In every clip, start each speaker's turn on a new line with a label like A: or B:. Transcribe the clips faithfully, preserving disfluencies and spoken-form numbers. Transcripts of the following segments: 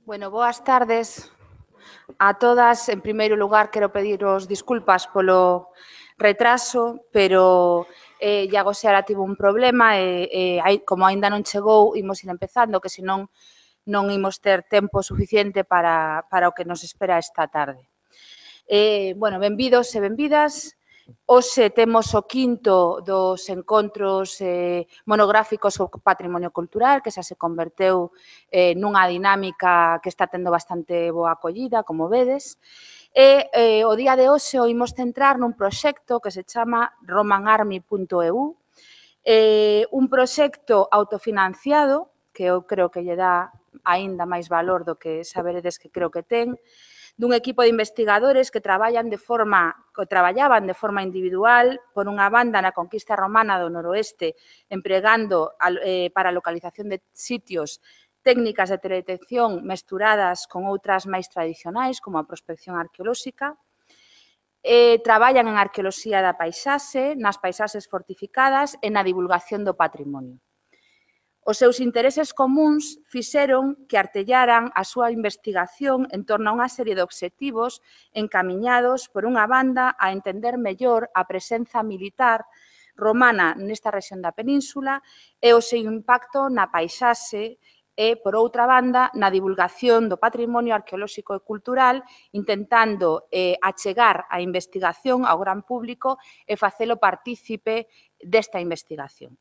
A: Bueno, boas tardes a todas. En primeiro lugar, quero pediros disculpas polo retraso, pero eh, Iago Seara tivo un problema e, e como aínda non chegou, imos ir empezando, que senón non imos ter tempo suficiente para, para o que nos espera esta tarde. Eh, bueno, benvidos e benvidas. Hoxe temos o quinto dos encontros eh, monográficos sobre patrimonio cultural, que xa se converteu eh, nunha dinámica que está tendo bastante boa acollida, como vedes. E eh, o día de hoxe o imos centrar nun proxecto que se chama roman army punto e u, eh, un proxecto autofinanciado, que eu creo que lle dá aínda máis valor do que saberedes que creo que ten, dun equipo de investigadores que traballan de forma, que traballaban de forma individual, por unha banda na conquista romana do noroeste, empregando eh, para a localización de sitios técnicas de teledetección mesturadas con outras máis tradicionais, como a prospección arqueolóxica. Eh, traballan en arqueoloxía da paisaxe, nas paisaxes fortificadas e na divulgación do patrimonio. Os seus intereses comuns fixeron que artellaran a súa investigación en torno a unha serie de obxectivos encamiñados, por unha banda, a entender mellor a presenza militar romana nesta rexión da península e o seu impacto na paisaxe e, por outra banda, na divulgación do patrimonio arqueolóxico e cultural, intentando eh, achegar a investigación ao gran público e facelo partícipe desta investigación.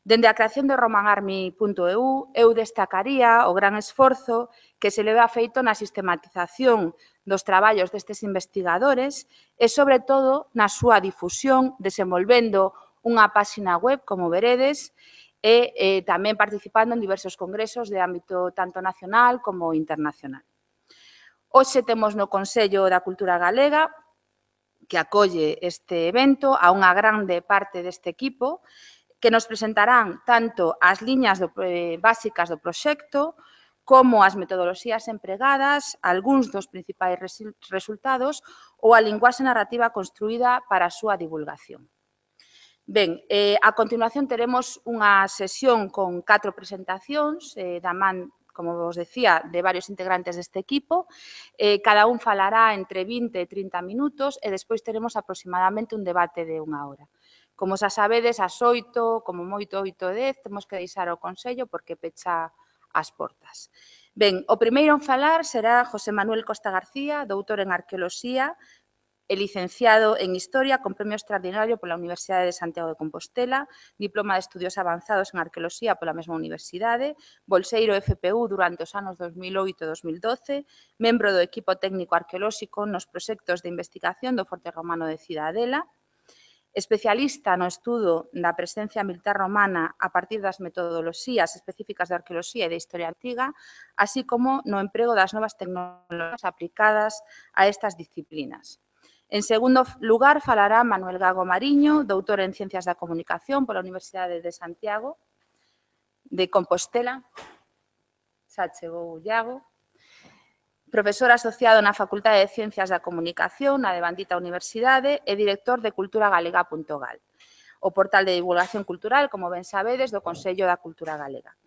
A: Dende a creación de roman army punto e u, eu destacaría o gran esforzo que se leva feito na sistematización dos traballos destes investigadores e, sobre todo, na súa difusión, desenvolvendo unha páxina web, como veredes, e eh, tamén participando en diversos congresos de ámbito tanto nacional como internacional. Hoxe temos no Consello da Cultura Galega, que acolle este evento, a unha grande parte deste equipo, que nos presentarán tanto as liñas do, eh, básicas do proxecto como as metodoloxías empregadas, algúns dos principais resultados ou a linguaxe narrativa construída para a súa divulgación. Ben, eh, a continuación teremos unha sesión con catro presentacións eh, da man, como vos decía, de varios integrantes deste equipo. Eh, cada un falará entre vinte e trinta minutos e despois teremos aproximadamente un debate de unha hora. Como xa sabedes, ás oito, como moito oito e dez, temos que deixar o Consello porque pecha as portas. Ben, o primeiro en falar será José Manuel Costa García, doutor en Arqueoloxía e licenciado en Historia con premio extraordinario pola Universidade de Santiago de Compostela, diploma de Estudios Avanzados en Arqueoloxía pola mesma universidade, bolseiro F P U durante os anos dos mil oito e dos mil doce, membro do equipo técnico arqueolóxico nos proxectos de investigación do Forte Romano de Cidadela, especialista no estudo da presencia militar romana a partir das metodoloxías específicas de arqueoloxía e de historia antiga, así como no emprego das novas tecnologías aplicadas a estas disciplinas. En segundo lugar, falará Manuel Gago Mariño, doutor en Ciencias da Comunicación pola Universidade de Santiago de Compostela. Xa chegou Iago. Profesor asociado na Facultade de Ciencias da Comunicación, na devandita Universidade, e director de cultura galega punto gal, o portal de divulgación cultural, como ben sabedes, do Consello da Cultura Galega.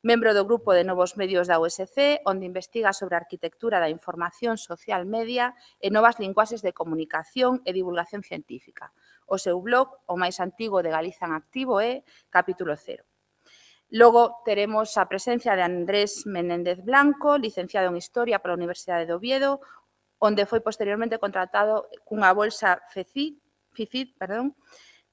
A: Membro do Grupo de Novos Medios da U S C, onde investiga sobre a arquitectura da información social media e novas linguaxes de comunicación e divulgación científica. O seu blog, o máis antigo de Galiza en activo, é Capítulo Cero. Logo, teremos a presencia de Andrés Menéndez Blanco, licenciado en Historia pola Universidade de Oviedo, onde foi posteriormente contratado cunha bolsa FECID, FICID, perdón,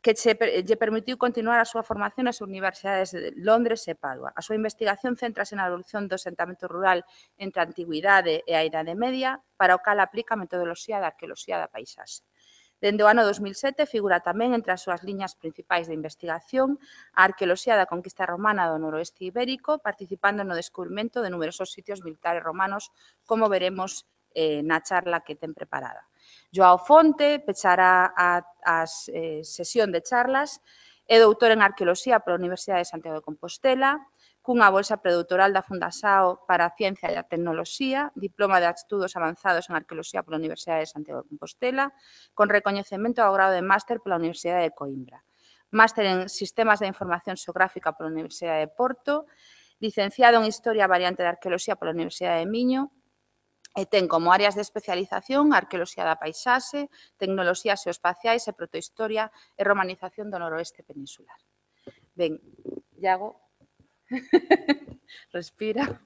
A: que lle permitiu continuar a súa formación nas universidades de Londres e Padua. A súa investigación céntrase na evolución do asentamento rural entre a Antigüidade e a Idade Media, para o cal aplica a metodoloxía da arqueoloxía da paisaxe. Dende o ano dos mil sete figura tamén entre as súas liñas principais de investigación a arqueoloxía da conquista romana do noroeste ibérico, participando no descubrimento de numerosos sitios militares romanos, como veremos eh, na charla que ten preparada. Joao Fonte pechará a, a eh, sesión de charlas, é doutor en Arqueoloxía pola Universidade de Santiago de Compostela, cunha bolsa predoutoral da Fundasao para a Ciencia e a Tecnoloxía, diploma de Estudos Avanzados en Arqueoloxía pola Universidade de Santiago de Compostela, con recoñecemento ao grado de máster pola Universidade de Coimbra. Máster en Sistemas de Información Xeográfica pola Universidade de Porto, licenciado en Historia variante de Arqueoloxía pola Universidade de Miño, e ten como áreas de especialización Arqueoloxía da Paisaxe, Tecnoloxías Geoespaciais e Protohistoria e Romanización do Noroeste Peninsular. Ben, Iago, respira.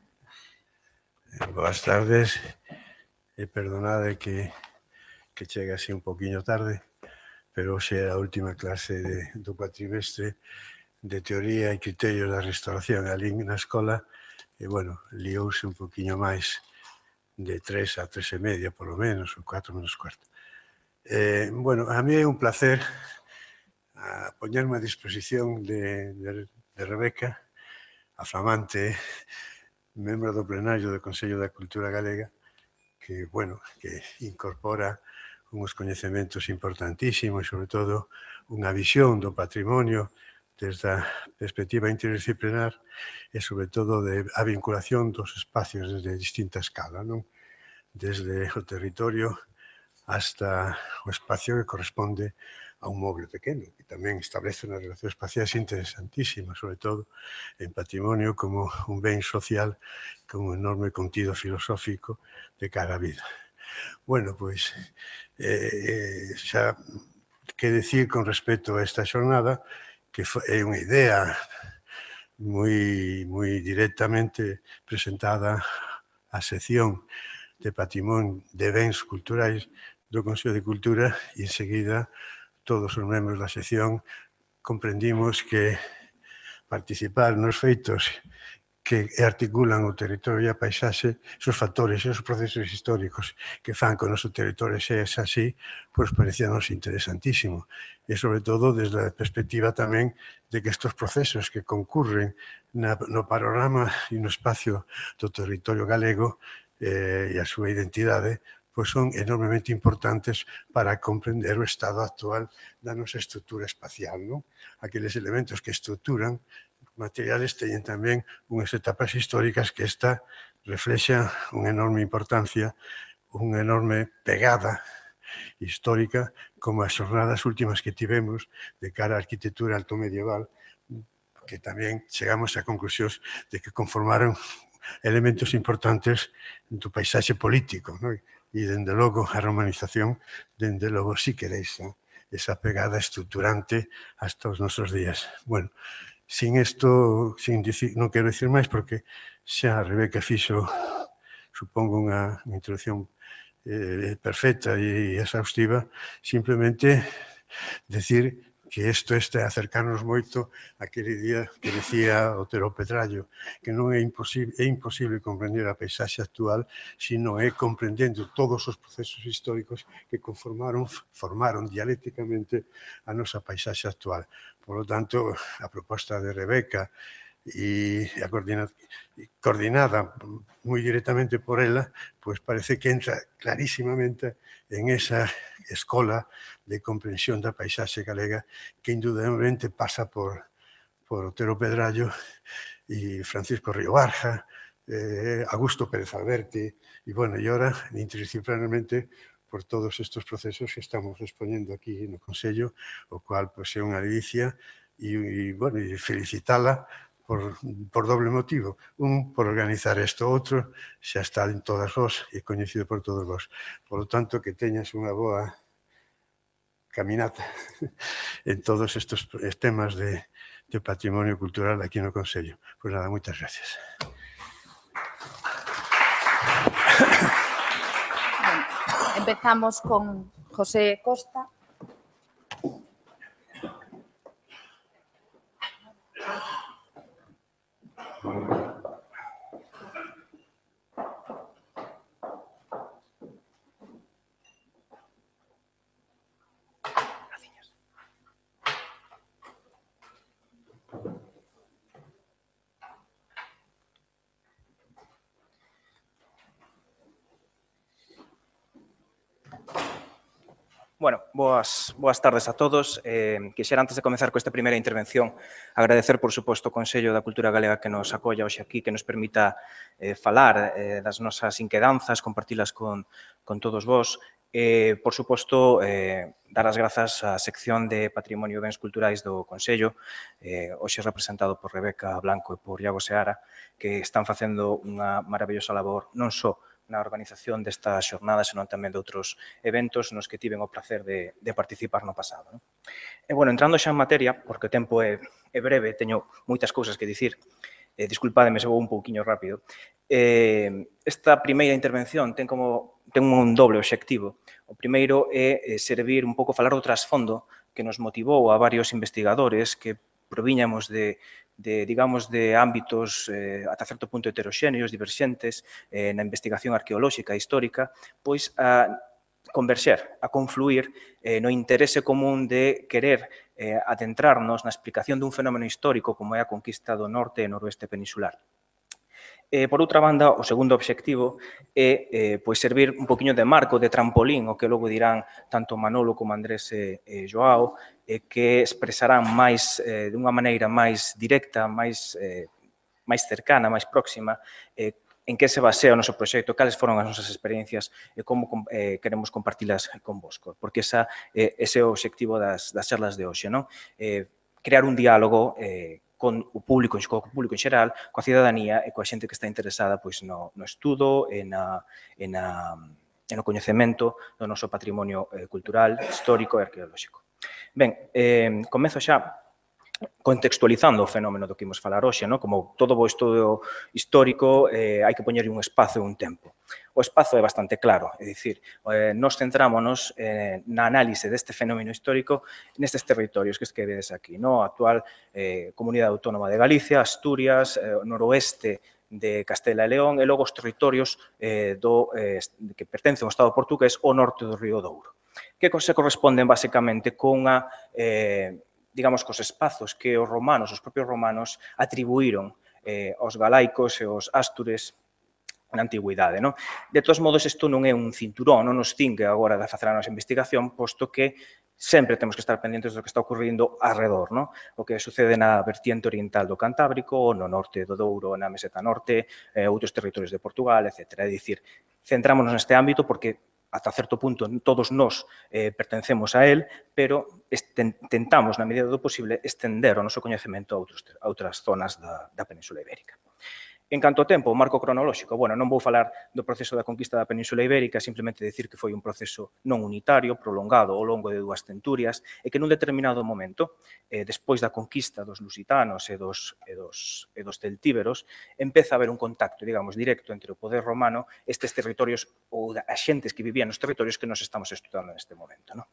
B: Boas tardes, e perdonade que, que chegue así un poquinho tarde, pero hoxe é a última clase de, do cuatrimestre de Teoría e Criterios da Restauración ali na escola, e, bueno, liouse un poquinho máis de tres a tres e media, polo menos, ou cuatro menos cuarto. Eh, bueno, a mí é un placer a poñerme a disposición de, de, de Rebeca, a flamante membro do plenario do Consello da Cultura Galega, que, bueno, que incorpora uns coñecementos importantísimos e, sobre todo, unha visión do patrimonio desde a perspectiva interdisciplinar e, sobre todo, de a vinculación dos espacios desde distinta escala, non? Desde o territorio hasta o espacio que corresponde a un móvel pequeno, que tamén establece unhas relacións espaciais interesantísimas, sobre todo en patrimonio como un ben social con un enorme contido filosófico de cara á vida. Bueno, pois, eh, xa que decir con respecto a esta xornada, que é unha idea moi, moi directamente presentada á sección de Patrimonio de Bens Culturais do Consello de Cultura e, enseguida, todos os membros da sección comprendimos que participar nos feitos que articulan o territorio e a paisaxe, esos factores, esos procesos históricos que fan que o noso territorio sea así, pois parecíanos interesantísimo. E, sobre todo, desde a perspectiva tamén de que estes procesos que concurren na, no panorama e no espacio do territorio galego eh, e a súa identidade, pois son enormemente importantes para comprender o estado actual da nosa estrutura espacial, non? Aqueles elementos que estruturan materiales teñen tamén unhas etapas históricas que esta reflexa unha enorme importancia, unha enorme pegada histórica, como as xornadas últimas que tivemos de cara á arquitectura altomedieval, que tamén chegamos a conclusións de que conformaron elementos importantes do paisaxe político, non? E, dende logo, a romanización, dende logo, si queréis, esa pegada estruturante hasta os nosos días. Bueno, sin isto, sin dicir, non quero dicir máis, porque xa a Rebeca fixo, supongo, unha introducción eh, perfecta e exhaustiva, simplemente decir que isto este acercarnos moito aquele día que decía Otero Pedrallo, que non é imposible, é imposible comprender a paisaxe actual se non é comprendendo todos os procesos históricos que conformaron, formaron dialécticamente a nosa paisaxe actual. Por lo tanto, a proposta de Rebeca e a coordinada, coordinada moi directamente por ela, pois parece que entra clarísimamente en esa escola de comprensión da paisaxe galega que indudablemente pasa por, por Otero Pedrallo e Francisco Río Barja, eh, Augusto Pérez Alberti, e, bueno, e ora, interdisciplinarmente, por todos estes procesos que estamos exponendo aquí no Consello, o cual, pois, é unha delicia, e, e bueno, e felicitala por, por doble motivo. Un, por organizar isto, outro, xa está en todas vos e coñecido por todos vos. Por lo tanto, que teñas unha boa caminata en todos estes temas de, de patrimonio cultural aquí no Consello. Pois nada, moitas gracias.
A: Empezamos con José Costa.
C: Bueno, boas, boas tardes a todos. Eh, quixera, antes de comezar con esta primeira intervención, agradecer, por suposto, o Consello da Cultura Galega que nos apoia hoxe aquí, que nos permita eh, falar eh, das nosas inquedanzas, compartilas con, con todos vos. Eh, por suposto, eh, dar as grazas á sección de Patrimonio e Bens Culturais do Consello, eh, hoxe representado por Rebeca Blanco e por Iago Seara, que están facendo unha maravillosa labor, non só na organización desta xornada, senón tamén de outros eventos nos que tiven o placer de, de participar no pasado. Non? E, bueno, entrando xa en materia, porque o tempo é, é breve, teño moitas cousas que dicir, eh, disculpademe se vou un pouquiño rápido. Eh, esta primeira intervención ten como ten un doble obxectivo. O primeiro é servir un pouco, falar do trasfondo que nos motivou a varios investigadores que proviñamos de de, digamos, de ámbitos eh, ata certo punto heteroxéneos, diverxentes, eh, na investigación arqueolóxica e histórica, pois a converxer, a confluir eh, no interese común de querer eh, adentrarnos na explicación dun fenómeno histórico como é a conquista do norte e noroeste peninsular. Eh, por outra banda, o segundo obxectivo é eh, pois servir un poquinho de marco, de trampolín, o que logo dirán tanto Manolo como Andrés e, e Joao, eh, que expresarán máis, eh, de unha maneira máis directa, máis, eh, máis cercana, máis próxima, eh, en que se basea o noso proxecto, cales foron as nosas experiencias e como eh, queremos compartilas convosco, porque esa, eh, ese é o obxectivo das, das charlas de hoxe, non? Eh, crear un diálogo eh, con o público, co público en xeral, coa cidadanía e coa xente que está interesada pois, no, no estudo e, na, e, na, e no coñecemento do noso patrimonio eh, cultural, histórico e arqueolóxico. Ben, eh, comezo xa contextualizando o fenómeno do que imos falar hoxe, no? Como todo o estudo histórico eh, hai que poñerlle un espazo e un tempo. O espazo é bastante claro, é dicir, eh, nos centrámonos eh, na análise deste fenómeno histórico nestes territorios que es que vedes aquí, no? A actual eh, Comunidade Autónoma de Galicia, Asturias, eh, noroeste de Castela e León e logo os territorios eh, do, eh, que pertencen ao Estado portugués ao norte do Río Douro, que se corresponden basicamente con a eh, digamos, cos espazos que os romanos, os propios romanos, atribuíron eh, aos galaicos e aos ástures na antigüidade. Non? De todos modos, isto non é un cinturón, non nos cingue agora de facer a nosa investigación, posto que sempre temos que estar pendientes do que está ocurrindo alrededor, non? O que sucede na vertiente oriental do Cantábrico, no norte do Douro, na meseta norte, eh, outros territorios de Portugal, etcétera. É dicir, centrámonos neste ámbito porque ata certo punto todos nós eh, pertencemos a él, pero tentamos, na medida do posible, estender o noso coñecemento a, outros, a outras zonas da, da Península Ibérica. En canto ao tempo, o marco cronolóxico, bueno, non vou falar do proceso da conquista da Península Ibérica, simplemente decir que foi un proceso non unitario, prolongado ao longo de dúas centurias, e que nun determinado momento, eh, despois da conquista dos lusitanos e dos, e, dos, e dos celtíberos, empeza a haber un contacto, digamos, directo entre o poder romano e estes territorios, ou as xentes que vivían nos territorios que nos estamos estudando neste momento, non?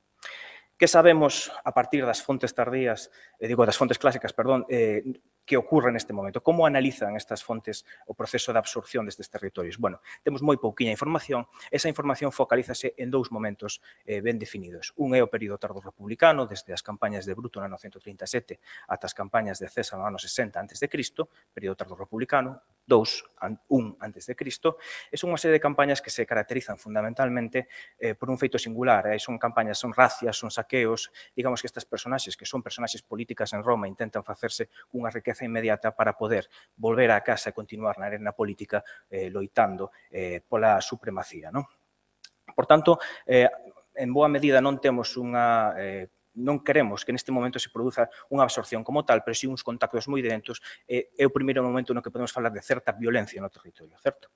C: Que sabemos a partir das fontes tardías, eh, digo, das fontes clásicas, perdón, eh, que ocorre neste momento? Como analizan estas fontes o proceso de absorción destes territorios? Bueno, temos moi pouquiña información. Esa información focalízase en dous momentos eh, ben definidos. Un é o período tardo republicano, desde as campañas de Bruto no ano ciento trinta e sete ata as campañas de César no ano sesenta antes de Cristo, período tardo republicano, dous, un antes de Cristo, e son unha serie de campañas que se caracterizan fundamentalmente eh, por un feito singular. Eh? Son campañas, son racias, son saqueos, digamos que estas personaxes, que son personaxes políticas en Roma, intentan facerse unha riqueza inmediata para poder volver á casa e continuar na arena política eh, loitando eh, pola supremacía. Non? Por tanto, eh, en boa medida non temos unha... Eh, non queremos que neste momento se produza unha absorción como tal, pero si uns contactos moi dentos, eh, é o primeiro momento no que podemos falar de certa violencia no territorio, certo?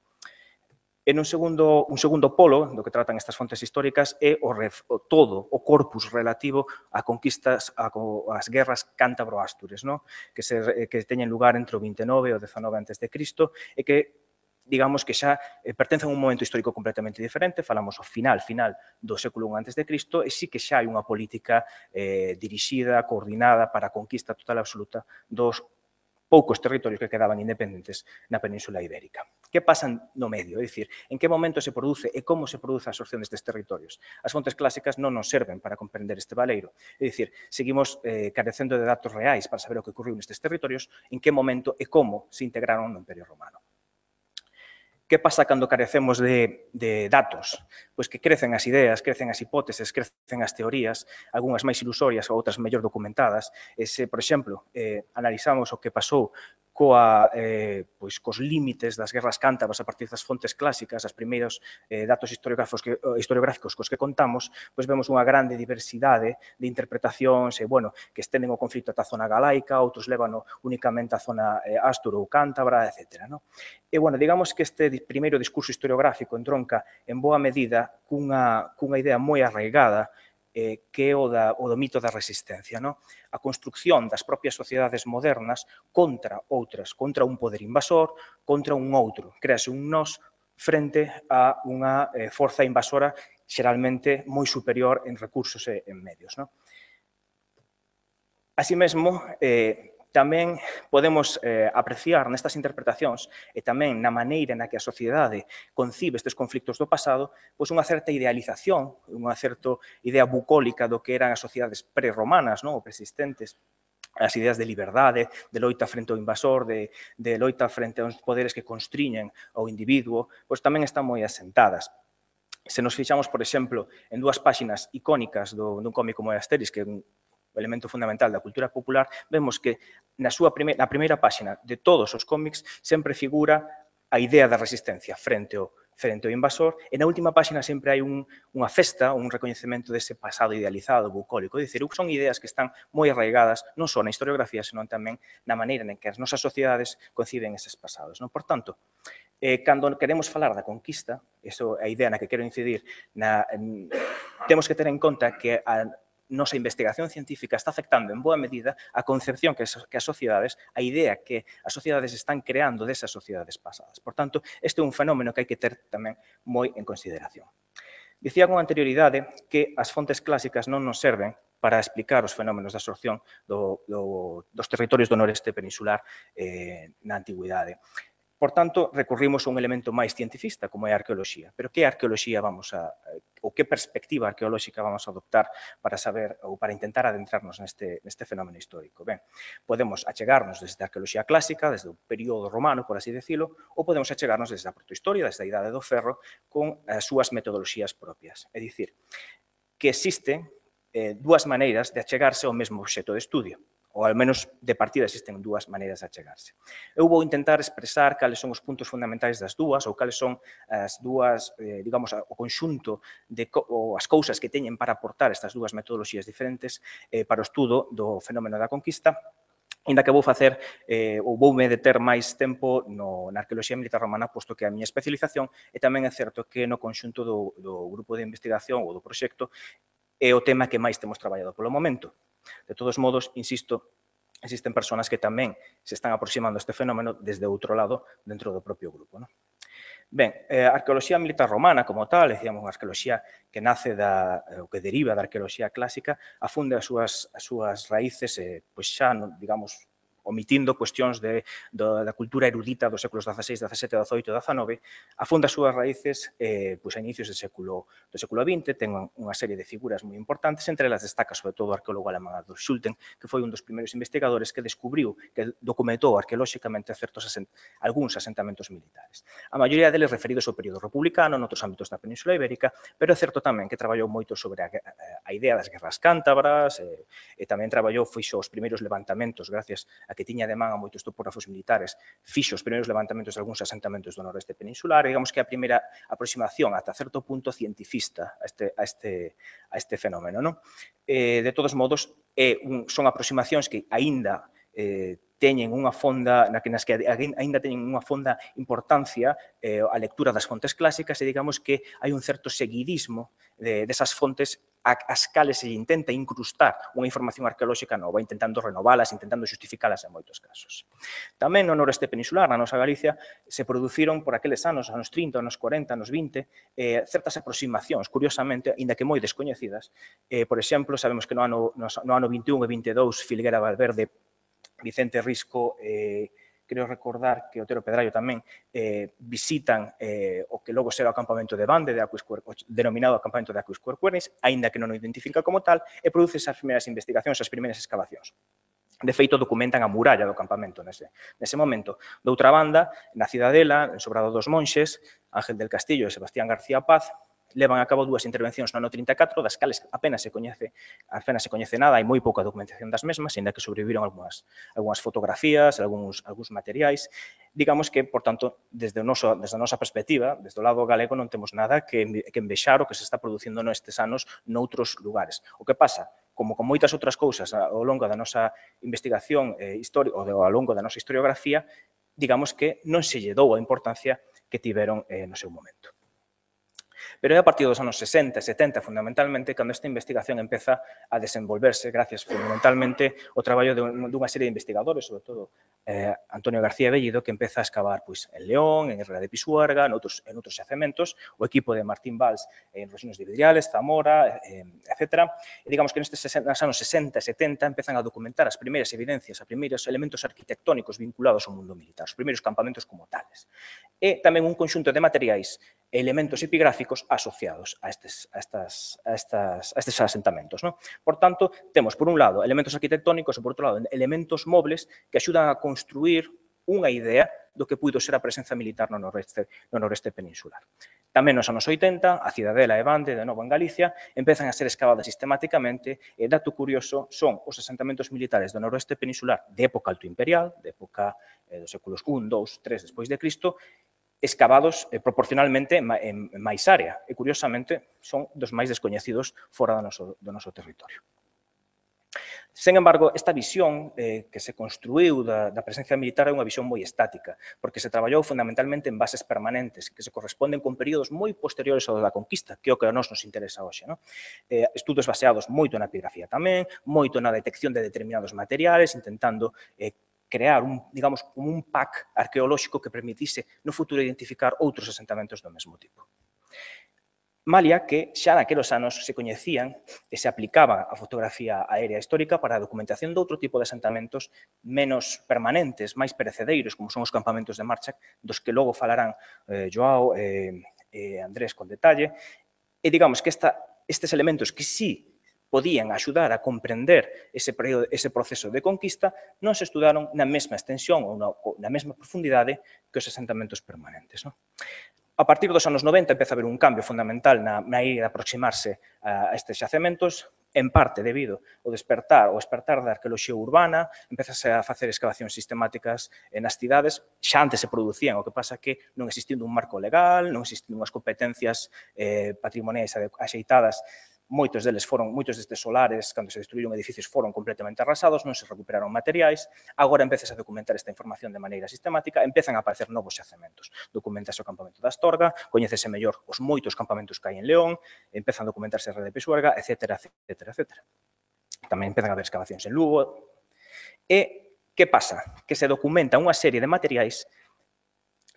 C: En un segundo, un segundo polo do que tratan estas fontes históricas é o, ref, o todo o corpus relativo a conquistas, a, as guerras cántabro-ástures, no? que, se, que teñen lugar entre o vinte e nove e o dezanove antes de Cristo e que digamos que xa eh, pertencen a un momento histórico completamente diferente, falamos ao final, final do século I antes de Cristo, e sí que xa hai unha política eh, dirixida, coordinada para a conquista total e absoluta dos poucos territorios que quedaban independentes na Península Ibérica. Que pasan no medio? É dicir, en que momento se produce e como se produce a absorción destes territorios? As fontes clásicas non nos serven para comprender este valeiro. É dicir, seguimos eh, carecendo de datos reais para saber o que ocorreu nestes territorios, en que momento e como se integraron no Imperio Romano. Que pasa cando carecemos de, de datos? Pois que crecen as ideas, crecen as hipóteses, crecen as teorías, algunhas máis ilusorias ou outras mellor documentadas. E se, por exemplo, eh, analizamos o que pasou coa, eh, pois, cos límites das guerras cántabras a partir das fontes clásicas, as primeiros eh, datos historiográficos que, historiográficos cos que contamos, pois vemos unha grande diversidade de interpretacións, e, bueno, que estenden o conflito ata a zona galaica, outros lévano únicamente a zona eh, ásturo ou cántabra, etcétera. No? E, bueno, digamos que este primeiro discurso historiográfico entronca en boa medida cunha, cunha idea moi arraigada eh, que é o, da, o do mito da resistencia. No? A construcción das propias sociedades modernas contra outras, contra un poder invasor, contra un outro. Créase un nós frente a unha eh, forza invasora xeralmente moi superior en recursos e en medios. No? Así mesmo, eh, tamén podemos eh, apreciar nestas interpretacións e tamén na maneira na que a sociedade concibe estes conflictos do pasado, pois unha certa idealización, unha certa idea bucólica do que eran as sociedades prerromanas, non? Ou persistentes, as ideas de liberdade, de loita frente ao invasor, de, de loita frente aos poderes que constriñen ao individuo, pois tamén están moi asentadas. Se nos fixamos, por exemplo, en dúas páxinas icónicas do, dun cómic como Asterix, que é un elemento fundamental da cultura popular, vemos que na súa prime, na primeira páxina de todos os cómics sempre figura a idea da resistencia frente ao, frente ao invasor, e na última páxina sempre hai un, unha festa, un recoñecemento dese pasado idealizado, bucólico. É dicir, son ideas que están moi arraigadas non só na historiografía, senón tamén na maneira en que as nosas sociedades conciben eses pasados. Non? Por tanto, eh, cando queremos falar da conquista, iso é a idea na que quero incidir, na, en, temos que ter en conta que a nosa investigación científica está afectando en boa medida a concepción que as, que as sociedades, a idea que as sociedades están creando desas sociedades pasadas. Por tanto, este é un fenómeno que hai que ter tamén moi en consideración. Dicía con anterioridade que as fontes clásicas non nos serven para explicar os fenómenos de absorción do, do, dos territorios do noreste peninsular eh, na antigüidade. Por tanto, recorrimos a un elemento máis cientifista, como é a arqueoloxía. Pero que arqueoloxía vamos a, ou que perspectiva arqueolóxica vamos a adoptar para saber ou para intentar adentrarnos neste, neste fenómeno histórico? Ben, podemos achegarnos desde a arqueoloxía clásica, desde o período romano, por así decirlo, ou podemos achegarnos desde a protohistoria, desde a Idade do Ferro, con as súas metodoloxías propias. É dicir, que existen eh, dúas maneiras de achegarse ao mesmo obxecto de estudio, ou ao menos de partida existen dúas maneiras de achegarse. Eu vou intentar expresar cales son os puntos fundamentais das dúas, ou cales son as dúas, eh, digamos, o conxunto de ou as cousas que teñen para aportar estas dúas metodoloxías diferentes eh, para o estudo do fenómeno da conquista, ainda que vou facer, eh, ou voume deter máis tempo no, na arqueoloxía militar romana, posto que a miña especialización, e tamén é certo que no conxunto do, do grupo de investigación ou do proxecto é o tema que máis temos traballado polo momento. De todos modos, insisto, existen persoas que tamén se están aproximando a este fenómeno desde outro lado dentro do propio grupo. Non? Ben, a arqueoloxía militar romana como tal, decíamos, unha arqueoloxía que nace da, ou que deriva da arqueoloxía clásica, afunde as súas, as súas raíces, eh, pois xa, digamos, omitindo cuestións de, do, da cultura erudita dos séculos dieciséis, diecisiete, diecioito e diecinueve, afunda as súas raíces eh, pois a inicios do século, do século vinte, ten unha serie de figuras moi importantes, entre elas destaca sobre todo o arqueólogo alemán Adolf Schulten, que foi un dos primeiros investigadores que descubriu, que documentou arqueolóxicamente certos asent algúns asentamentos militares. A maioría deles referidos ao período republicano, noutros ámbitos da Península Ibérica, pero é certo tamén que traballou moito sobre a, a, a idea das guerras cántabras, e, e tamén traballou, fixo os primeiros levantamentos, gracias a que tiña de man a moitos topógrafos militares, fixo os primeiros levantamentos de algúns asentamentos do noroeste peninsular, e digamos que a primeira aproximación ata certo punto cientifista a este, a este, a este fenómeno. Non? Eh, de todos modos, eh, un, son aproximacións que aínda eh, teñen unha fonda, na que, nas que aínda teñen unha fonda importancia eh, a lectura das fontes clásicas, e digamos que hai un certo seguidismo de, desas fontes as cales se intenta incrustar unha información arqueolóxica nova, intentando renovalas, intentando justificalas en moitos casos. Tamén no noroeste peninsular, na nosa Galicia, se produciron por aqueles anos, anos trinta, anos corenta, anos vinte, eh, certas aproximacións, curiosamente, ainda que moi descoñecidas. Eh, por exemplo, sabemos que no ano, no ano vinte e un e vinte e dous, Filguera Valverde, Vicente Risco, eh, creo recordar que Otero Pedrallo tamén eh, visitan eh, o que logo será o acampamento de Bande, de Aquiscuer, denominado acampamento de Aquiscuercuernis, aínda que non o identifica como tal, e produce as primeiras investigacións, as primeiras excavacións. De feito, documentan a muralla do campamento nese, nese momento. Doutra banda, na Cidadela, en Sobrado dos Monxes, Ángel del Castillo e Sebastián García Paz, levan a cabo dúas intervencións no ano trinta e catro, das cales apenas se coñece, apenas se coñece nada, hai moi pouca documentación das mesmas, ainda que sobreviviron algunhas, algunhas fotografías, algúns, algúns materiais. Digamos que, por tanto, desde, o noso, desde a nosa perspectiva, desde o lado galego, non temos nada que, que envexar o que se está producindo nestes anos noutros lugares. O que pasa, como con moitas outras cousas ao longo da nosa investigación eh, histórica, ou ao longo da nosa historiografía, digamos que non se lle dou a importancia que tiveron eh, no seu momento. Pero é a partir dos anos sesenta e setenta, fundamentalmente, cando esta investigación empeza a desenvolverse, gracias fundamentalmente ao traballo dunha serie de investigadores, sobre todo eh, Antonio García Bellido, que empeza a excavar pois, en León, en Herrera de Pisuerga, en outros, en outros xacementos, o equipo de Martín Valls en Rosinos de Vidriales, Zamora, eh, etcétera. E digamos que nestes anos sesenta e setenta empezan a documentar as primeiras evidencias, os primeiros elementos arquitectónicos vinculados ao mundo militar, os primeiros campamentos como tales. E tamén un conxunto de materiais e elementos epigráficos asociados a estes, a estas, a estas, a estes asentamentos. ¿No? Por tanto, temos, por un lado, elementos arquitectónicos e, por outro lado, elementos mobles que axudan a construir unha idea do que puido ser a presenza militar no noreste, no noreste peninsular. Tamén nos anos oitenta, a Cidadela e Bande, de novo en Galicia, empezan a ser excavadas sistemáticamente e, dato curioso, son os asentamentos militares do noroeste peninsular de época altoimperial, de época eh, dos séculos un, dous, tres despois de Cristo, excavados eh, proporcionalmente en, en máis área e, curiosamente, son dos máis descoñecidos fora do noso, do noso territorio. Sen embargo, esta visión eh, que se construiu da, da presencia militar é unha visión moi estática, porque se traballou fundamentalmente en bases permanentes que se corresponden con períodos moi posteriores ao da conquista, que é o que a nós nos interesa hoxe. ¿No? Eh, estudos baseados moito na epigrafía tamén, moito na detección de determinados materiales, intentando eh, crear un, digamos, como un pack arqueolóxico que permitise no futuro identificar outros asentamentos do mesmo tipo. Malia que xa naquelos anos se coñecían e se aplicaba a fotografía aérea histórica para a documentación de outro tipo de asentamentos menos permanentes, máis perecedeiros, como son os campamentos de marcha, dos que logo falarán eh, Joao e eh, eh, Andrés con detalle. E digamos que esta, estes elementos que sí podían axudar a comprender ese, período, ese proceso de conquista, non se estudaron na mesma extensión ou na, ou na mesma profundidade que os asentamentos permanentes. ¿No? A partir dos anos noventa empeza a haber un cambio fundamental na, na idea de aproximarse a, a estes xacementos, en parte debido ao despertar, ao despertar da arqueoloxía urbana, empezase a facer excavacións sistemáticas nas cidades, xa antes se producían, o que pasa que non existindo un marco legal, non existindo unhas competencias eh, patrimoniais axeitadas, moitos deles foron, moitos destes solares, cando se destruíron edificios, foron completamente arrasados, non se recuperaron materiais, agora empezase a documentar esta información de maneira sistemática, empezan a aparecer novos xacementos. Documentase o campamento da Astorga, coñécese mellor os moitos campamentos que hai en León, empezan a documentarse a Herrera de Pisuerga, etcétera, etcétera, etcétera. Tamén empezan a haber excavacións en Lugo. E que pasa? Que se documenta unha serie de materiais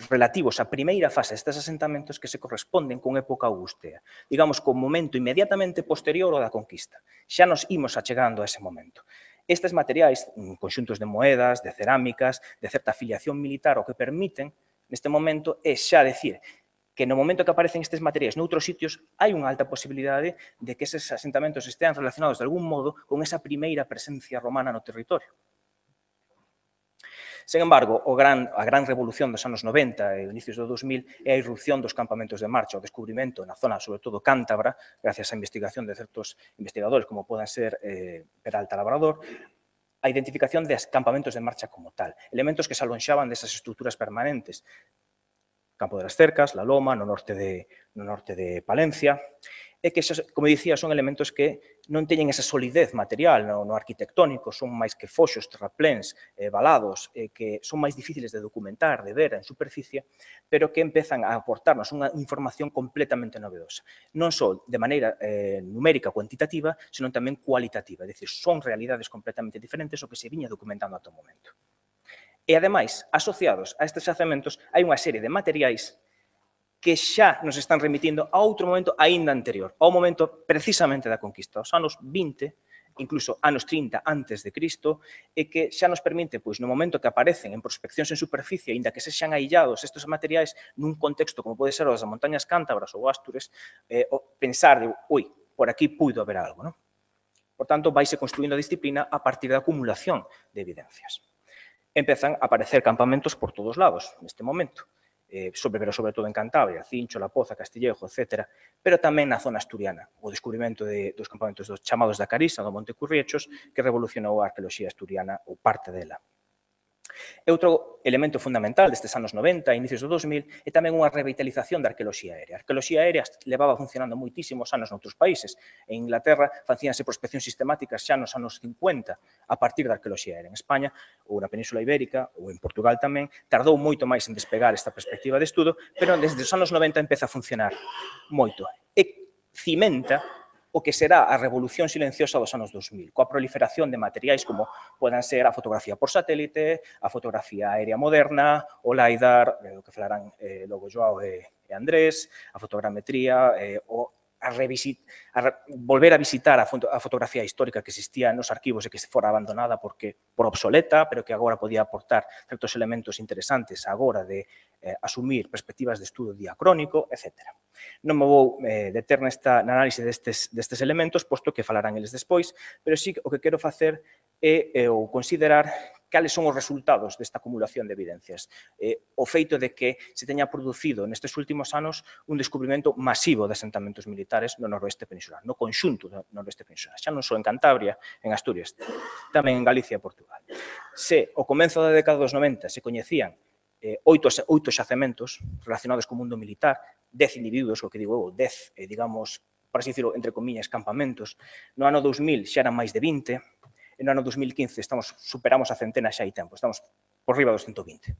C: relativos á primeira fase destes asentamentos que se corresponden con época augustea, digamos, con momento inmediatamente posterior ao da conquista. Xa nos imos achegando a ese momento. Estes materiais, conxuntos de moedas, de cerámicas, de certa afiliación militar, o que permiten, neste momento, é xa decir que no momento que aparecen estes materiais noutros sitios, hai unha alta posibilidade de que eses asentamentos estean relacionados de algún modo con esa primeira presencia romana no territorio. Sen embargo, o gran, a gran revolución dos anos noventa e inicios do dos mil é a irrupción dos campamentos de marcha, o descubrimento na zona, sobre todo cántabra, gracias á investigación de certos investigadores, como poden ser eh, Peralta Labrador, a identificación de campamentos de marcha como tal, elementos que se alonxaban desas estruturas permanentes, Campo de las Cercas, La Loma, no norte de, no norte de Palencia, e que, como dicía, son elementos que non teñen esa solidez material no, no arquitectónico, son máis que foxos, terrapléns, eh, valados, eh, que son máis difíciles de documentar, de ver en superficie, pero que empezan a aportarnos unha información completamente novedosa. Non só de maneira eh, numérica, cuantitativa, senón tamén cualitativa, é dicir, son realidades completamente diferentes ao que se viña documentando ata o momento. E, ademais, asociados a estes xacementos, hai unha serie de materiais que xa nos están remitindo a outro momento aínda anterior, ao momento precisamente da conquista, aos anos vinte, incluso anos trinta antes de Cristo, e que xa nos permite, pois, no momento que aparecen en prospeccións en superficie, aínda que sexan aillados estes materiais nun contexto como pode ser o das montañas cántabras ou Astures, eh, pensar de, ui, por aquí puido haber algo, non? Por tanto, vaise construindo a disciplina a partir da acumulación de evidencias. Empezan a aparecer campamentos por todos lados, neste momento. sobre, pero sobre todo en Cantabria, Cincho, La Poza, Castillejo, etcétera, pero tamén na zona asturiana, o descubrimento de, dos campamentos dos chamados da Carisa, do Monte Curriechos, que revolucionou a arqueoloxía asturiana ou parte dela. E outro elemento fundamental destes anos noventa, inicios do dos mil, é tamén unha revitalización da arqueoloxía aérea. A arqueoloxía aérea levaba funcionando moitísimos anos noutros países. En Inglaterra facíanse prospeccións sistemáticas xa nos anos cincuenta a partir da arqueoloxía aérea. En España, ou na Península Ibérica, ou en Portugal tamén, tardou moito máis en despegar esta perspectiva de estudo, pero desde os anos noventa empeza a funcionar moito. E cimenta o que será a revolución silenciosa dos anos dos mil, coa proliferación de materiais como poden ser a fotografía por satélite, a fotografía aérea moderna, o LiDAR, o que falarán eh, logo Joao e, e Andrés, a fotogrametría, eh, o a, revisit, a re, volver a visitar a, foto, a fotografía histórica que existía nos arquivos e que se fora abandonada porque por obsoleta, pero que agora podía aportar certos elementos interesantes agora de eh, asumir perspectivas de estudo diacrónico, etcétera. Non me vou eh, deter nesta na análise destes, destes elementos, posto que falarán eles despois, pero sí o que quero facer é eh, ou considerar cales son os resultados desta acumulación de evidencias. Eh, o feito de que se teña producido nestes últimos anos un descubrimento masivo de asentamentos militares no noroeste peninsular, no conxunto do noroeste peninsular, xa non só en Cantabria, en Asturias, tamén en Galicia e Portugal. Se ao comenzo da década dos noventa se coñecían eh, oito, oito xacementos relacionados co mundo militar, dez individuos, o que digo eu, dez, eh, digamos, por así decirlo, entre comillas, campamentos, no ano dos mil xa eran máis de vinte, e no ano dos mil quince estamos, superamos a centena xa hai tempo, estamos por riba dos ciento vinte.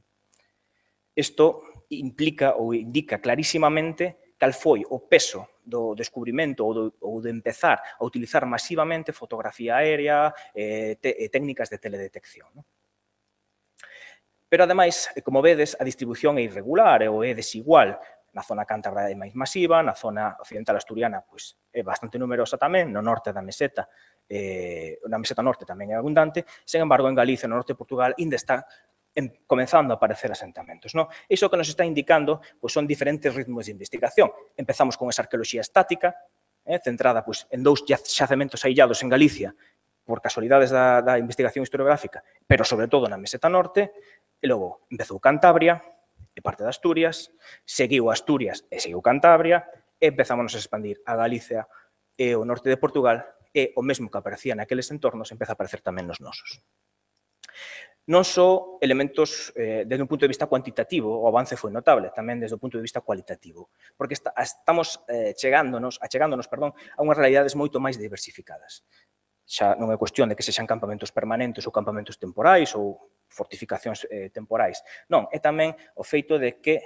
C: Isto implica ou indica clarísimamente cal foi o peso do descubrimento ou, do, ou de empezar a utilizar masivamente fotografía aérea e eh, técnicas de teledetección. ¿No? Pero, ademais, como vedes, a distribución é irregular ou é desigual. Na zona cántabra é máis masiva, na zona occidental asturiana pois, é bastante numerosa tamén, no norte da meseta, eh, na meseta norte tamén é abundante, sen embargo, en Galicia, no norte de Portugal, ainda está en, comenzando a aparecer asentamentos. ¿No? Iso que nos está indicando pois, son diferentes ritmos de investigación. Empezamos con esa arqueoloxía estática, eh, centrada pois, en dous xacementos aillados en Galicia, por casualidades da, da investigación historiográfica, pero sobre todo na meseta norte, e logo empezou Cantabria, e parte de Asturias, seguiu Asturias e seguiu Cantabria, e empezamos a expandir a Galicia e o norte de Portugal, e o mesmo que aparecía naqueles entornos empeza a aparecer tamén nos nosos. Non só elementos eh, desde un punto de vista cuantitativo, o avance foi notable, tamén desde o punto de vista cualitativo, porque está, estamos eh, chegándonos, achegándonos perdón, a unhas realidades moito máis diversificadas. Xa non é cuestión de que sexan campamentos permanentes ou campamentos temporais ou fortificacións eh, temporais. Non, é tamén o feito de que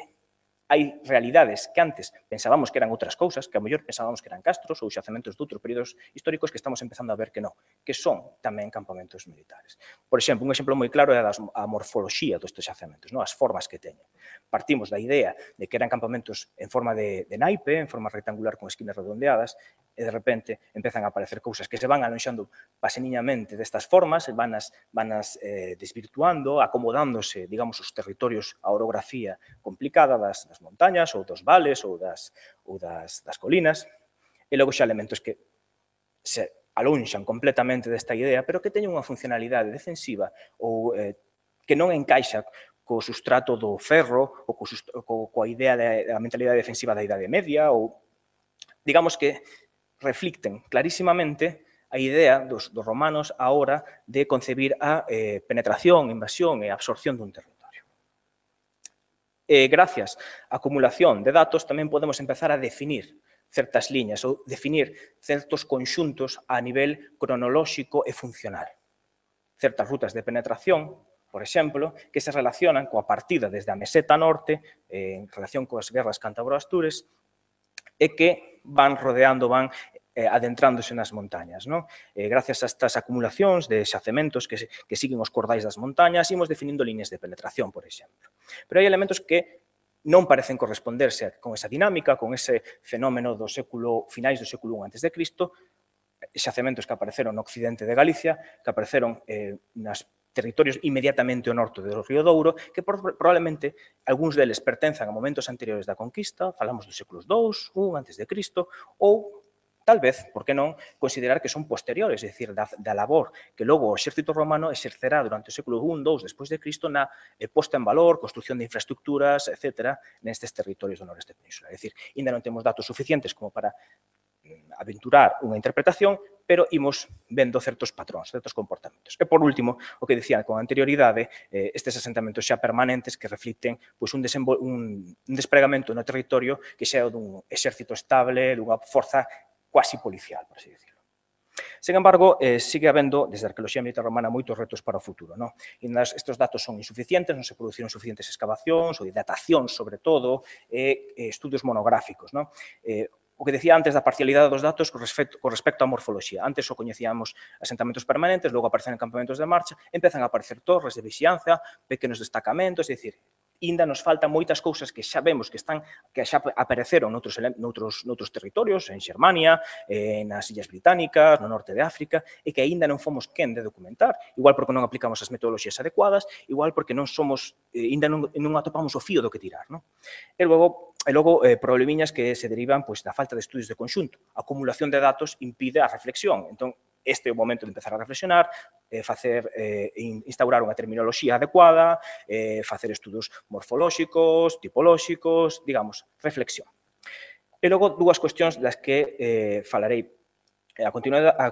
C: hai realidades que antes pensábamos que eran outras cousas, que a mellor pensábamos que eran castros ou xacementos de outros períodos históricos que estamos empezando a ver que non, que son tamén campamentos militares. Por exemplo, un exemplo moi claro é a morfoloxía destes xacementos, non? As formas que teñen. Partimos da idea de que eran campamentos en forma de, de naipe, en forma rectangular con esquinas redondeadas, e de repente empezan a aparecer cousas que se van alonxando paseniñamente destas formas, vanas, vanas eh, desvirtuando, acomodándose, digamos, os territorios a orografía complicada das, das montañas ou dos vales ou das, ou das, das colinas, e logo xa elementos que se alonxan completamente desta idea, pero que teñen unha funcionalidade defensiva ou eh, que non encaixa co sustrato do ferro ou co, co, coa idea da mentalidade defensiva da Idade Media ou, digamos que reflicten clarísimamente a idea dos, dos romanos a hora de concebir a eh, penetración, invasión e absorción dun territorio. E gracias á acumulación de datos tamén podemos empezar a definir certas liñas ou definir certos conxuntos a nivel cronolóxico e funcional. Certas rutas de penetración, por exemplo, que se relacionan coa partida desde a meseta norte eh, en relación coas guerras cántabro-astures e que van rodeando, van eh, adentrándose nas montañas. ¿No? Eh, gracias a estas acumulacións de xacementos que, que siguen os cordais das montañas, imos definindo líneas de penetración, por exemplo. Pero hai elementos que non parecen corresponderse con esa dinámica, con ese fenómeno do século, finais do século I antes de Cristo, xacementos que apareceron no occidente de Galicia, que apareceron eh, nas territorios inmediatamente ao norte do Río Douro, que probablemente algúns deles pertenzan a momentos anteriores da conquista, falamos dos séculos dous, I antes de Cristo, ou tal vez, por que non, considerar que son posteriores, é dicir, da, da labor que logo o exército romano exercerá durante o século segundo, dous despois de Cristo na eh, posta en valor, construcción de infraestructuras, etcétera, nestes territorios do noreste peninsular. É dicir, ainda non temos datos suficientes como para aventurar unha interpretación, pero imos vendo certos patróns, certos comportamentos. E, por último, o que dicía con anterioridade, eh, estes asentamentos xa permanentes que reflicten pois, un, un, un despregamento no territorio que xa é dun exército estable, dunha forza cuasi policial, por así decirlo. Sen embargo, eh, sigue habendo, desde a arqueoloxía militar romana, moitos retos para o futuro. Non? E estes datos son insuficientes, non se produciron suficientes excavacións, ou datacións, sobre todo, e eh, estudios monográficos. Non? Eh, O que decía antes da parcialidade dos datos con respecto, con respecto á morfoloxía. Antes só coñecíamos asentamentos permanentes, logo aparecen campamentos de marcha, empezan a aparecer torres de vixianza, pequenos destacamentos, é dicir, ainda nos faltan moitas cousas que xa vemos que están que xa apareceron noutros, noutros, noutros territorios, en Xermania, eh, nas Illas Británicas, no norte de África, e que aínda non fomos quen de documentar, igual porque non aplicamos as metodoloxías adecuadas, igual porque non somos, eh, ainda non, non atopamos o fío do que tirar. Non? E logo, e logo eh, problemiñas que se derivan pois, da falta de estudios de conxunto. A acumulación de datos impide a reflexión. Entón, este é o momento de empezar a reflexionar, eh, facer, eh, instaurar unha terminoloxía adecuada, eh, facer estudos morfolóxicos, tipolóxicos, digamos, reflexión. E logo, dúas cuestións das que eh, falarei a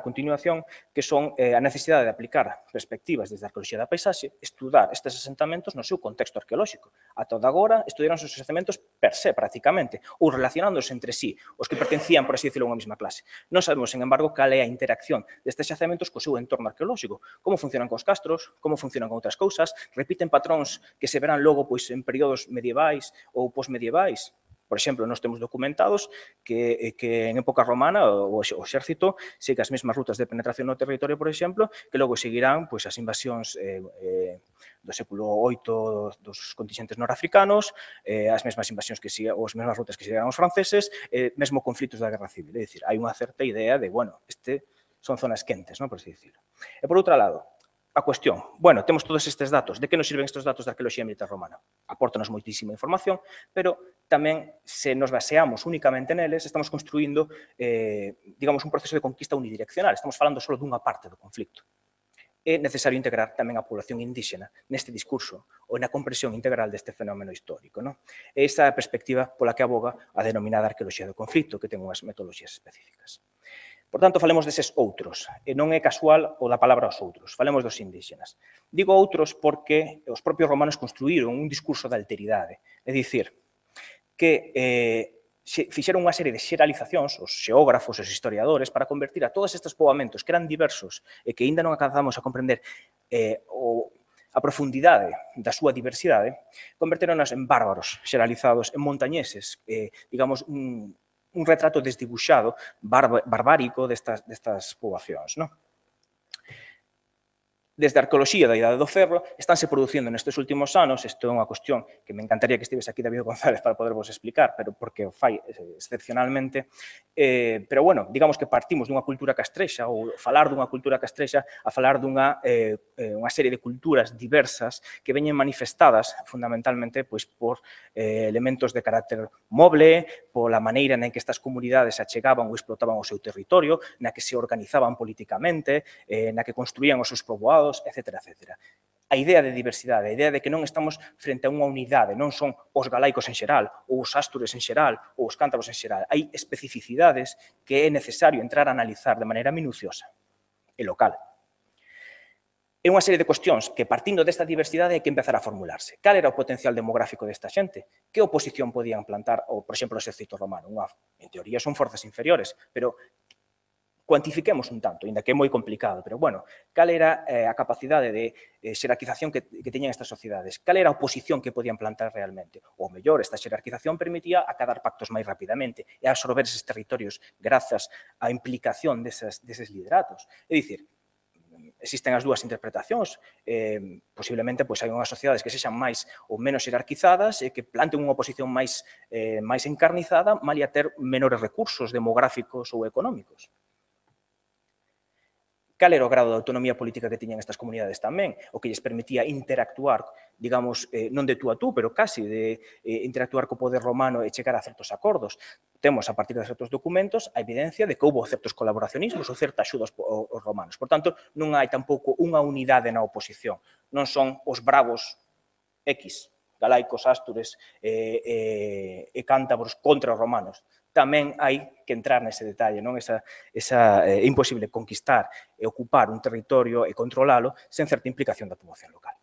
C: continuación, que son a necesidade de aplicar perspectivas desde a arqueoloxía da paisaxe, estudar estes asentamentos no seu contexto arqueolóxico. Ata agora, estudaron os asentamentos per se, prácticamente, ou relacionándose entre sí, os que pertencían, por así decirlo, a unha mesma clase. Non sabemos, sen embargo, cal é a interacción destes asentamentos co seu entorno arqueolóxico, como funcionan cos castros, como funcionan con outras cousas, repiten patróns que se verán logo pois, en períodos medievais ou postmedievais. Por exemplo, nós temos documentados que, que en época romana o, o exército sigue as mesmas rutas de penetración no territorio, por exemplo, que logo seguirán pois, as invasións eh, eh, do século oito dos contingentes norafricanos, eh, as mesmas invasións que siga, ou as mesmas rutas que seguirán os franceses, eh, mesmo conflitos da Guerra Civil. É dicir, hai unha certa idea de, bueno, este son zonas quentes, non, por así decirlo. E por outro lado, a cuestión, bueno, temos todos estes datos, de que nos sirven estes datos da arqueoloxía militar romana? Apórtanos moitísima información, pero tamén, se nos baseamos únicamente neles, estamos construindo, eh, digamos, un proceso de conquista unidireccional, estamos falando só dunha parte do conflicto. É necesario integrar tamén a población indígena neste discurso ou na comprensión integral deste fenómeno histórico. Non? É esa a perspectiva pola que aboga a denominada arqueoloxía do conflicto, que ten unhas metodoloxías específicas. Por tanto, falemos deses outros, e non é casual o da palabra os outros, falemos dos indígenas. Digo outros porque os propios romanos construíron un discurso de alteridade, é dicir, que eh, fixeron unha serie de xeralizacións, os xeógrafos, os historiadores, para convertir a todos estes poboamentos que eran diversos e que aínda non alcanzamos a comprender eh, o, a profundidade da súa diversidade, converteronos en bárbaros xeralizados, en montañeses, eh, digamos, un un retrato desdibuixado, barbárico destas, destas poboacións. Non? Desde a arqueoloxía da Idade do Ferro, estánse producindo nestes últimos anos, isto é unha cuestión que me encantaría que estivese aquí David González para podervos explicar, pero porque o fai excepcionalmente, eh, pero bueno, digamos que partimos dunha cultura castrexa, ou falar dunha cultura castrexa a falar dunha eh, unha serie de culturas diversas que veñen manifestadas fundamentalmente pois, por eh, elementos de carácter moble, pola maneira na que estas comunidades achegaban ou explotaban o seu territorio, na que se organizaban políticamente, eh, na que construían os seus poboados, etcétera, etcétera. A idea de diversidade, a idea de que non estamos frente a unha unidade, non son os galaicos en xeral, ou os astures en xeral, ou os cántabros en xeral. Hai especificidades que é necesario entrar a analizar de maneira minuciosa e local. É unha serie de cuestións que, partindo desta diversidade, hai que empezar a formularse. Cal era o potencial demográfico desta xente? Que oposición podían plantar, ou, por exemplo, o exército romano? Unha, en teoría, son forzas inferiores, pero cuantifiquemos un tanto, ainda que é moi complicado, pero, bueno, cal era eh, a capacidade de eh, xerarquización que, que teñan estas sociedades? Cal era a oposición que podían plantar realmente? Ou, mellor, esta xerarquización permitía acadar pactos máis rapidamente e absorber eses territorios grazas á implicación desas, deses lideratos. É dicir, existen as dúas interpretacións, eh, posiblemente pois, hai unhas sociedades que sexan máis ou menos xerarquizadas e que planten unha oposición máis, eh, máis encarnizada, malia ter menores recursos demográficos ou económicos. cal era o grado de autonomía política que tiñan estas comunidades tamén, o que lles permitía interactuar, digamos, eh, non de tú a tú, pero casi de eh, interactuar co poder romano e chegar a certos acordos. Temos, a partir de certos documentos, a evidencia de que houve certos colaboracionismos ou certa axuda aos, aos romanos. Por tanto, non hai tampouco unha unidade na oposición. Non son os bravos X, galaicos, ástures e, e, e cántabros contra os romanos. Tamén hai que entrar nese detalle, non? Esa, esa é eh, imposible conquistar e ocupar un territorio e controlalo sen certa implicación da poboación local.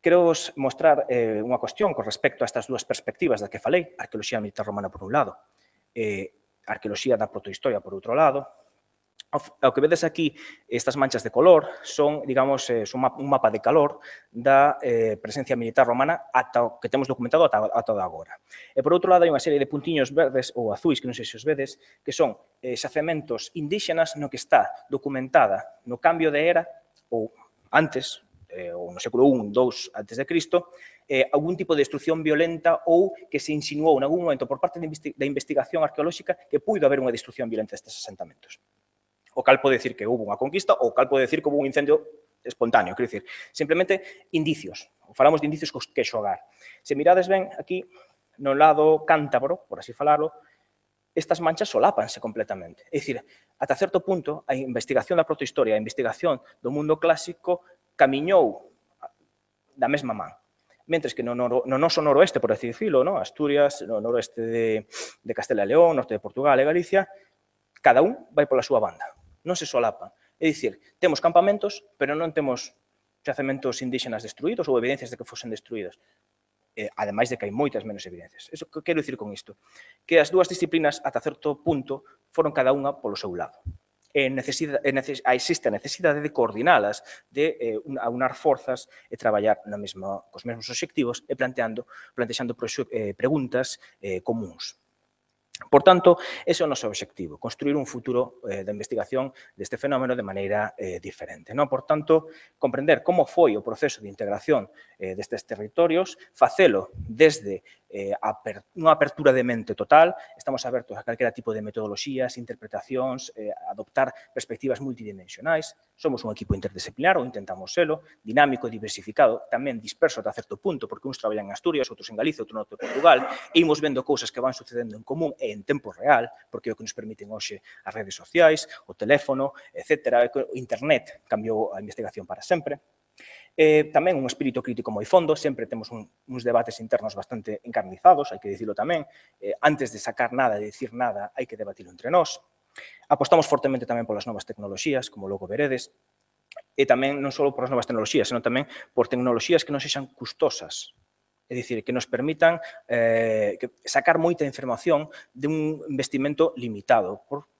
C: Quero vos mostrar eh, unha cuestión con respecto a estas dúas perspectivas da que falei, a arqueoloxía militar romana por un lado, e a arqueoloxía da protohistoria por outro lado. Ao que vedes aquí, estas manchas de color son, digamos, son un mapa de calor da eh, presencia militar romana ata o que temos documentado ata, ata agora. E por outro lado, hai unha serie de puntiños verdes ou azuis, que non sei se os vedes, que son eh, xacementos indígenas no que está documentada no cambio de era ou antes, eh, ou no século un, dous antes de Cristo, eh, algún tipo de destrucción violenta ou que se insinuou en algún momento por parte da investigación arqueolóxica que puido haber unha destrucción violenta destes asentamentos. O cal pode decir que houve unha conquista, ou cal pode decir que houve un incendio espontáneo. Quero dicir, simplemente indicios. Falamos de indicios cos que xogar. Se mirades ben aquí, no lado cántabro, por así falarlo, estas manchas solápanse completamente. É dicir, ata certo punto, a investigación da protohistoria, a investigación do mundo clásico, camiñou da mesma man. Mentres que no, no, no noso noroeste, por así dicilo, no? Asturias, no noroeste de, de Castela e León, norte de Portugal e Galicia, cada un vai pola súa banda. Non se solapan. É dicir, temos campamentos, pero non temos xacementos indígenas destruídos ou evidencias de que fosen destruídos. Eh, ademais de que hai moitas menos evidencias. Eso que quero dicir con isto? Que as dúas disciplinas, ata certo punto, foron cada unha polo seu lado. E necesita, e neces, existe a necesidade de coordinalas, de eh, aunar forzas e traballar na mesma, cos mesmos obxectivos e planteando, plantexando eh, preguntas eh, comuns. Por tanto, ese é o noso obxectivo, construir un futuro eh, da investigación deste fenómeno de maneira eh, diferente. Non? Por tanto, comprender como foi o proceso de integración eh, destes territorios, facelo desde eh, aper, unha apertura de mente total, estamos abertos a calquera tipo de metodoloxías, interpretacións, eh, adoptar perspectivas multidimensionais, somos un equipo interdisciplinar, ou intentamos selo, dinámico, diversificado, tamén disperso ata certo punto, porque uns traballan en Asturias, outros en Galicia, outros no norte de Portugal, e imos vendo cousas que van sucedendo en común e en tempo real, porque é o que nos permiten hoxe as redes sociais, o teléfono, etcétera. O internet cambiou a investigación para sempre. Eh, tamén un espírito crítico moi fondo, sempre temos un, uns debates internos bastante encarnizados, hai que dicilo tamén, eh, antes de sacar nada, de dicir nada, hai que debatilo entre nós. Apostamos fortemente tamén polas novas tecnoloxías, como logo veredes, e tamén non só por as novas tecnoloxías, senón tamén por tecnoloxías que non sexan custosas, é dicir, que nos permitan eh, que sacar moita información de un investimento limitado por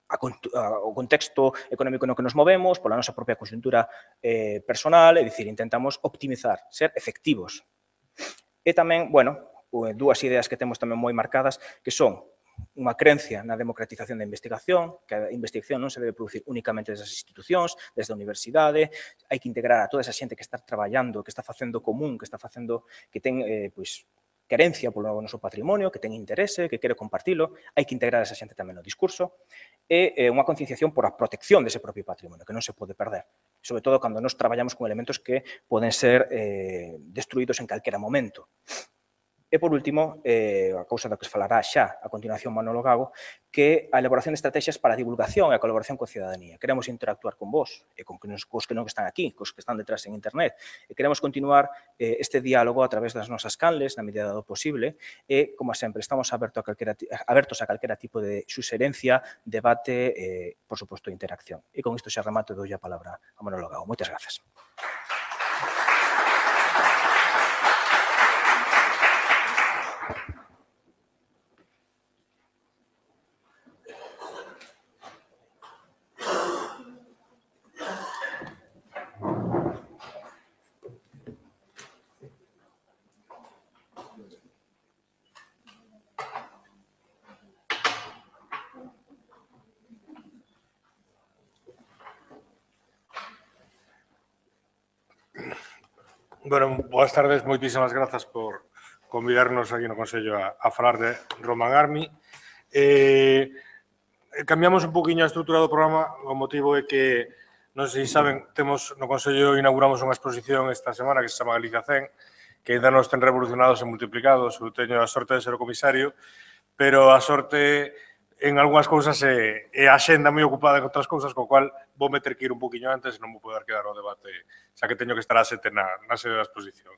C: a, a, o contexto económico no que nos movemos, pola nosa propia conxuntura eh, personal, é dicir, intentamos optimizar, ser efectivos. E tamén, bueno, dúas ideas que temos tamén moi marcadas, que son unha crencia na democratización da investigación, que a investigación non se debe producir únicamente desde as institucións, desde a universidade, hai que integrar a toda esa xente que está traballando, que está facendo común, que está facendo, que ten, eh, pois, querencia polo noso patrimonio, que ten interese, que quere compartilo, hai que integrar a esa xente tamén no discurso, e eh, unha concienciación por a protección dese propio patrimonio, que non se pode perder, sobre todo cando nos traballamos con elementos que poden ser eh, destruídos en calquera momento. E, por último, eh, a cousa da que se falará xa a continuación Manolo Gago, que a elaboración de estrategias para a divulgación e a colaboración coa cidadanía. Queremos interactuar con vos e con os que non están aquí, cos que están detrás en internet. E queremos continuar eh, este diálogo a través das nosas canles, na medida do posible, e, como sempre, estamos abertos a calquera, abertos a calquera tipo de suxerencia, debate e, por suposto, interacción. E con isto xa remato e dou a palabra a Manolo Gago. Moitas grazas.
D: Bueno, boas tardes, moitísimas grazas por convidarnos aquí no Consello a, a falar de Roman Army. Eh, cambiamos un poquinho a estrutura do programa, o motivo é que, non sei se saben, temos no Consello inauguramos unha exposición esta semana que se chama Galicia cen, que ainda non estén revolucionados e multiplicados, eu teño a sorte de ser o comisario, pero a sorte en algunhas cousas e, e a xenda moi ocupada en outras cousas, co cual vou meter que ir un poquinho antes e non vou poder quedar ao debate, xa que teño que estar a sete na, na sede da exposición.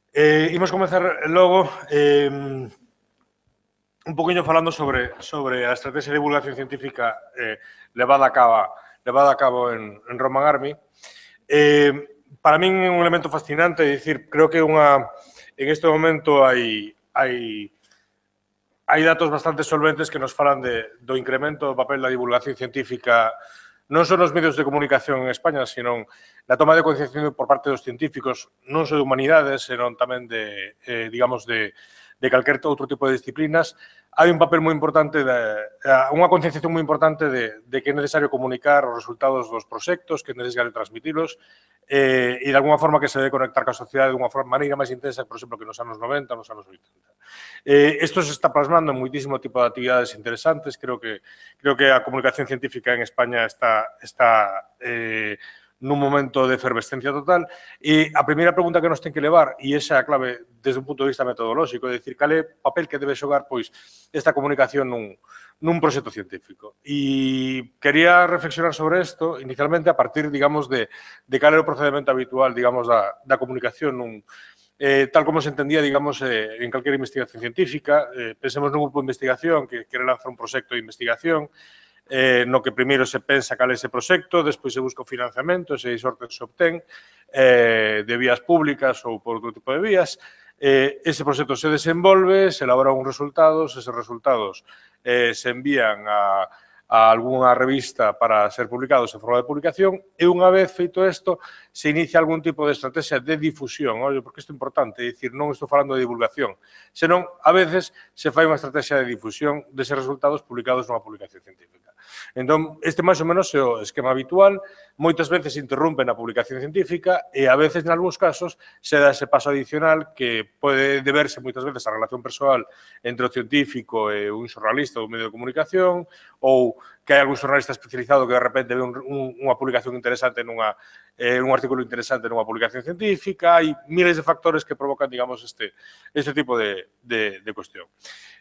D: Eh, imos comenzar logo eh, un poquinho falando sobre, sobre a estrategia de divulgación científica eh, levada a cabo, levada a cabo en, en Roman Army. Eh, para min é un elemento fascinante, é dicir, creo que unha, en este momento hai, hai Hai datos bastante solventes que nos falan de, do incremento do papel da divulgación científica non só nos medios de comunicación en España, sino na toma de concienciación por parte dos científicos, non só de humanidades, senón tamén de, eh, digamos, de, de calquer outro tipo de disciplinas. Hai un papel moi importante, de, unha concienciación moi importante de, de que é necesario comunicar os resultados dos proxectos, que é necesario transmitilos, eh, e de alguma forma que se debe conectar ca sociedade de unha maneira máis intensa, por exemplo, que nos anos noventa, nos anos oitenta. Eh, isto se está plasmando en moitísimo tipo de actividades interesantes. Creo que, creo que a comunicación científica en España está, está eh, nun momento de efervescencia total. E a primeira pregunta que nos ten que levar, e esa é a clave desde un punto de vista metodolóxico, é dicir, cal é o papel que debe xogar pois, esta comunicación nun, nun proxecto científico. E quería reflexionar sobre isto inicialmente a partir, digamos, de, de cal é o procedimento habitual, digamos, da, da comunicación nun, eh, tal como se entendía, digamos, eh, en calquera investigación científica. Eh, pensemos nun grupo de investigación que quere lanzar un proxecto de investigación, eh, no que primeiro se pensa cal é ese proxecto, despois se busca o financiamento, se hai sorte se obtén eh, de vías públicas ou por outro tipo de vías. Eh, ese proxecto se desenvolve, se elabora uns resultados, eses resultados eh, se envían a, a algunha revista para ser publicados en forma de publicación e unha vez feito isto se inicia algún tipo de estrategia de difusión. Ollo, porque isto é importante, é dicir, non estou falando de divulgación, senón a veces se fai unha estrategia de difusión deses resultados publicados nunha publicación científica. Entón, este máis ou menos é o esquema habitual. Moitas veces se interrompe na publicación científica e a veces, en algúns casos, se dá ese paso adicional que pode deberse moitas veces á relación persoal entre o científico e un xornalista ou un medio de comunicación, ou que hai algún xornalista especializado que de repente ve un, un, unha publicación interesante nunha, eh, un artículo interesante nunha publicación científica. Hai miles de factores que provocan, digamos, este, este tipo de, de, de cuestión.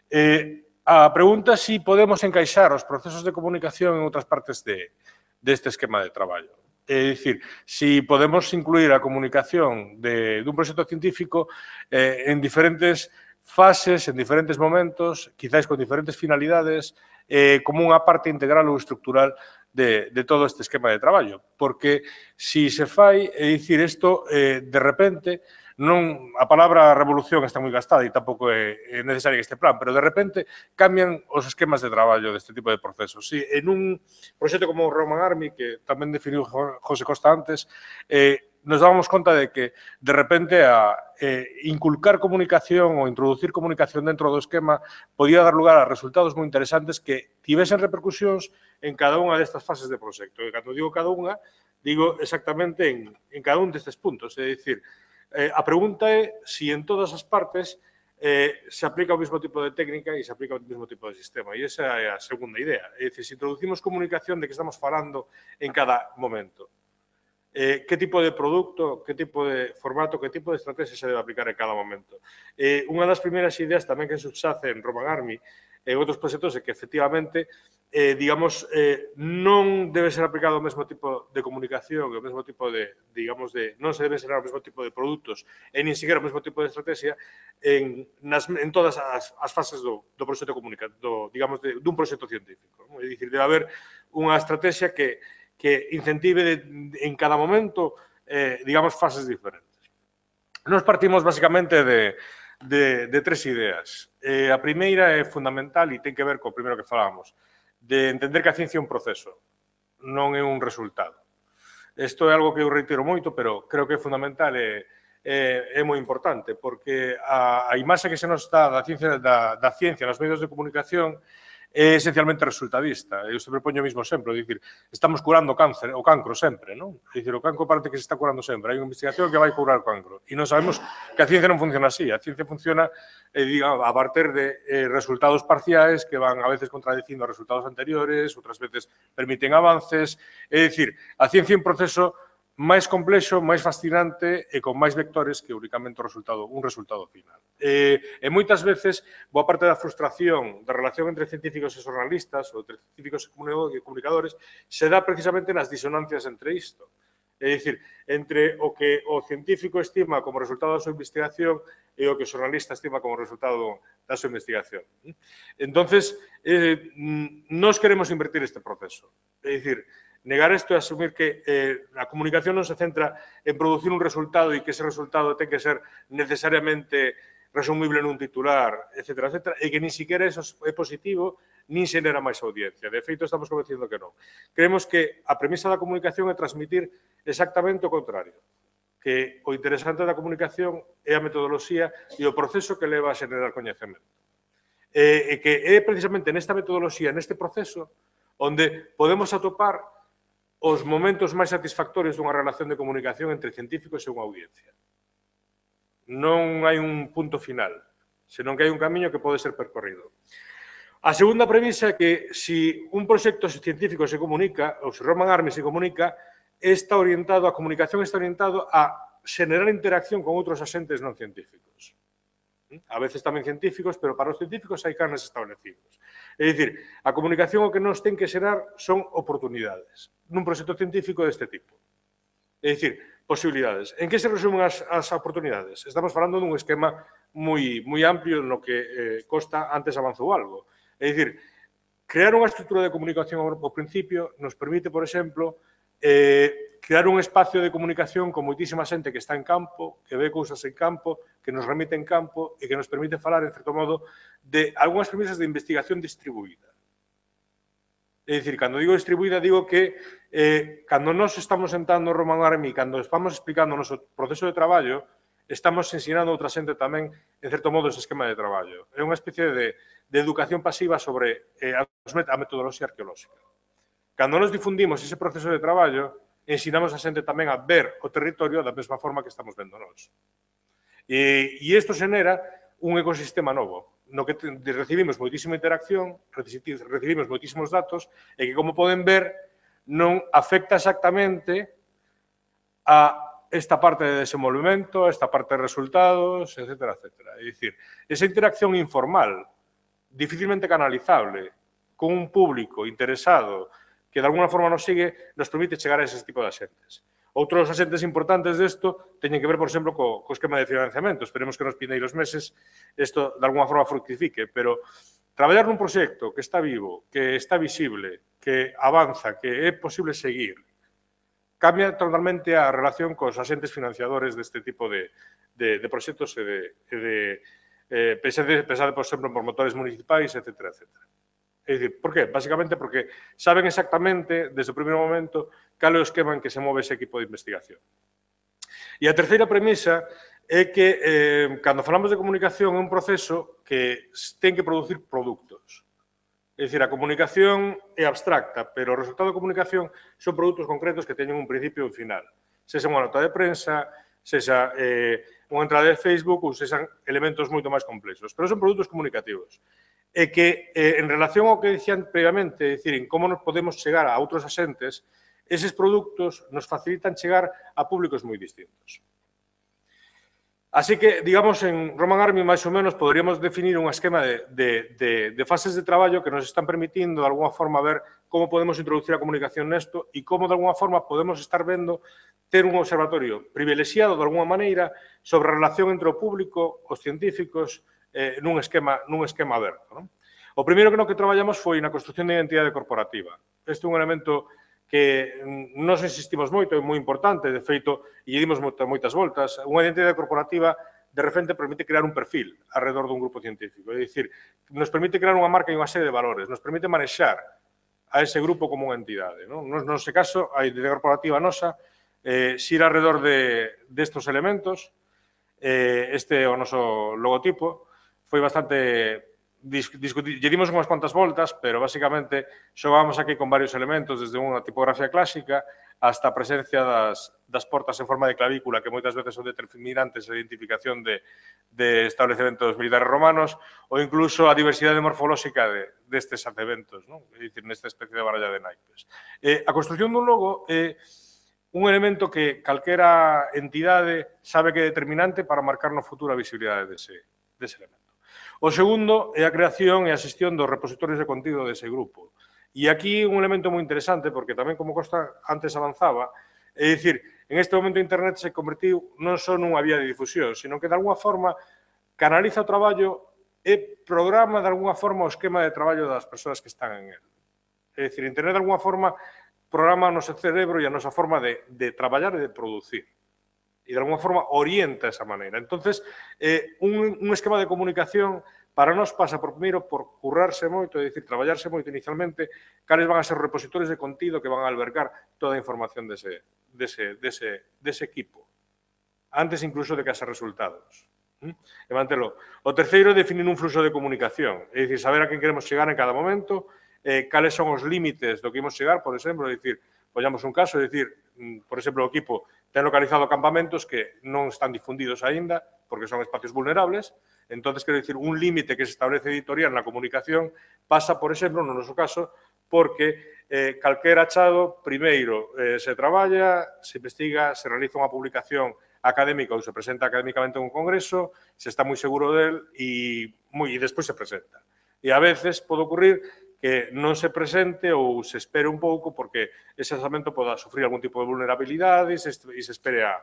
D: Eh, a pregunta é si podemos encaixar os procesos de comunicación en outras partes de, deste esquema de traballo. É dicir, si podemos incluir a comunicación de, dun proxecto científico eh, en diferentes fases, en diferentes momentos, quizáis con diferentes finalidades, eh, como unha parte integral ou estructural de, de todo este esquema de traballo. Porque si se fai, é dicir, isto eh, de repente, non, a palabra revolución está moi gastada e tampouco é, é necesaria este plan, pero de repente cambian os esquemas de traballo deste tipo de procesos. Si en un proxecto como o Roman Army, que tamén definiu José Costa antes, eh, nos dábamos conta de que, de repente, a eh, inculcar comunicación ou introducir comunicación dentro do esquema podía dar lugar a resultados moi interesantes que tivesen repercusións en cada unha destas fases de proxecto. E cando digo cada unha, digo exactamente en, en cada un destes puntos. É dicir, eh, a pregunta é se en todas as partes eh, se aplica o mesmo tipo de técnica e se aplica o mesmo tipo de sistema. E esa é a segunda idea. É dicir, se introducimos comunicación de que estamos falando en cada momento. Eh, que tipo de produto, que tipo de formato, que tipo de estrategia se debe aplicar en cada momento. Eh, unha das primeiras ideas tamén que subxace en Roman Army e outros proxectos é que, efectivamente, eh, digamos, eh, non debe ser aplicado o mesmo tipo de comunicación, o mesmo tipo de, digamos, de, non se debe ser o mesmo tipo de produtos e nin siquiera o mesmo tipo de estrategia en, nas, en todas as, as fases do, do proxecto comunicativo, digamos, de, dun proxecto científico. ¿No? É dicir, debe haber unha estrategia que que incentive de, de, en cada momento, eh, digamos, fases diferentes. Nos partimos, basicamente, de, de, de tres ideas. Eh, a primeira é fundamental e ten que ver co primeiro que falábamos, de entender que a ciencia é un proceso, non é un resultado. Isto é algo que eu reitero moito, pero creo que é fundamental e é, é moi importante, porque a, a imaxe que se nos dá da ciencia, da, da ciencia nos medios de comunicación é esencialmente resultadista. Eu sempre poño o mismo exemplo, é dicir, estamos curando cáncer, o cancro sempre, non? É dicir, o cancro parece que se está curando sempre. Hai unha investigación que vai curar o cancro. E non sabemos que a ciencia non funciona así. A ciencia funciona eh, diga, a partir de eh, resultados parciais que van a veces contradicindo resultados anteriores, outras veces permiten avances. É dicir, a ciencia é un proceso máis complexo, máis fascinante e con máis vectores que únicamente o resultado, un resultado final. E, e moitas veces, boa parte da frustración da relación entre científicos e xornalistas ou entre científicos e comunicadores se dá precisamente nas disonancias entre isto. É dicir, entre o que o científico estima como resultado da súa investigación e o que o xornalista estima como resultado da súa investigación. Entonces, eh, nós queremos invertir este proceso. É dicir, negar isto é asumir que eh, a comunicación non se centra en producir un resultado e que ese resultado ten que ser necesariamente resumible nun titular, etcétera, etcétera, e que nin siquiera eso é positivo, nin xenera máis audiencia. De feito, estamos convenciendo que non. Creemos que a premisa da comunicación é transmitir exactamente o contrario, que o interesante da comunicación é a metodoloxía e o proceso que leva a xenerar coñecemento. E, e que é precisamente nesta metodoloxía, neste proceso, onde podemos atopar os momentos máis satisfactorios dunha relación de comunicación entre científicos e unha audiencia. Non hai un punto final, senón que hai un camiño que pode ser percorrido. A segunda premisa é que se un proxecto científico se comunica, ou se Roman Army se comunica, está orientado, a comunicación está orientado a xenerar interacción con outros asentes non científicos. A veces tamén científicos, pero para os científicos hai canes establecidos. É dicir, a comunicación o que nos ten que xerar son oportunidades nun proxecto científico deste tipo. É dicir, posibilidades. En que se resumen as, as oportunidades? Estamos falando dun esquema moi, moi amplio no que eh, Costa antes avanzou algo. É dicir, crear unha estrutura de comunicación ao principio nos permite, por exemplo, eh, crear un espacio de comunicación con moitísima xente que está en campo, que ve cousas en campo, que nos remite en campo e que nos permite falar, en certo modo, de algunhas premisas de investigación distribuída. É dicir, cando digo distribuída, digo que eh, cando nos estamos sentando no Roman Army, cando estamos explicando o noso proceso de traballo, estamos ensinando a outra xente tamén, en certo modo, ese esquema de traballo. É unha especie de, de educación pasiva sobre eh, a metodoloxía arqueolóxica. Cando nos difundimos ese proceso de traballo, ensinamos a xente tamén a ver o territorio da mesma forma que estamos vendo nós. E, e isto xenera un ecosistema novo, no que recibimos moitísima interacción, recibimos moitísimos datos, e que, como poden ver, non afecta exactamente a esta parte de desenvolvemento, a esta parte de resultados, etcétera, etcétera. É dicir, esa interacción informal, dificilmente canalizable, con un público interesado que de alguna forma nos sigue, nos permite chegar a ese tipo de asentes. Outros asentes importantes desto teñen que ver, por exemplo, co, co esquema de financiamento. Esperemos que nos pindeiros meses isto de alguna forma fructifique, pero traballar nun proxecto que está vivo, que está visible, que avanza, que é posible seguir, cambia totalmente a relación cos asentes financiadores deste tipo de, de, de proxectos e de, de eh, pensade, pensade, por exemplo, por motores municipais, etcétera, etcétera. É dicir, por qué? Básicamente porque saben exactamente, desde o primeiro momento, cal é o esquema en que se move ese equipo de investigación. E a terceira premisa é que, eh, cando falamos de comunicación, é un proceso que ten que producir produtos. É dicir, a comunicación é abstracta, pero o resultado da comunicación son produtos concretos que teñen un principio e un final. Sexa unha nota de prensa, sexa eh, unha entrada de Facebook ou sexan elementos moito máis complexos. Pero son produtos comunicativos. E que, eh, en relación ao que dicían previamente, é dicir, en como nos podemos chegar a outros asentes, eses produtos nos facilitan chegar a públicos moi distintos. Así que, digamos, en Roman Army, máis ou menos, poderíamos definir un esquema de, de, de, de fases de traballo que nos están permitindo, de alguna forma, ver como podemos introducir a comunicación nesto e como, de alguna forma, podemos estar vendo ter un observatorio privilexiado, de alguna maneira, sobre a relación entre o público, os científicos, eh, nun, esquema, nun esquema aberto. Non? O primeiro que no que traballamos foi na construción de identidade corporativa. Este é un elemento que nos insistimos moito, é moi importante, de feito, e dimos moitas voltas. Unha identidade corporativa, de repente, permite crear un perfil alrededor dun grupo científico. É dicir, nos permite crear unha marca e unha serie de valores, nos permite manexar a ese grupo como unha entidade. Non? No noso caso, a identidade corporativa nosa eh, xira alrededor de, destos elementos. Eh, este é o noso logotipo. Foi bastante discutir, lle dimos unhas cuantas voltas, pero basicamente xogamos aquí con varios elementos, desde unha tipografía clásica hasta a presencia das, das portas en forma de clavícula, que moitas veces son determinantes de identificación de, de establecementos militares romanos, ou incluso a diversidade morfolóxica de, destes eventos, non? É dicir, nesta especie de baralla de naipes. Eh, a construción dun logo é un elemento que calquera entidade sabe que é determinante para marcar no futuro a visibilidade dese, dese elemento. O segundo é a creación e a xestión dos repositorios de contido dese grupo. E aquí un elemento moi interesante, porque tamén, como Costa antes avanzaba, é dicir, en este momento Internet se convertiu non só nunha vía de difusión, sino que, de alguna forma, canaliza o traballo e programa, de alguna forma, o esquema de traballo das persoas que están en él. É dicir, Internet, de alguna forma, programa o noso cerebro e a nosa forma de, de traballar e de producir. E, de alguna forma, orienta esa maneira. Entonces, eh, un, un esquema de comunicación para nós pasa por primeiro por currarse moito, é dicir, traballarse moito inicialmente, cales van a ser repositorios de contido que van a albergar toda a información dese, dese, dese, dese equipo, antes incluso de que haxa resultados. E mantelo. O terceiro é definir un fluxo de comunicación, é dicir, saber a quen queremos chegar en cada momento, eh, cales son os límites do que imos chegar, por exemplo, é dicir, poñamos un caso, é dicir, por exemplo, o equipo ten localizado campamentos que non están difundidos aínda, porque son espacios vulnerables. Entonces, quero dicir, un límite que se establece editorial na comunicación pasa, por exemplo, no noso caso, porque eh, calquer achado, primeiro, eh, se traballa, se investiga, se realiza unha publicación académica ou se presenta académicamente en un congreso, se está moi seguro del e, moi, e despois se presenta. E a veces pode ocurrir que non se presente ou se espere un pouco porque ese asamento poda sufrir algún tipo de vulnerabilidade e se, e se espere a,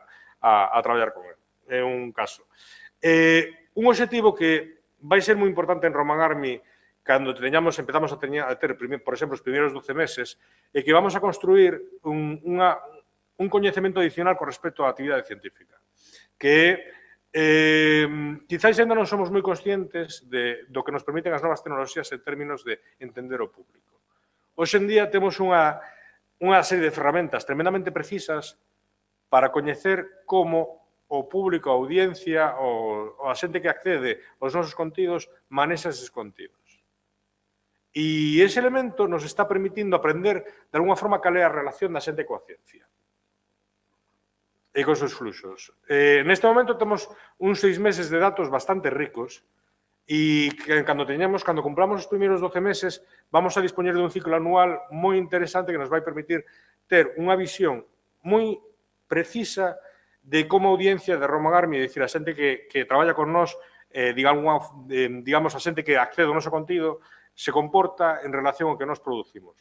D: a, a traballar con él. É un caso. Eh, un objetivo que vai ser moi importante en Roman Army cando teñamos, empezamos a, teña, a ter, por exemplo, os primeiros doce meses, é que vamos a construir un, unha, un coñecemento adicional con respecto á actividade científica, que Eh, quizáis ainda non somos moi conscientes de, do que nos permiten as novas tecnoloxías en términos de entender o público. Hoxe en día temos unha, unha serie de ferramentas tremendamente precisas para coñecer como o público, a audiencia, o, o a xente que accede aos nosos contidos manexa eses contidos. E ese elemento nos está permitindo aprender de alguna forma cal é a relación da xente coa ciencia e con seus fluxos. Eh, neste momento temos uns seis meses de datos bastante ricos e que, cando teñamos, cando cumplamos os primeiros doce meses, vamos a dispoñer de un ciclo anual moi interesante que nos vai permitir ter unha visión moi precisa de como a audiencia de Roman Army, é dicir, a xente que, que traballa con nós, eh, digamos, eh, digamos, a xente que accede ao noso contido, se comporta en relación ao que nós producimos.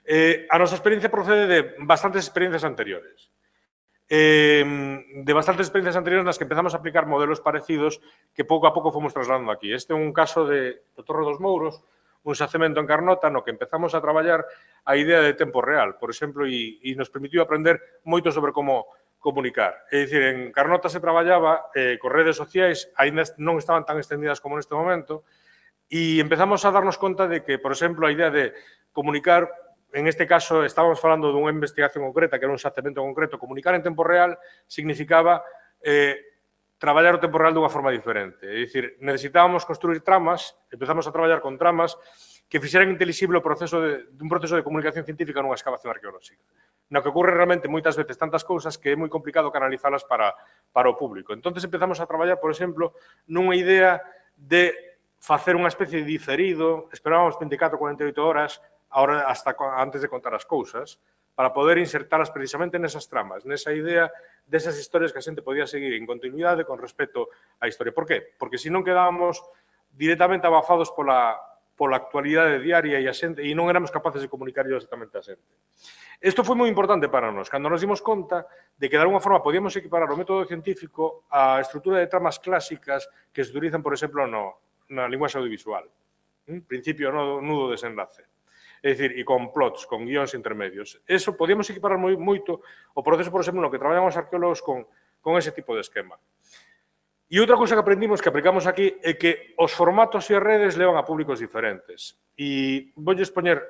D: Eh, a nosa experiencia procede de bastantes experiencias anteriores. Eh, de bastantes experiencias anteriores nas que empezamos a aplicar modelos parecidos que pouco a pouco fomos trasladando aquí. Este é un caso de, de Torre dos Mouros, un xacemento en Carnota no que empezamos a traballar a idea de tempo real, por exemplo, e, e nos permitiu aprender moito sobre como comunicar. É dicir, en Carnota se traballaba eh, con redes sociais, aínda non estaban tan extendidas como neste momento, e empezamos a darnos conta de que, por exemplo, a idea de comunicar, en este caso, estábamos falando dunha investigación concreta, que era un xacemento concreto, comunicar en tempo real significaba eh, traballar o tempo real dunha forma diferente. É dicir, necesitábamos construir tramas, empezamos a traballar con tramas que fixeran intelixible o proceso de, un proceso de comunicación científica nunha excavación arqueolóxica. No que ocorre realmente moitas veces tantas cousas que é moi complicado canalizalas para, para o público. Entón, empezamos a traballar, por exemplo, nunha idea de facer unha especie de diferido, esperábamos vinte e catro a cuarenta e oito horas, ahora hasta antes de contar as cousas, para poder insertalas precisamente nesas tramas, nesa idea desas historias que a xente podía seguir en continuidade con respecto á historia. Por qué? Porque se non quedábamos directamente abafados pola, pola actualidade diaria e a xente e non éramos capaces de comunicar directamente a xente. Isto foi moi importante para nós, cando nos dimos conta de que de alguna forma podíamos equiparar o método científico á estrutura de tramas clásicas que se utilizan, por exemplo, no, na linguaxe audiovisual. ¿Mm? Principio, nodo, nudo, desenlace. É dicir, e con plots, con guións intermedios. Eso podíamos equiparar moi, moito o proceso, por exemplo, no que traballan os arqueólogos con, con ese tipo de esquema. E outra cousa que aprendimos, que aplicamos aquí, é que os formatos e as redes levan a públicos diferentes. E vou expoñer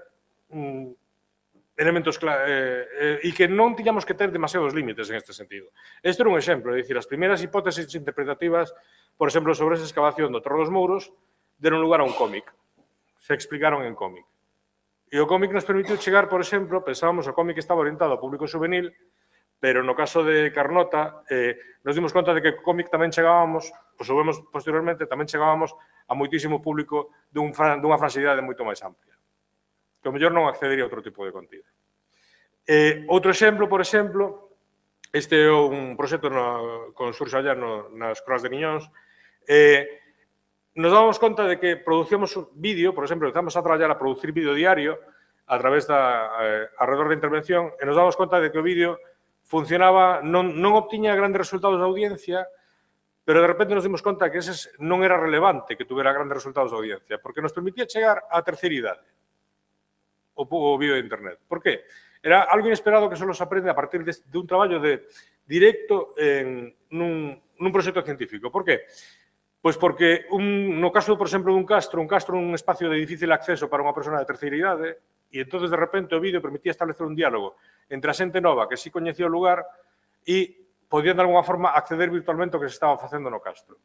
D: mm, elementos claros, eh, eh, e que non tiñamos que ter demasiados límites en este sentido. Este era un exemplo, é dicir, as primeiras hipótesis interpretativas por exemplo, sobre esa excavación do Torre dos Mouros, deron lugar a un cómic. Se explicaron en cómic. E o cómic nos permitiu chegar, por exemplo, pensábamos que o cómic estaba orientado ao público juvenil, pero no caso de Carnota eh, nos dimos conta de que o cómic tamén chegábamos, o soubemos posteriormente, tamén chegábamos a moitísimo público dun, dunha fransidade moito máis amplia, que o mellor non accedería a outro tipo de contido. Eh, outro exemplo, por exemplo, este é un proxecto no, con Xurxo Allá no, nas Croas de Niñóns, eh, nos dábamos conta de que producíamos vídeo, por exemplo, empezamos a traballar a producir vídeo diario a través da, eh, alrededor da intervención, e nos dábamos conta de que o vídeo funcionaba, non, non obtiña grandes resultados de audiencia, pero de repente nos dimos conta que ese non era relevante que tuviera grandes resultados de audiencia, porque nos permitía chegar á terceira idade, o, o vídeo de internet. Por qué? Era algo inesperado que só se aprende a partir de, de un traballo de directo en nun, nun proxecto científico. Por qué? Pois porque, un, no caso, por exemplo, dun castro, un castro é un espacio de difícil acceso para unha persona de terceira idade, e entón, de repente, o vídeo permitía establecer un diálogo entre a xente nova que sí coñecía o lugar e podían, de alguna forma, acceder virtualmente ao que se estaba facendo no castro.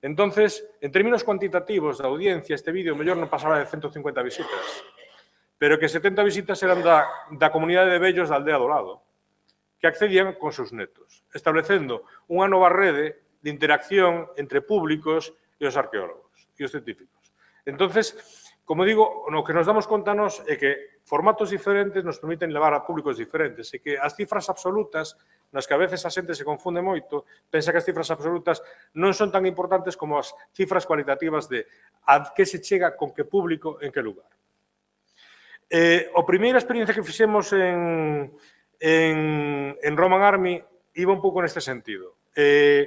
D: Entonces, en términos cuantitativos da audiencia, este vídeo mellor non pasaba de ciento cincuenta visitas, pero que setenta visitas eran da, da comunidade de vellos da aldea do lado, que accedían con seus netos, establecendo unha nova rede de interacción entre públicos e os arqueólogos e os científicos. Entonces, como digo, o que nos damos conta nos é que formatos diferentes nos permiten levar a públicos diferentes e que as cifras absolutas, nas que a veces a xente se confunde moito, pensa que as cifras absolutas non son tan importantes como as cifras cualitativas de a que se chega con que público en que lugar. Eh, a primeira experiencia que fixemos en, en, en Roman Army iba un pouco neste sentido. Eh,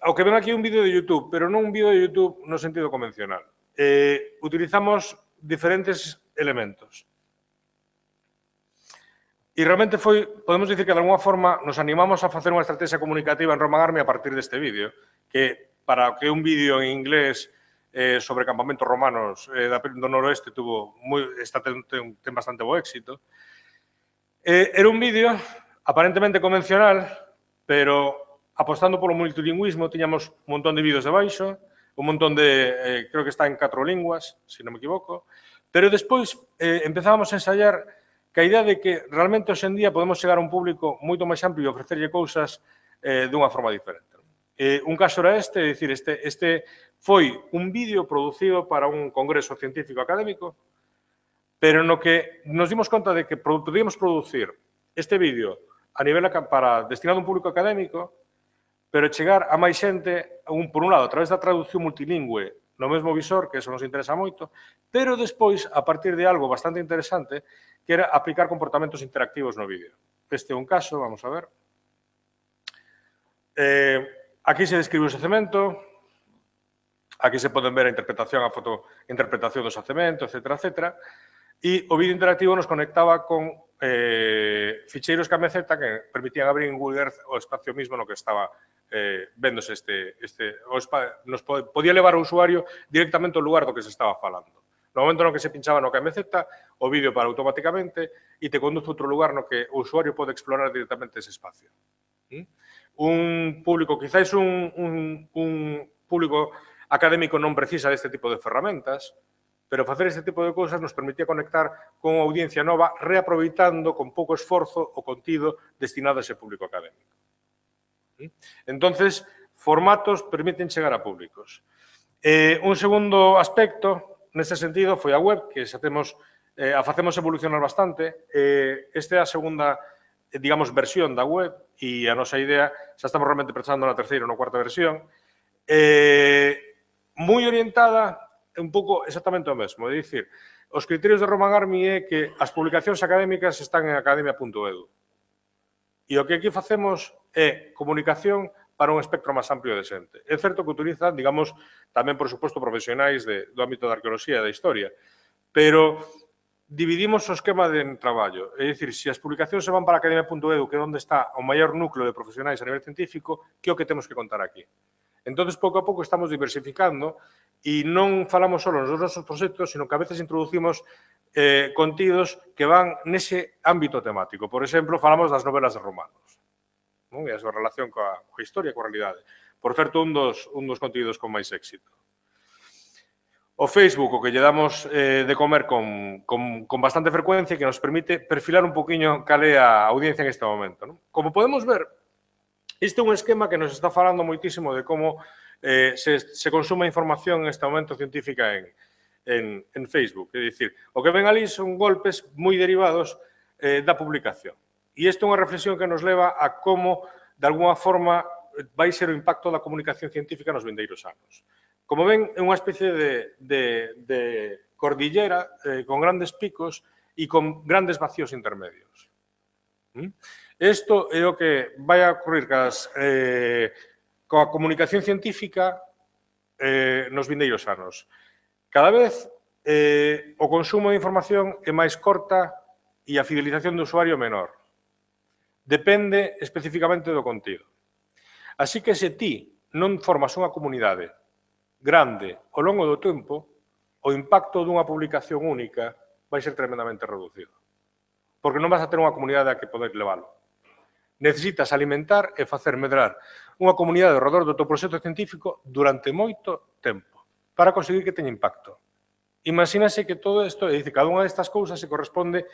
D: ao que ven aquí un vídeo de YouTube, pero non un vídeo de YouTube no sentido convencional. Eh, utilizamos diferentes elementos. E realmente foi, podemos dicir que de alguna forma nos animamos a facer unha estrategia comunicativa en Roman Army a partir deste vídeo, que para que un vídeo en inglés eh, sobre campamentos romanos eh, do noroeste tuvo moi, está, ten, ten, ten bastante bo éxito. Eh, era un vídeo aparentemente convencional, pero apostando polo multilingüismo, tiñamos un montón de vídeos debaixo, un montón de, eh, creo que está en catro linguas, se non me equivoco, pero despois eh, empezábamos a ensayar que a idea de que realmente hoxe en día podemos chegar a un público moito máis amplio e ofrecerlle cousas eh, dunha forma diferente. Eh, un caso era este, é dicir, este, este foi un vídeo producido para un congreso científico académico, pero no que nos dimos conta de que podíamos producir este vídeo a nivel para destinado a un público académico, pero chegar a máis xente, un, por un lado, a través da traducción multilingüe no mesmo visor, que eso nos interesa moito, pero despois, a partir de algo bastante interesante, que era aplicar comportamentos interactivos no vídeo. Este é un caso, vamos a ver. Eh, aquí se describe o xacemento, aquí se poden ver a interpretación, a fotointerpretación do xacemento, etcétera, etcétera, e o vídeo interactivo nos conectaba con eh, ficheiros K M Z que permitían abrir en Google Earth o espacio mismo no que estaba eh, véndose este, este o spa, nos podía levar o usuario directamente ao lugar do que se estaba falando. No momento no que se pinchaba no K M Z, o vídeo para automáticamente e te conduce a outro lugar no que o usuario pode explorar directamente ese espacio. ¿Mm? Un público, quizáis un, un, un público académico non precisa deste tipo de ferramentas, pero facer este tipo de cousas nos permitía conectar con unha audiencia nova reaproveitando con pouco esforzo o contido destinado a ese público académico. Entonces, formatos permiten chegar a públicos. Eh, un segundo aspecto, neste sentido, foi a web, que xa temos, eh, a facemos evolucionar bastante. Eh, esta é a segunda, eh, digamos, versión da web e a nosa idea, xa estamos realmente pensando na terceira ou na cuarta versión, eh, moi orientada un pouco exactamente o mesmo. É dicir, os criterios de Roman Army é que as publicacións académicas están en academia punto edu. E o que aquí facemos é comunicación para un espectro máis amplio de xente. É certo que utilizan, digamos, tamén, por suposto, profesionais de, do ámbito da arqueoloxía e da historia, pero dividimos o esquema de traballo. É dicir, se as publicacións se van para academia punto edu, que é onde está o maior núcleo de profesionais a nivel científico, que é o que temos que contar aquí. Entón, pouco a pouco estamos diversificando e non falamos só nos nosos proxectos, sino que a veces introducimos eh, contidos que van nese ámbito temático. Por exemplo, falamos das novelas de romanos. non? E a súa relación coa, coa historia, coa realidade. Por certo, un dos, un dos contidos con máis éxito. O Facebook, o que lle damos eh, de comer con, con, con bastante frecuencia, que nos permite perfilar un poquinho cal é a audiencia en este momento, non? Como podemos ver, este é un esquema que nos está falando moitísimo de como eh, se, se consume información en este momento científica en, en, en Facebook. É dicir, o que ven ali son golpes moi derivados eh, da publicación. E isto é unha reflexión que nos leva a como, de alguna forma, vai ser o impacto da comunicación científica nos vindeiros anos. Como ven, é unha especie de, de, de cordillera eh, con grandes picos e con grandes vacíos intermedios. Isto é o que vai a ocurrir cas, eh, coa comunicación científica eh, nos vindeiros anos. Cada vez eh, o consumo de información é máis corta e a fidelización do usuario menor. Depende especificamente do contido. Así que se ti non formas unha comunidade grande ao longo do tempo, o impacto dunha publicación única vai ser tremendamente reducido. Porque non vas a ter unha comunidade a que poder leválo. Necesitas alimentar e facer medrar unha comunidade ao redor do teu proxecto científico durante moito tempo para conseguir que teña impacto. Imagínase que todo isto, é dicir, cada unha destas cousas se corresponde,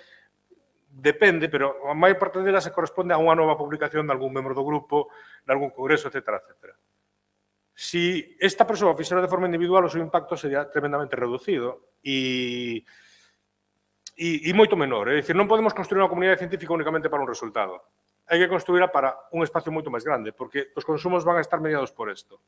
D: depende, pero a maior parte delas se corresponde a unha nova publicación de algún membro do grupo, de algún congreso, etcétera, etcétera. Si esta persoa fixera de forma individual, o seu impacto sería tremendamente reducido e, e, e moito menor. É dicir, non podemos construir unha comunidade científica únicamente para un resultado. Hai que construirla para un espacio moito máis grande, porque os consumos van a estar mediados por isto.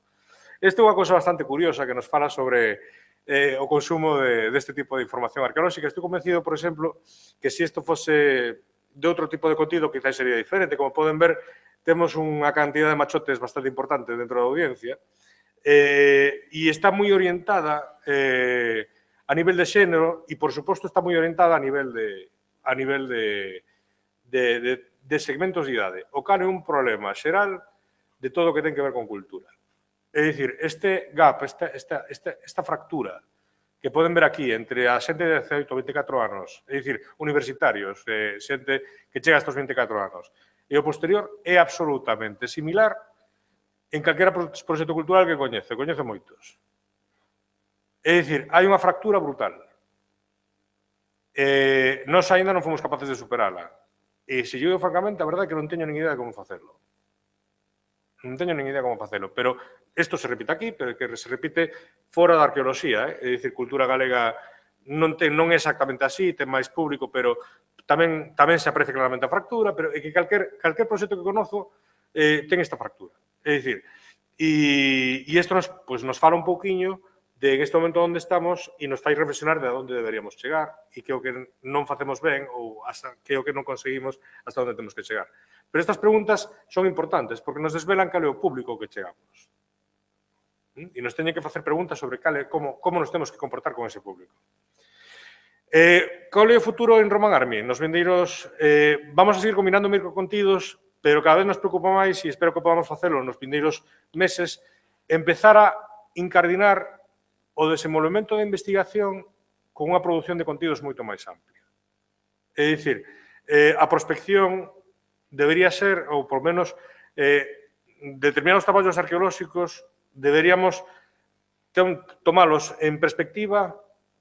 D: Esta é unha cousa bastante curiosa que nos fala sobre eh, o consumo de, deste tipo de información arqueolóxica. Estou convencido, por exemplo, que se isto fose de outro tipo de contido, quizás sería diferente. Como poden ver, temos unha cantidad de machotes bastante importante dentro da audiencia, eh, e está moi orientada eh, a nivel de xénero e, por suposto, está moi orientada a nivel de, a nivel de, de, de, de segmentos de idade. O cal é un problema xeral de todo o que ten que ver con cultura. É dicir, este gap, esta, esta, esta, esta fractura que poden ver aquí entre a xente de dezaoito a vinte e catro anos, é dicir, universitarios, eh, xente que chega a estos vinte e catro anos, e o posterior é absolutamente similar en calquera proxecto cultural que coñece, coñece moitos. É dicir, hai unha fractura brutal. Eh, nós ainda non fomos capaces de superala. E, se eu digo francamente, a verdade é que non teño nin idea de como facelo. Non teño nin idea de como facelo, pero isto se repite aquí, pero que se repite fora da arqueoloxía, eh? É dicir, cultura galega non, ten, non é exactamente así, ten máis público, pero tamén, tamén se aprecia claramente a fractura, pero é que calquer, calquer proxecto que conozo eh, ten esta fractura. É dicir, e, e isto nos, pues, nos fala un pouquiño de en este momento onde estamos e nos fai reflexionar de onde deberíamos chegar e que o que non facemos ben ou hasta que o que non conseguimos hasta onde temos que chegar. Pero estas preguntas son importantes porque nos desvelan cal é o público que chegamos. E nos teñen que facer preguntas sobre cal é, como, como nos temos que comportar con ese público. Eh, cal é o futuro en Roman Army? Nos vindeiros, eh, vamos a seguir combinando microcontidos, pero cada vez nos preocupa máis, e espero que podamos facelo nos vindeiros meses, empezar a incardinar o desenvolvemento de investigación con unha produción de contidos moito máis amplia. É dicir, eh, a prospección debería ser, ou por menos, eh, determinados traballos arqueolóxicos deberíamos tomalos en perspectiva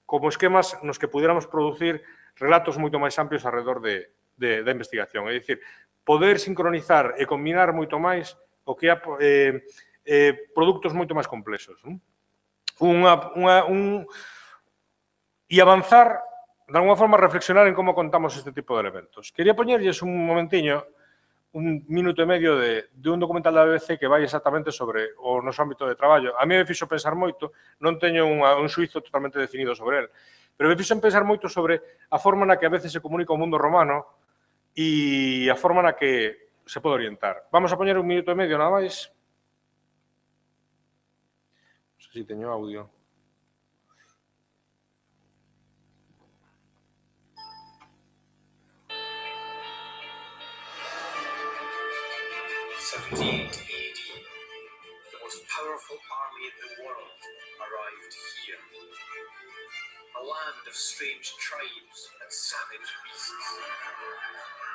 D: como esquemas nos que pudiéramos producir relatos moito máis amplios alrededor de, de, da investigación. É dicir, poder sincronizar e combinar moito máis o que é eh, eh, produtos moito máis complexos. Non? Unha, unha, un, e avanzar, de alguma forma, reflexionar en como contamos este tipo de elementos. Quería poñerlles un momentiño, un minuto e medio de, de un documental da B B C que vai exactamente sobre o noso ámbito de traballo. A mí me fixo pensar moito, non teño unha, un suizo totalmente definido sobre el, pero me fixo pensar moito sobre a forma na que a veces se comunica o mundo romano e a forma na que se pode orientar. Vamos a poñer un minuto e medio nada máis. Non sei se teño audio.
E: seventy-eight A D, the most powerful army in the world arrived here. A land of strange tribes and savage beasts.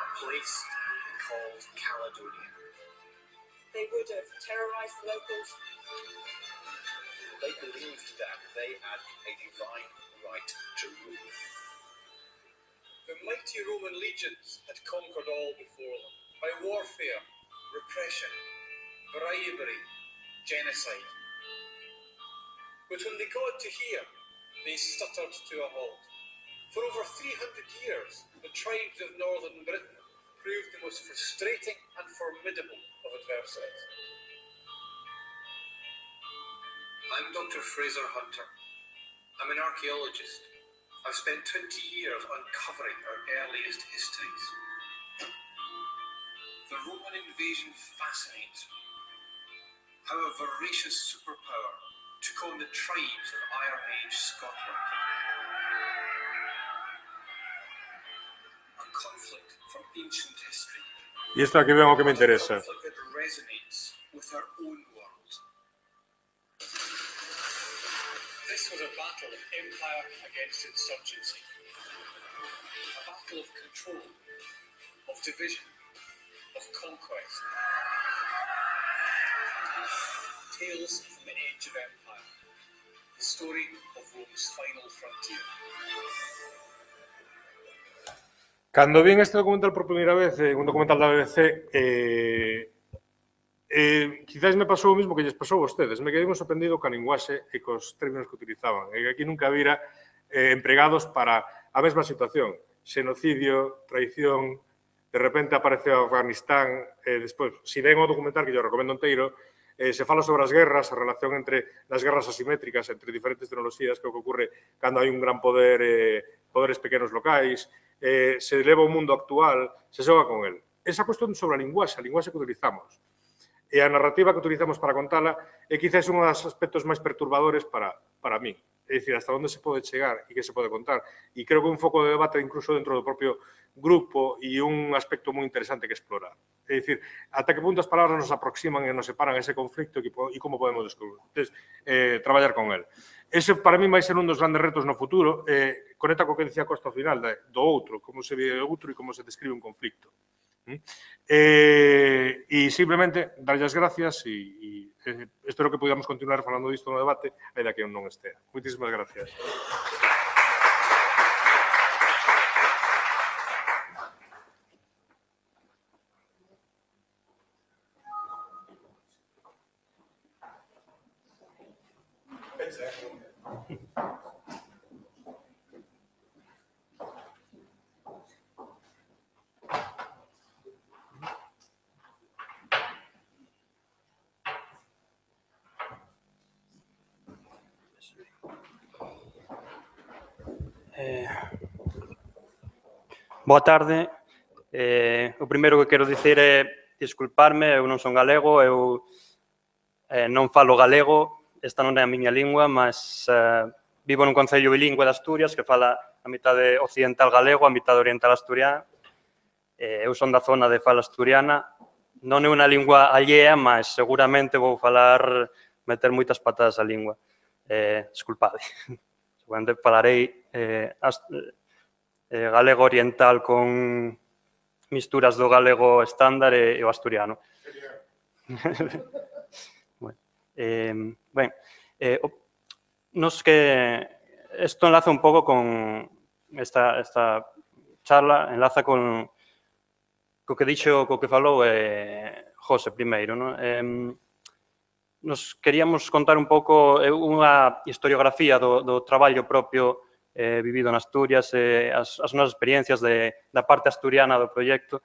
E: A place called Caledonia. they would have terrorized the locals.
F: They believed that they had a divine right to rule.
E: The mighty Roman legions had conquered all before them by warfare, repression, bribery, genocide. But when they got to here, they stuttered to a halt. For over three hundred years, the tribes of northern Britain proved the most frustrating and formidable of adversaries.
F: I'm Doctor Fraser Hunter. I'm an archaeologist. I've spent twenty years uncovering our earliest histories. The Roman invasion fascinates me. How a voracious superpower took on the tribes of Iron Age Scotland. A conflict from ancient history.
D: Y esto aquí vemos que me interesa.
F: A conflict that resonates with our own world.
E: This was a battle of empire against insurgency. A battle of control, of division, of conquest. Tales from the age of empire. The story of Rome's final frontier.
D: Cando vin este documental por primeira vez, eh, un documental da B B C, eh, eh, quizás me pasou o mismo que lles pasou a vostedes. Me quedei moi sorprendido ca linguaxe e cos términos que utilizaban. E aquí nunca vira eh, empregados para a mesma situación. Xenocidio, traición, de repente aparece o Afganistán, e eh, despois, se ven o documental, que yo recomendo inteiro, eh, se fala sobre as guerras, a relación entre as guerras asimétricas entre diferentes tecnoloxías, que é o que ocurre cando hai un gran poder, eh, poderes pequenos locais, eh, se leva o mundo actual, se xoga con el. Esa cuestión sobre a linguaxe, a linguaxe que utilizamos, e a narrativa que utilizamos para contala é quizás un dos aspectos máis perturbadores para, para mí. É dicir, hasta onde se pode chegar e que se pode contar. E creo que un foco de debate incluso dentro do propio grupo e un aspecto moi interesante que explorar. É dicir, ata que punto as palabras nos aproximan e nos separan ese conflicto e como podemos descubrir, entonces, eh, traballar con el. Ese para mí vai ser un dos grandes retos no futuro, eh, conecta co que decía Costa ao final, de, do outro, como se ve o outro e como se describe un conflicto. Eh, e simplemente darlle as gracias e, e eh, espero que podamos continuar falando disto no debate aínda que eu non estea. Moitísimas gracias.
G: Eh, boa tarde. Eh, o primeiro que quero dicir é disculparme, eu non son galego, eu eh, non falo galego, esta non é a miña lingua, mas eh, vivo nun concello bilingüe de Asturias que fala a mitade occidental galego, a mitade oriental asturiano. Eh, eu son da zona de fala asturiana, non é unha lingua allea, mas seguramente vou falar, meter moitas patadas á lingua. Eh, disculpade. Seguramente falarei eh, eh, galego oriental con misturas do galego estándar e, e o asturiano. Bueno, eh, ben, eh, nos que isto enlaza un pouco con esta, esta charla, enlaza con co que dixo, co que falou eh, José primeiro, non? Eh, nos queríamos contar un pouco unha historiografía do, do traballo propio eh, vivido en Asturias, eh, as, as nosas experiencias de, da parte asturiana do proxecto.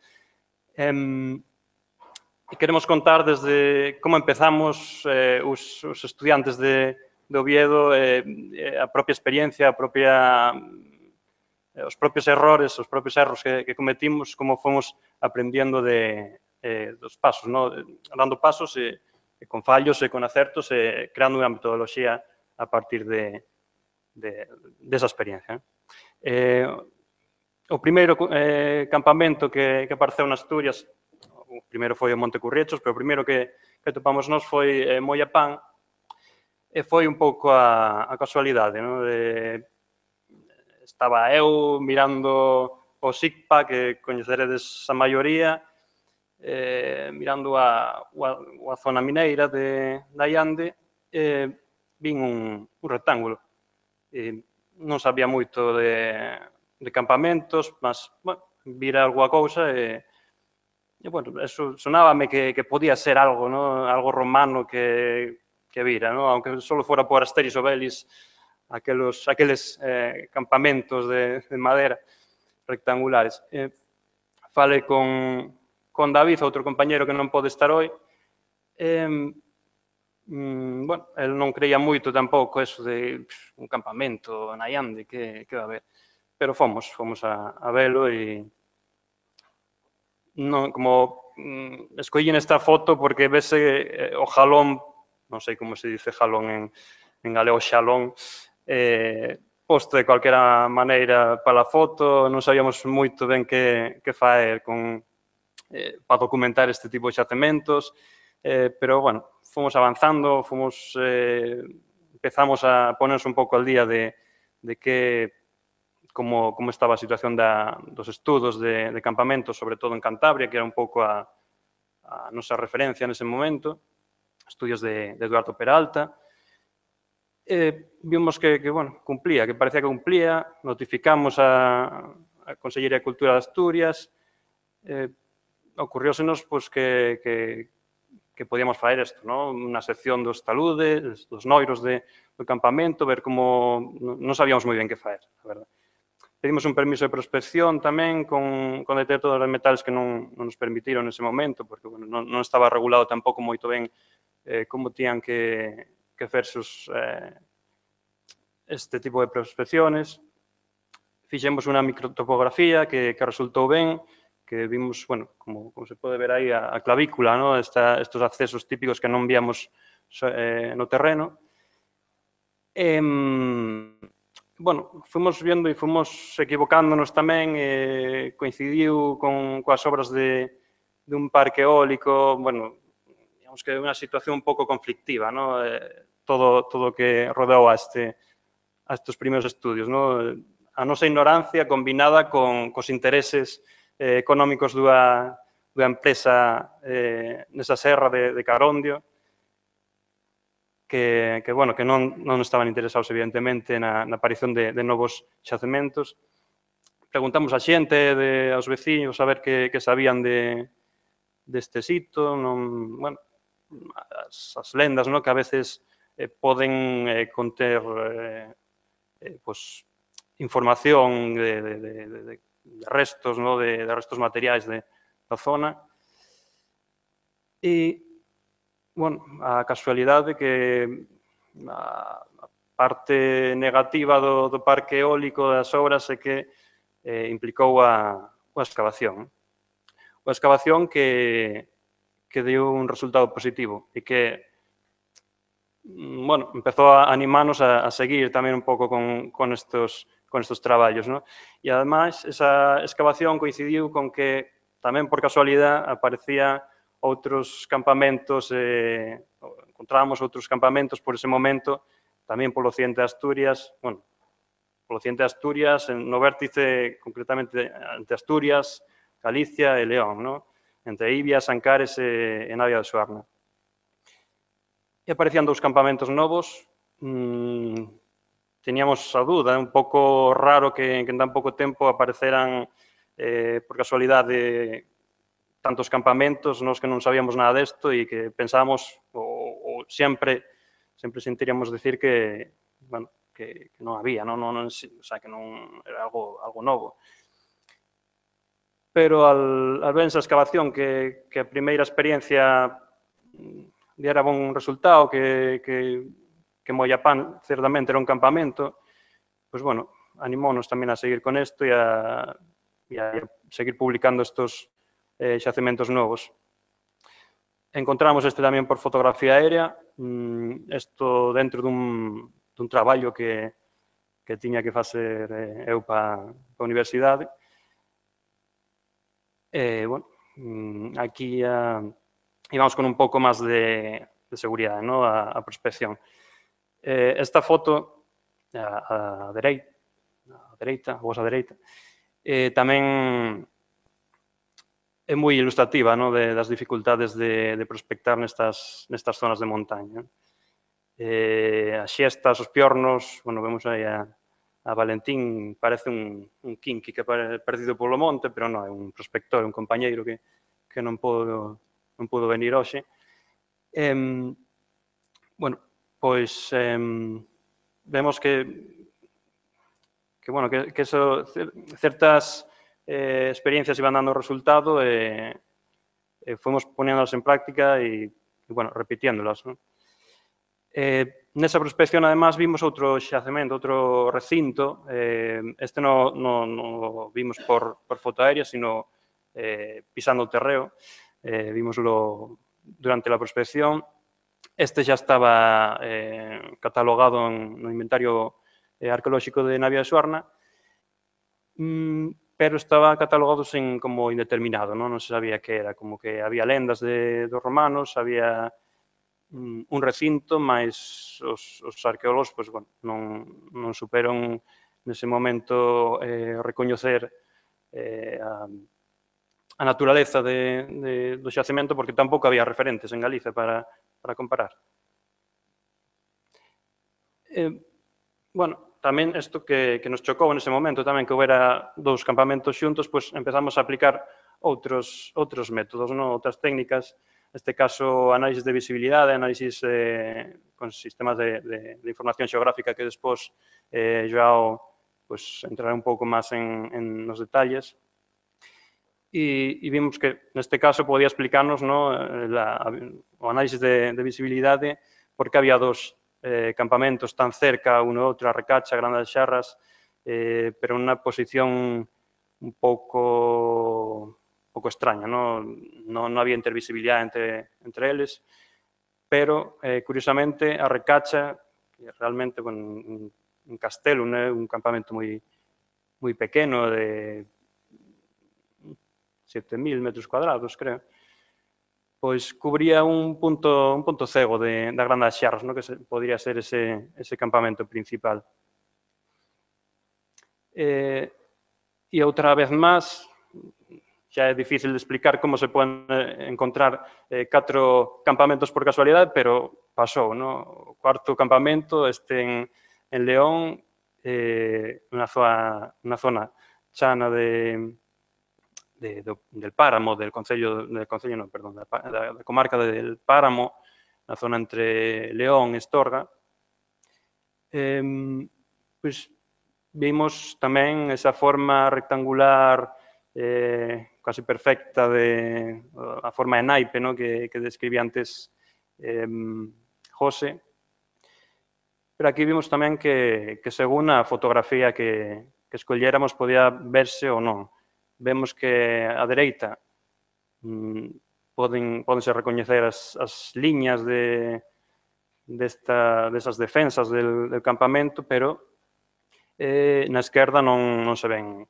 G: Eh, e queremos contar desde como empezamos eh, os, os estudiantes de, de Oviedo, eh, a propia experiencia, a propia, eh, os propios errores, os propios erros que, que cometimos, como fomos aprendendo de, eh, dos pasos, ¿no? Dando pasos e e con fallos e con acertos e creando unha metodoloxía a partir de, de, desa experiencia. Eh, o primeiro eh, campamento que, que apareceu en Asturias, o primeiro foi o Monte Curriechos, pero o primeiro que, que topamos nós foi eh, Mollapán, e foi un pouco a, a casualidade, ¿no? De, estaba eu mirando o SICPA, que coñeceredes a maioría, eh, mirando a, a, a zona mineira de, da Allande, eh, vin un, un rectángulo. E non sabía moito de, de campamentos, mas, bueno, vira alguna cousa e, e bueno, eso sonábame que, que podía ser algo, ¿no? Algo romano que, que vira, ¿no? Aunque solo fuera por Asteris Obelis, aqueles, aqueles eh, campamentos de, de madera rectangulares. Eh, fale con, con David, outro compañero que non pode estar hoy. Eh, mm, bueno, el non creía moito tampouco eso de pff, un campamento na Allande, que, que va a haber. Pero fomos, fomos a, a velo e non, como mm, escollín esta foto porque vese eh, o jalón, non sei como se dice jalón en, en galego, xalón, eh, posto de calquera maneira para a foto, non sabíamos moito ben que, que faer con, eh, para documentar este tipo de xacementos, eh, pero, bueno, fomos avanzando, fomos, eh, empezamos a ponernos un pouco al día de, de que, como, como estaba a situación da, dos estudos de, de campamentos, sobre todo en Cantabria, que era un pouco a, a nosa referencia nese momento, estudios de, de Eduardo Peralta. Eh, vimos que, que, bueno, cumplía, que parecía que cumplía, notificamos a, a Consellería de Cultura de Asturias, eh, ocurriósenos pues, que, que, que podíamos faer isto, ¿no? Unha sección dos taludes, dos noiros de, do campamento, ver como non sabíamos moi ben que faer, a verdade. Pedimos un permiso de prospección tamén con, con detectores de metales que non, non nos permitiron nese momento, porque bueno, non, non estaba regulado tampouco moito ben eh, como tían que que hacerse eh, este tipo de prospecciones. Fixemos unha microtopografía que, que resultou ben, que vimos, bueno, como, como se pode ver aí, a, a clavícula, ¿no? Esta, estos accesos típicos que non víamos eh, no terreno. E, bueno, fomos vendo e fomos equivocándonos tamén, eh, coincidiu con coas obras de, de un parque eólico, bueno, digamos que é unha situación un pouco conflictiva, ¿no? Eh, todo todo que rodeou a este a estes primeiros estudios, ¿no? A nosa ignorancia combinada con cos intereses eh, económicos dunha, dunha empresa eh, nesa serra de, de Carondio que, que, bueno, que non, non estaban interesados evidentemente na, na aparición de, de novos xacementos. Preguntamos a xente, de, aos veciños, a ver que, que sabían de, deste sitio, non, bueno, as, as lendas, ¿no? Que a veces eh, poden eh, conter eh, eh, pues, información de, de, de, de, de restos, ¿no? de, de restos materiais de, da zona. E, bueno, a casualidade que a, a parte negativa do, do parque eólico das obras é que eh, implicou a, a excavación. A excavación que, que deu un resultado positivo e que bueno, empezou a animarnos a, a seguir tamén un pouco con, con, estos, con estos traballos, ¿no? E, ademais, esa excavación coincidiu con que tamén por casualidade aparecía outros campamentos, eh, encontrábamos outros campamentos por ese momento, tamén polo occidente de Asturias, bueno, polo occidente de Asturias, no vértice, concretamente, entre Asturias, Galicia e León, ¿no? Entre Ibia, Sancares e, e Navia de Suarna. E aparecían dous campamentos novos, mmm, teníamos a dúda, é un pouco raro que, que en tan pouco tempo apareceran, eh, por casualidade, tantos campamentos, nos que non sabíamos nada desto e que pensábamos, ou, ou sempre, sempre sentiríamos decir que, bueno, que, que non había, non, non, non, o sea, que non era algo, algo novo. Pero al, al ver esa excavación que, que a primeira experiencia diera bon resultado, que, que, que Mollapán certamente era un campamento, pues bueno, animónos tamén a seguir con isto e a, e a seguir publicando estos eh, xacementos novos. Encontramos este tamén por fotografía aérea, isto mm, dentro dun, dun traballo que, que tiña que facer eh, eu para a universidade. Eh, bueno, mm, aquí a... Uh, e vamos con un pouco máis de, de seguridade, ¿no? a, a prospección. Eh, esta foto, a, a, dereita, a dereita, a vosa dereita, eh, tamén é moi ilustrativa, ¿no? de, das dificultades de, de prospectar nestas, nestas zonas de montaña. Eh, as xestas, os piornos, bueno, vemos aí a, a Valentín, parece un, un kinky que é perdido polo monte, pero non, é un prospector, un compañeiro que, que non pudo, non pudo venir hoxe. Eh, bueno, pois eh, vemos que, que, bueno, que, que eso, certas eh, experiencias iban dando resultado e eh, eh, fomos ponéndolas en práctica e, e bueno, repitiéndolas, ¿no? Eh, nesa prospección, además, vimos outro xacemento, outro recinto. Eh, este non no, no vimos por, por foto aérea, sino eh, pisando o terreo. Eh, vimoslo durante a prospección. Este xa estaba eh, catalogado en, no inventario eh, arqueolóxico de Navia de Suarna, mm, pero estaba catalogado sen, como indeterminado, non? Non se sabía que era, como que había lendas de, dos romanos, había un recinto, mas os, os arqueólogos pues, bueno, non, non superon nese momento eh, recoñecer eh, a, a naturaleza de, de, do xacemento, porque tampouco había referentes en Galicia para, para comparar. Eh, bueno, tamén isto que, que nos chocou nese momento, tamén que houbera dous campamentos xuntos, pues empezamos a aplicar outros, outros métodos, no? Outras técnicas. Neste caso, análisis de visibilidade, análisis eh, con sistemas de, de, de información xeográfica que despois eh, Joao pues, entrará un pouco máis en, en nos detalles. E, e vimos que, neste caso, podía explicarnos, ¿no? La, o análisis de, de visibilidade porque había dos eh, campamentos tan cerca, uno outro, a Recacha, Grande das Xarras, eh, pero en unha posición un pouco... pouco extraña, non, non, non había intervisibilidade entre, entre eles, pero, eh, curiosamente, a Recacha, que realmente, bueno, un, un castelo, un, un campamento moi, moi pequeno, de sete mil metros cuadrados, creo, pois cubría un punto, un punto cego de, da Grande das Xarras, no? Que se, podría ser ese, ese campamento principal. Eh, e outra vez máis, xa é difícil de explicar como se poden encontrar eh, catro campamentos por casualidade, pero pasou, no? O cuarto campamento este en, en León, eh, unha zona, unha zona chana de, de, do, del Páramo, del Concello, del Concello, no, perdón, da, da, da comarca del Páramo, na zona entre León e Estorga. Eh, pois vimos tamén esa forma rectangular eh, casi perfecta de a forma de naipe, ¿no? que, que describía antes eh, José. Pero aquí vimos tamén que, que según a fotografía que, que escolléramos podía verse ou non. Vemos que a dereita mm, poden, podense recoñecer as, as liñas de, desta, desas defensas del, del campamento, pero eh, na esquerda non, non se ven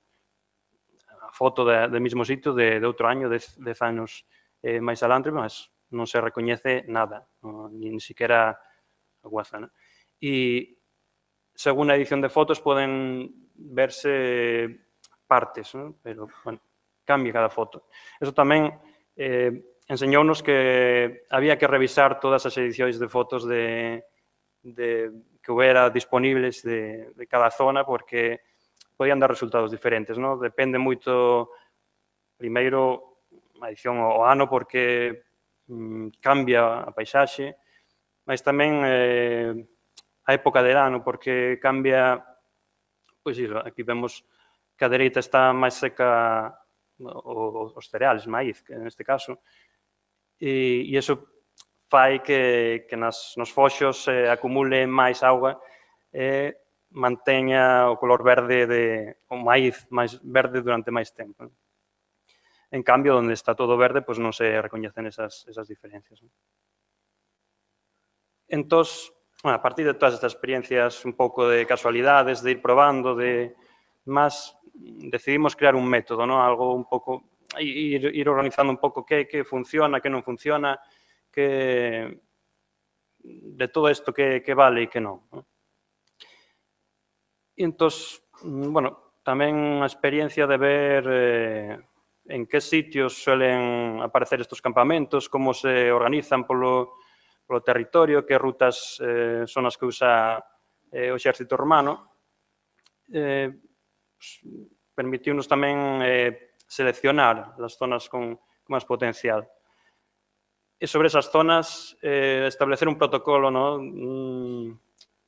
G: foto de, do mesmo sitio de, de outro año, dez, dez anos eh, máis adelante, mas non se recoñece nada, no, ni, ni siquiera a guaza, ¿no? E según a edición de fotos poden verse partes, ¿no? Pero, bueno, cambia cada foto. Eso tamén eh, enseñounos que había que revisar todas as edicións de fotos de, de, que houbera disponibles de, de cada zona, porque podían dar resultados diferentes, ¿no? Depende moito, primeiro, a edición ao ano, porque mm, cambia a paisaxe, mas tamén eh, a época de ano, porque cambia, pois iso, aquí vemos que a dereita está máis seca o, os cereales, maíz, que neste caso, e, e iso fai que, que nas, nos foxos eh, acumule máis auga e eh, manteña o color verde de o maíz máis verde durante máis tempo. En cambio, onde está todo verde, pois non se recoñecen esas, esas diferencias. Entón, bueno, a partir de todas estas experiencias un pouco de casualidades, de ir probando, de máis, decidimos crear un método, ¿no? Algo un pouco, ir, ir organizando un pouco que, que funciona, que non funciona, que de todo isto que, que vale e que non, ¿no? E entón, bueno, tamén a experiencia de ver eh, en que sitios suelen aparecer estos campamentos, como se organizan polo, polo territorio, que rutas eh, son as que usa eh, o exército romano. Eh, pues, permitiunos tamén eh, seleccionar as zonas con, con máis potencial. E sobre esas zonas, eh, establecer un protocolo, ¿no? Un,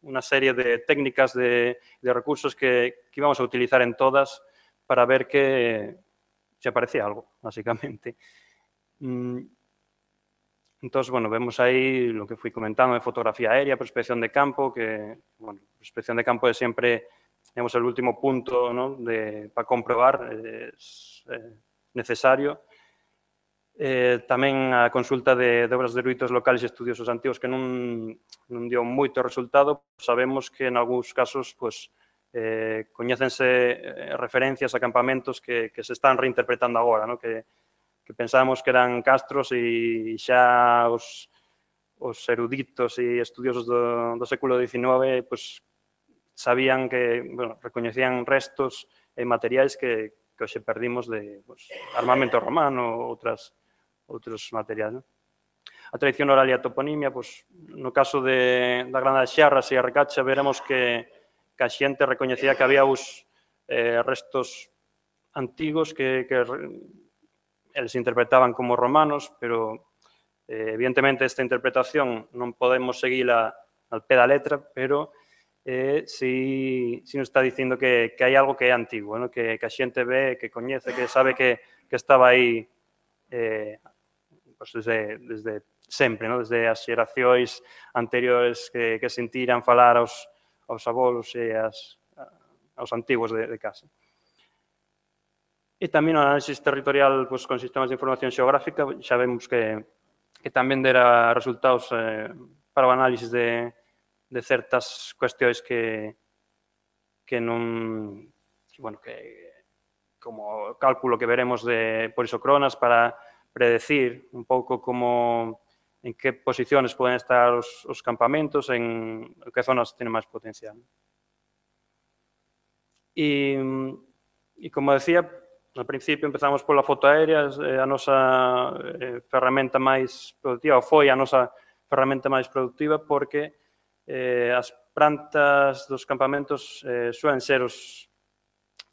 G: una serie de técnicas, de, de recursos que, que íbamos a utilizar en todas para ver que se aparecía algo, básicamente. Entonces, bueno, vemos ahí lo que fui comentando de fotografía aérea, prospección de campo, que, bueno, prospección de campo es siempre, digamos, el último punto, ¿no? de, para comprobar, es eh, necesario. Eh, tamén a consulta de, de obras de eruditos locales e estudiosos antigos que non, non dio moito resultado. Sabemos que en algúns casos pues, eh, coñécense eh, referencias a campamentos que, que se están reinterpretando agora, ¿no? que, que pensábamos que eran castros e xa os, os eruditos e estudiosos do, do século diecinueve pues, sabían que, bueno, recoñecían restos e materiais que, que hoxe perdimos de pues, armamento romano ou outras outros materiais. ¿No? A tradición oral e a toponimia, pues, no caso de, da Grana de Xarras e a Recacha, veremos que, que a xente recoñecía que había os eh, restos antigos que, que eles interpretaban como romanos, pero eh, evidentemente esta interpretación non podemos seguila al pé da letra, pero eh, si, si nos está dicindo que, que hai algo que é antigo, ¿no? que, que a xente ve, que coñece, que sabe que, que estaba aí eh, pues desde, desde sempre, ¿no? Desde as xeracións anteriores que, que sentiran falar aos, aos abolos e as, aos antigos de, de casa. E tamén o análisis territorial pues, con sistemas de información xeográfica, xa vemos que, que tamén dera resultados eh, para o análisis de, de certas cuestións que, que non, bueno, que como cálculo que veremos de por isocronas para predecir un pouco como en que posiciones poden estar os, os campamentos, en que zonas tienen máis potencial. E, e como decía, al principio empezamos pola foto aérea, a nosa eh, ferramenta máis productiva, ou foi a nosa ferramenta máis productiva, porque eh, as plantas dos campamentos eh, suelen ser os,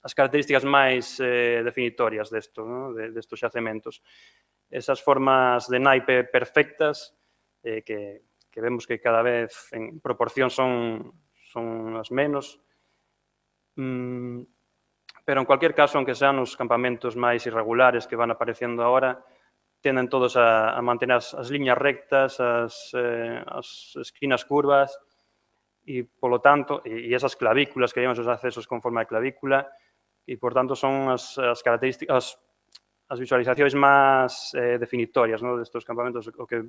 G: as características máis eh, definitorias desto, ¿no? de, destos xacementos. Esas formas de naipe perfectas eh, que, que vemos que cada vez en proporción son, son as menos. Mm, pero en cualquier caso, aunque sean os campamentos máis irregulares que van aparecendo agora, tenden todos a, a mantener as, as liñas rectas, as, eh, as esquinas curvas e, polo tanto, e, e esas clavículas que llevan os accesos con forma de clavícula e, por tanto, son as, as características, as, as visualizacións máis eh, definitorias, ¿no? destes campamentos, o que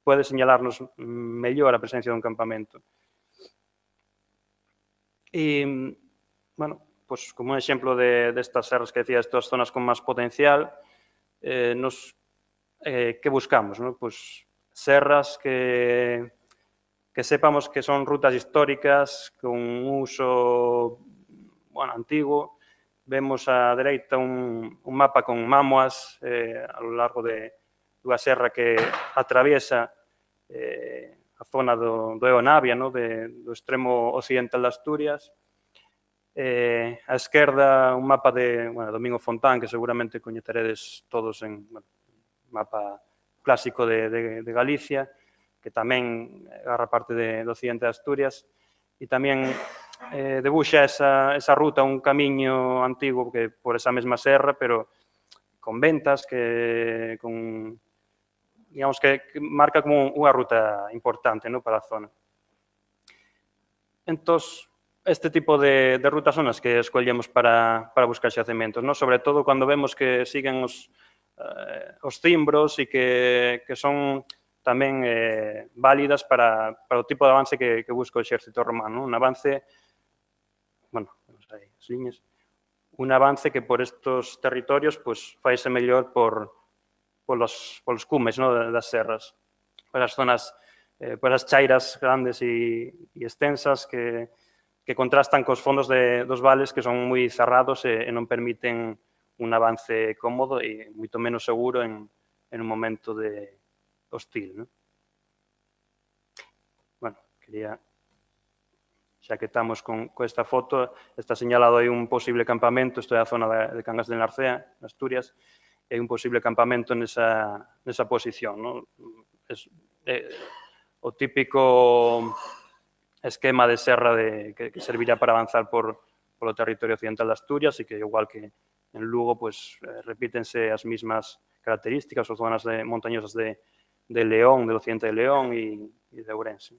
G: pode señalarnos mellor a presencia dun campamento. E, bueno, pues, como un exemplo de, destas serras que decía, estas zonas con máis potencial, eh, nos, eh, que buscamos? ¿no? Pues, serras que, que sepamos que son rutas históricas con un uso bueno, antiguo. Vemos á dereita un, un mapa con mámoas eh, a lo largo de unha serra que atraviesa eh, a zona do, do Eonavia, ¿no? de, do extremo occidental de Asturias. Eh, a esquerda un mapa de bueno, Domingo Fontán, que seguramente coñeceredes todos en bueno, mapa clásico de, de, de Galicia, que tamén agarra parte de, do occidente de Asturias, e tamén eh, debuxa esa, esa ruta, un camiño antigo que por esa mesma serra, pero con ventas, que con, digamos que, que marca como unha ruta importante, ¿no? para a zona. Entón, este tipo de, de rutas son as que escollemos para, para buscar xacementos, ¿no? Sobre todo cando vemos que siguen os, eh, os cimbros e que, que son tamén eh, válidas para, para o tipo de avance que, que busca o exército romano. Un avance, bueno, aí, as liñas, un avance que por estos territorios pues, faise mellor por, por, los, por los cumes, ¿no? das serras, por as zonas, eh, por as chairas grandes e, e extensas que, que contrastan cos fondos de, dos vales que son moi cerrados e, e non permiten un avance cómodo e moito menos seguro en, en un momento de hostil, ¿no? Bueno, quería, xa que estamos con, con esta foto, está señalado aí un posible campamento, isto é a zona de, de Cangas de Narcea, en Asturias, e un posible campamento nesa, nesa posición, ¿no? Es, é, o típico esquema de serra de, que, que servirá para avanzar por, polo territorio occidental de Asturias e que, igual que en Lugo, pues, eh, repítense as mismas características, as zonas de, montañosas de, de León, del occidente de León e, e de Ourense.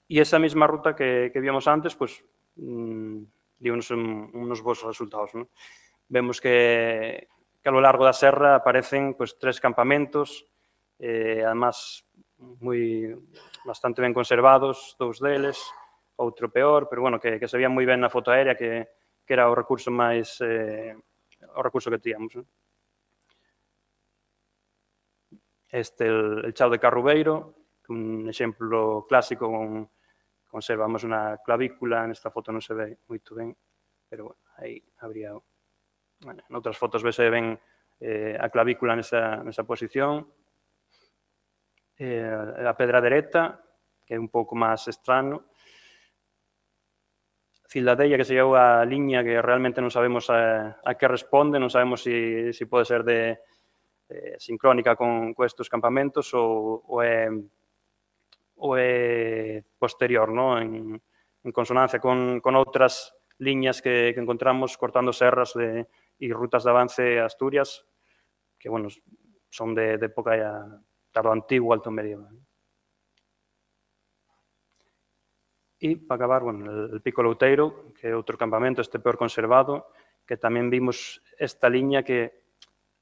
G: E esa mesma ruta que, que víamos antes, pues, mmm, dio unos, unos bons resultados, ¿no? Vemos que, que a lo largo da serra aparecen, pues, tres campamentos, eh, además moi bastante ben conservados, dous deles, outro peor, pero bueno, que, que se veía moi ben na foto aérea, que, que era o recurso máis eh, o recurso que tíamos, ¿no? Este el, el Chao de Carrubeiro, un exemplo clásico con conservamos unha clavícula, nesta foto non se ve moito ben, pero bueno, aí habría, bueno, en outras fotos vese ben eh, a clavícula nesa, nesa posición. Eh, a pedra dereta, que é un pouco máis estrano. Cildadella, que se llevou a liña que realmente non sabemos a, a que responde, non sabemos se si, si pode ser de eh, sincrónica con, con estos campamentos ou, ou é ou é posterior, ¿no? en, en consonancia con, con outras liñas que, que encontramos cortando serras de, e rutas de avance a Asturias, que, bueno, son de, de época ya tardo antigua, alto medieval. E, para acabar, bueno, el, el Pico Louteiro, que é outro campamento, este peor conservado, que tamén vimos esta liña que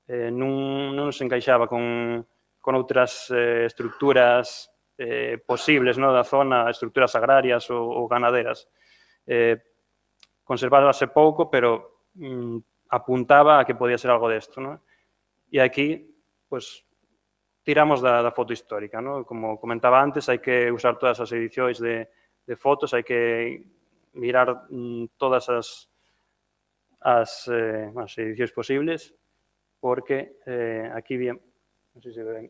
G: eh, non, non se encaixaba con, con outras eh, estructuras Eh, posibles, ¿no? Da zona, estructuras agrarias ou, ou ganaderas. Eh, conservábase pouco, pero mm, apuntaba a que podía ser algo desto, ¿no? E aquí, pues, tiramos da, da foto histórica, ¿no? Como comentaba antes, hai que usar todas as edicións de, de fotos, hai que mirar mm, todas as, as, eh, as edicións posibles, porque eh, aquí bien, non sei se ven,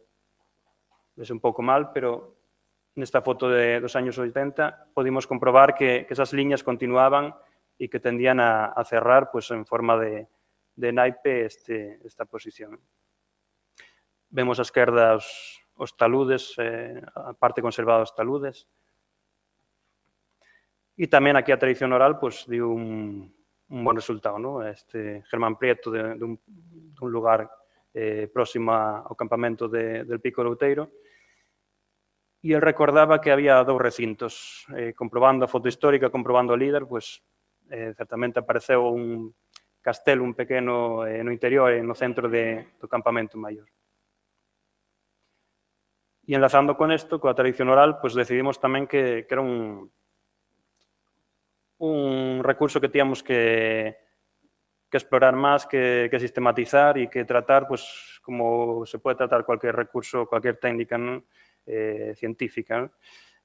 G: ves un pouco mal, pero nesta foto de, dos años oitenta podimos comprobar que, que esas liñas continuaban e que tendían a, a cerrar, pues, en forma de, de naipe este, esta posición. Vemos a esquerda os, os taludes, eh, a parte conservada dos taludes. E tamén aquí a tradición oral, pues, dio un, un bon resultado, ¿no? Este Germán Prieto de, de, un, de un lugar eh, próximo ao campamento de, del Pico Louteiro. E el recordaba que había dous recintos. Eh, comprobando a foto histórica, comprobando o líder, pues, eh, certamente apareceu un castelo, un pequeno eh, no interior e no centro de, do campamento maior. E enlazando con isto, coa tradición oral, pues, decidimos tamén que, que era un, un recurso que tíamos que, que explorar máis, que, que sistematizar e que tratar, pues, como se pode tratar cualquier recurso, cualquier técnica, ¿no? Eh, científica, ¿no?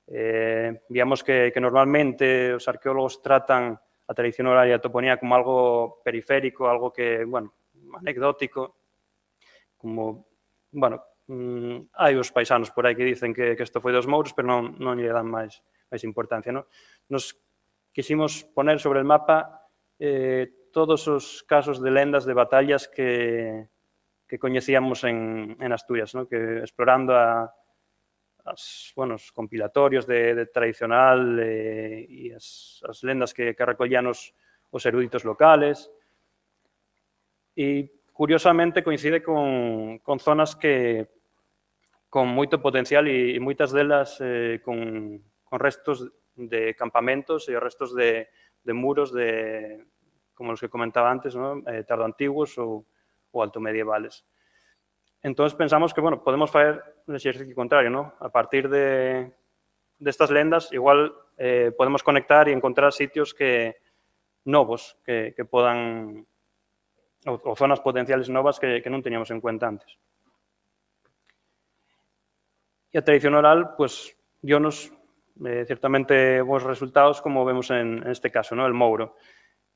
G: Eh, digamos que, que normalmente os arqueólogos tratan a tradición oral e a toponía como algo periférico, algo que, bueno, anecdótico, como, bueno, mmm, hai os paisanos por aí que dicen que, que isto foi dos mouros, pero non, non lle dan máis, máis importancia, ¿no? Nos quisimos poner sobre el mapa eh, todos os casos de lendas de batallas que, que coñecíamos en, en Asturias, ¿no? Que explorando a As, bueno, os compilatorios de, de tradicional eh, e as, as lendas que, que recollían os, os eruditos locales. E, curiosamente, coincide con, con zonas que con moito potencial e, e moitas delas eh, con, con restos de campamentos e restos de, de muros de, como os que comentaba antes, ¿no? eh, tardoantiguos ou, ou altomedievales. Entón, pensamos que, bueno, podemos fazer un exercicio contrario, ¿no? A partir de, de estas lendas, igual eh, podemos conectar e encontrar sitios que novos que, que podan, ou, ou zonas potenciales novas que, que non teníamos en cuenta antes. E a tradición oral, pues, dionos eh, ciertamente bons resultados, como vemos en, en este caso, ¿no? El Mouro.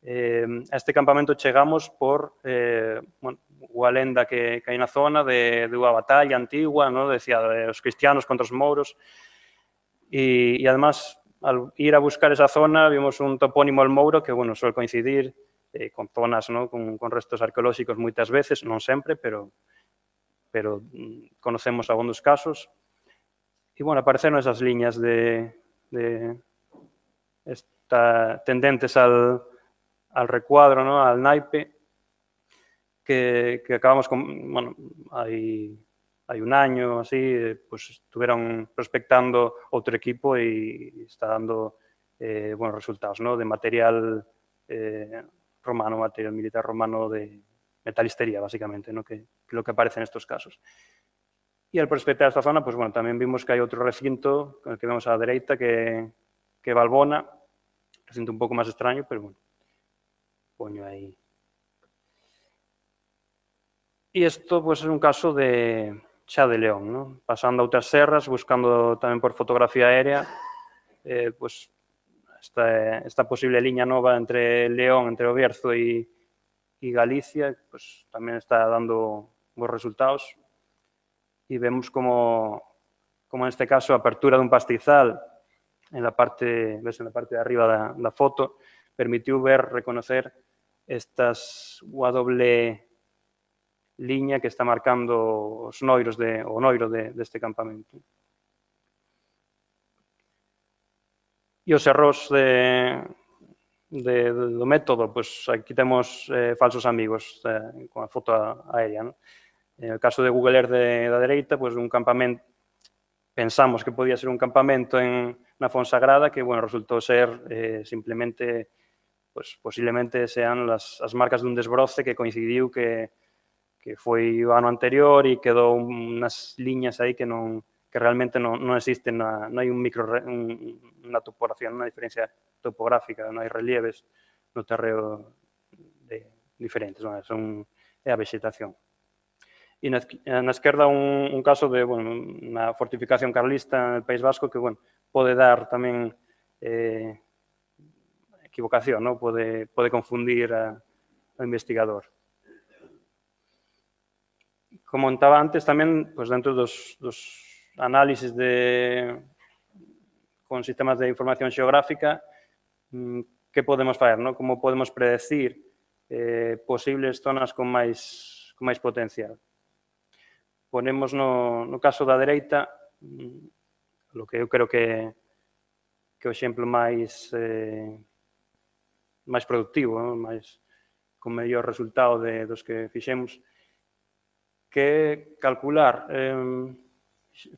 G: Eh, a este campamento chegamos por eh, bueno, unha lenda que, que hai na zona de, de unha batalla antigua, ¿no? Decía, de os cristianos contra os mouros, e, e además, al ir a buscar esa zona, vimos un topónimo al Mouro que, bueno, suele coincidir eh, con zonas, ¿no? con, con restos arqueolóxicos moitas veces, non sempre, pero, pero conocemos algúns casos. E, bueno, apareceron esas liñas de, de esta, tendentes al, al recuadro, ¿no? Al naipe, que, que acabamos con, bueno, hai, hai un año, así, pues estuvieron prospectando outro equipo e está dando eh, buenos resultados, ¿no? De material eh, romano, material militar romano de metalistería, básicamente, ¿no? Que, que lo que aparece en estos casos. Y al prospectar esta zona, pues bueno, también vimos que hay otro recinto, el que vemos a la derecha, que, que Valbona, recinto un pouco máis extraño, pero bueno, poño aí. E isto, pues, é un caso de xa de León, ¿no? Pasando a outras serras, buscando tamén por fotografía aérea, eh, pues, esta, esta posible liña nova entre León, entre o Bierzo e, e Galicia, pues, tamén está dando bons resultados. Y vemos como, como en este caso, a apertura de un pastizal en la parte, ves, en la parte de arriba de la, la foto, permitió ver, reconocer estas U doble línea que está marcando os noiros de, o noiro de, de este campamento. E os erros de, de, do método, pues aquí temos eh, falsos amigos eh, con a foto aérea, ¿no? En el caso de Google Earth de la derecha, pues un campamento, pensamos que podía ser un campamento en na Fonsagrada, que, bueno, resultó ser eh, simplemente, pues posiblemente sean las, as marcas dun desbroce que coincidiu que, que foi o ano anterior e quedou unas liñas aí que non que realmente non, non existen, na, non hai un micro, un, unha topografía, unha diferencia topográfica, non hai relieves no terreo de, diferentes, non? Son, é a vegetación. E na, na esquerda un, un caso de, bueno, unha fortificación carlista no País Vasco que, bueno, pode dar tamén eh, equivocación, ¿no? Pode, pode confundir a, ao investigador. Como contaba antes, tamén, pues, dentro dos, dos análisis de, con sistemas de información xeográfica, que podemos fazer, ¿no? Como podemos predecir eh, posibles zonas con máis, con máis potencial. Ponemos no, no caso da dereita, lo que eu creo que, que o exemplo máis, eh, máis productivo, ¿no? Máis, con mellor resultado de, dos que fixemos, que calcular, eh,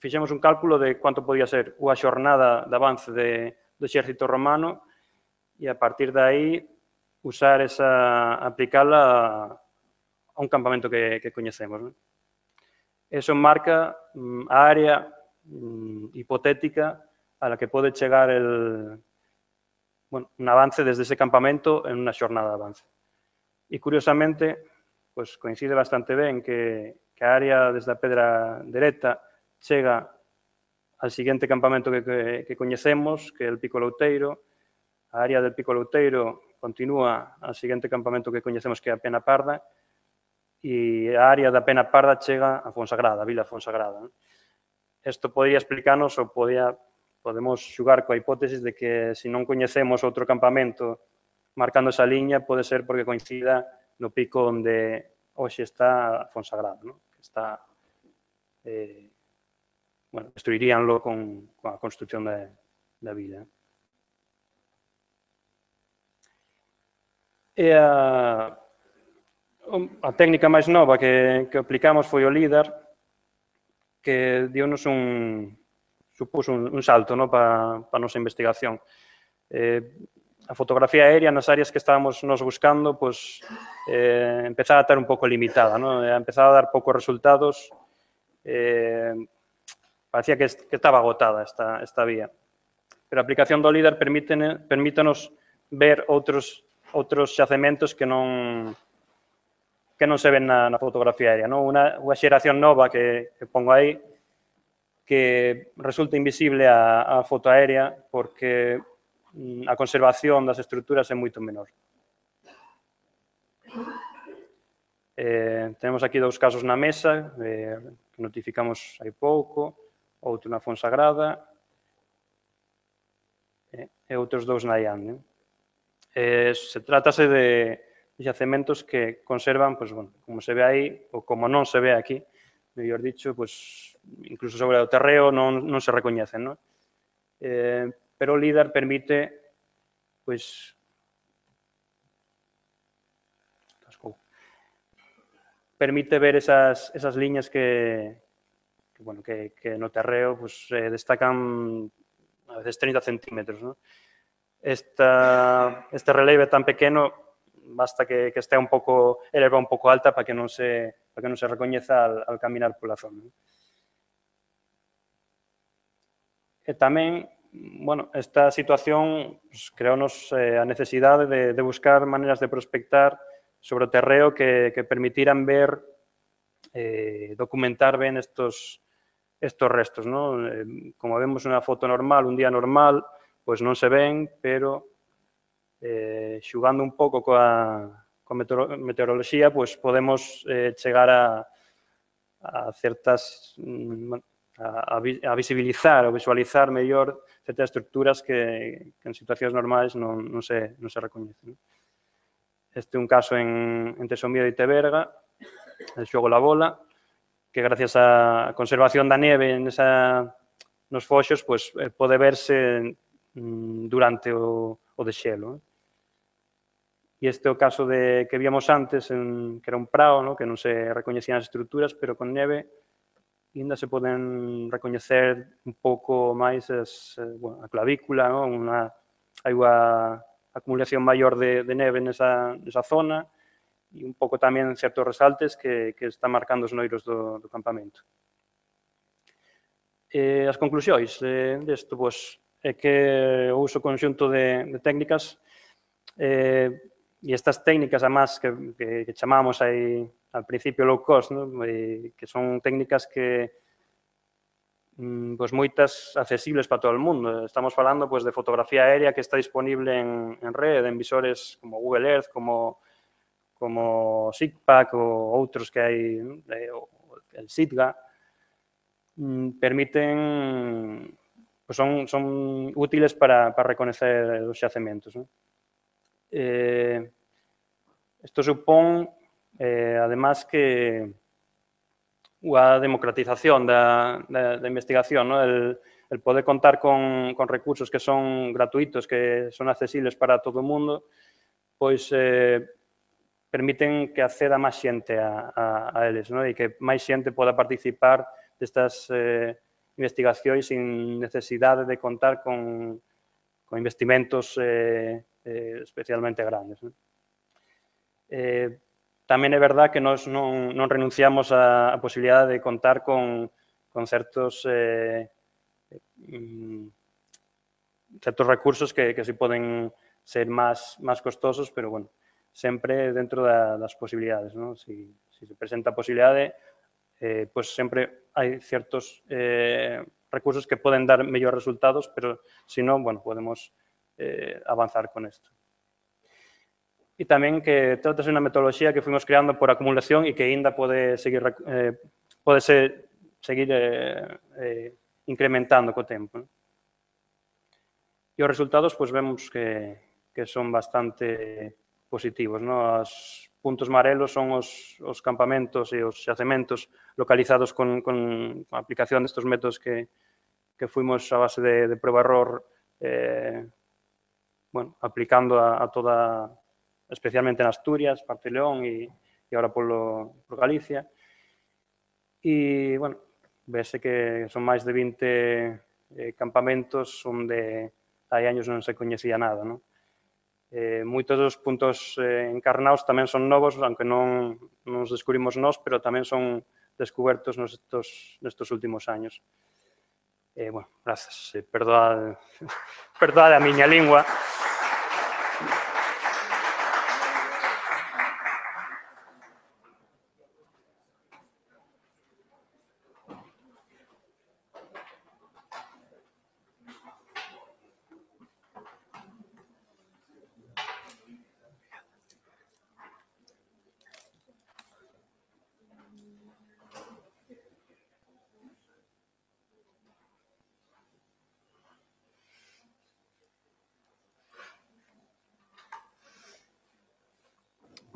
G: fixemos un cálculo de cuánto podía ser unha xornada de avance de, do exército romano e a partir de aí usar esa, aplicala a, a un campamento que, que coñecemos, ¿no? Eso marca mm, a área mm, hipotética a la que pode chegar el, bueno, un avance desde ese campamento en unha xornada de avance. E, curiosamente, pues, coincide bastante ben que, que a área desde a Pedra Dereita chega al siguiente campamento que, que, que coñecemos, que é el Pico Louteiro. A área del Pico Louteiro continúa al siguiente campamento que coñecemos, que é a Pena Parda, e a área da Pena Parda chega a Fonsagrada, a Vila Fonsagrada. Isto podría explicarnos ou podía, podemos xugar coa hipótesis de que se non coñecemos outro campamento marcando esa liña, pode ser porque coincida no pico onde hoxe está Fonsagrada, ¿no? Que está, eh, bueno, destruiríanlo con, con a construcción da, da vila. E a A técnica máis nova que, que aplicamos foi o LIDAR, que dio-nos un, supuso un, un salto, ¿no? para pa a nosa investigación. Eh, a fotografía aérea nas áreas que estábamos nos buscando, pues, eh, empezaba a estar un pouco limitada, ¿no? Empezaba a dar poucos resultados, eh, parecía que, que estaba agotada esta, esta vía. Pero a aplicación do LIDAR permítenos ver outros, outros xacementos que non que non se ven na, na fotografía aérea, ¿no? Unha, unha xeración nova que, que pongo aí que resulta invisible a, a foto aérea porque a conservación das estruturas é moito menor. Eh, tenemos aquí dous casos na mesa, eh, que notificamos hai pouco, outro na Fonsagrada, eh, e outros dous na Iande. Eh, se trátase de xacementos que conservan, pues, bueno, como se ve aí, ou como non se ve aquí, mellor dicho, pues, incluso sobre o terreo non, non se recoñecen, non? Eh, pero o LIDAR permite, pues, permite ver esas, esas liñas que, que, bueno, que, que no terreo pues, eh, destacan a veces treinta centímetros, ¿no? Esta, este relieve tan pequeno basta que, que esté un pouco elevado un pouco alta para que non se, para que non se recoñeza al, al caminar pola zona, ¿no? E tamén, bueno, esta situación pues, creounos eh, a necesidade de, de buscar maneiras de prospectar sobre o terreo que, que permitiran ver, eh, documentar ben estos, estos restos, ¿no? Eh, como vemos unha foto normal, un día normal, pois non se ven, pero eh, xugando un pouco coa, coa meteoroloxía, pois podemos eh, chegar a, a certas, a, a visibilizar ou visualizar mellor certas estructuras que, que en situacións normais non, non, se, non se recoñecen. Este é un caso en, en Tesomío de Teberga, el xogo La Bola, que gracias á conservación da neve nesa, nos foxos, pues, pode verse durante o, o dexelo. E este é o caso de, que víamos antes, en, que era un prao, ¿no? Que non se recoñecían as estruturas, pero con neve ainda se poden recoñecer un pouco máis as, bueno, a clavícula, ¿no? Unha, hai unha acumulación maior de, de neve nesa, nesa zona, e un pouco tamén certos resaltes que, que están marcando os noiros do, do campamento. Eh, as conclusións eh, desto, pois, é que o uso conxunto de, de técnicas eh, e estas técnicas, además, que, que, que chamamos aí al principio low cost, ¿no? E, que son técnicas que pues, moitas accesibles para todo o mundo. Estamos falando pues, de fotografía aérea que está disponible en, en red, en visores como Google Earth, como como SIGPAC ou outros que hai, el SITGA, permiten, pues son, son útiles para, para reconocer os xacementos, ¿no? Eh, esto supón, eh, además, que a democratización da, da, da investigación, ¿no? el, el poder contar con, con recursos que son gratuitos, que son accesibles para todo o mundo, pois eh, permiten que acceda máis xente a, a, a eles, ¿no? E que máis xente poda participar destas eh, investigacións sin necesidade de contar con, con investimentos eh, eh, especialmente grandes, ¿no? Eh, tamén é verdad que nós non, non renunciamos á, á posibilidade de contar con, con certos eh, certos recursos que, que si poden ser máis, máis costosos, pero, bueno, sempre dentro da, das posibilidades, ¿no? Si, si se presenta a posibilidade, eh, pues sempre hai certos eh, recursos que poden dar mellores resultados, pero, si non, bueno, podemos eh, avanzar con isto. E tamén que trata-se unha metodoloxía que fuimos creando por acumulación e que ainda pode seguir, eh, pode ser, seguir eh, eh, incrementando co tempo, ¿no? E os resultados, pues, vemos que, que son bastante positivos, ¿no? Os puntos marelos son os, os campamentos e os xacementos localizados con, con a aplicación destes métodos que, que fuimos a base de, de prueba-error eh, bueno, aplicando a, a toda, especialmente en Asturias, parte de León e, e agora polo, por Galicia. E, bueno, vese que son máis de vinte eh, campamentos onde hai años non se coñecía nada, ¿no? Eh, moitos dos puntos eh, encarnados tamén son novos, aunque non nos descubrimos nós, pero tamén son descubertos nestos, nestos últimos años. Eh, bueno, grazas. Eh, perdoad, perdoad a miña lingua.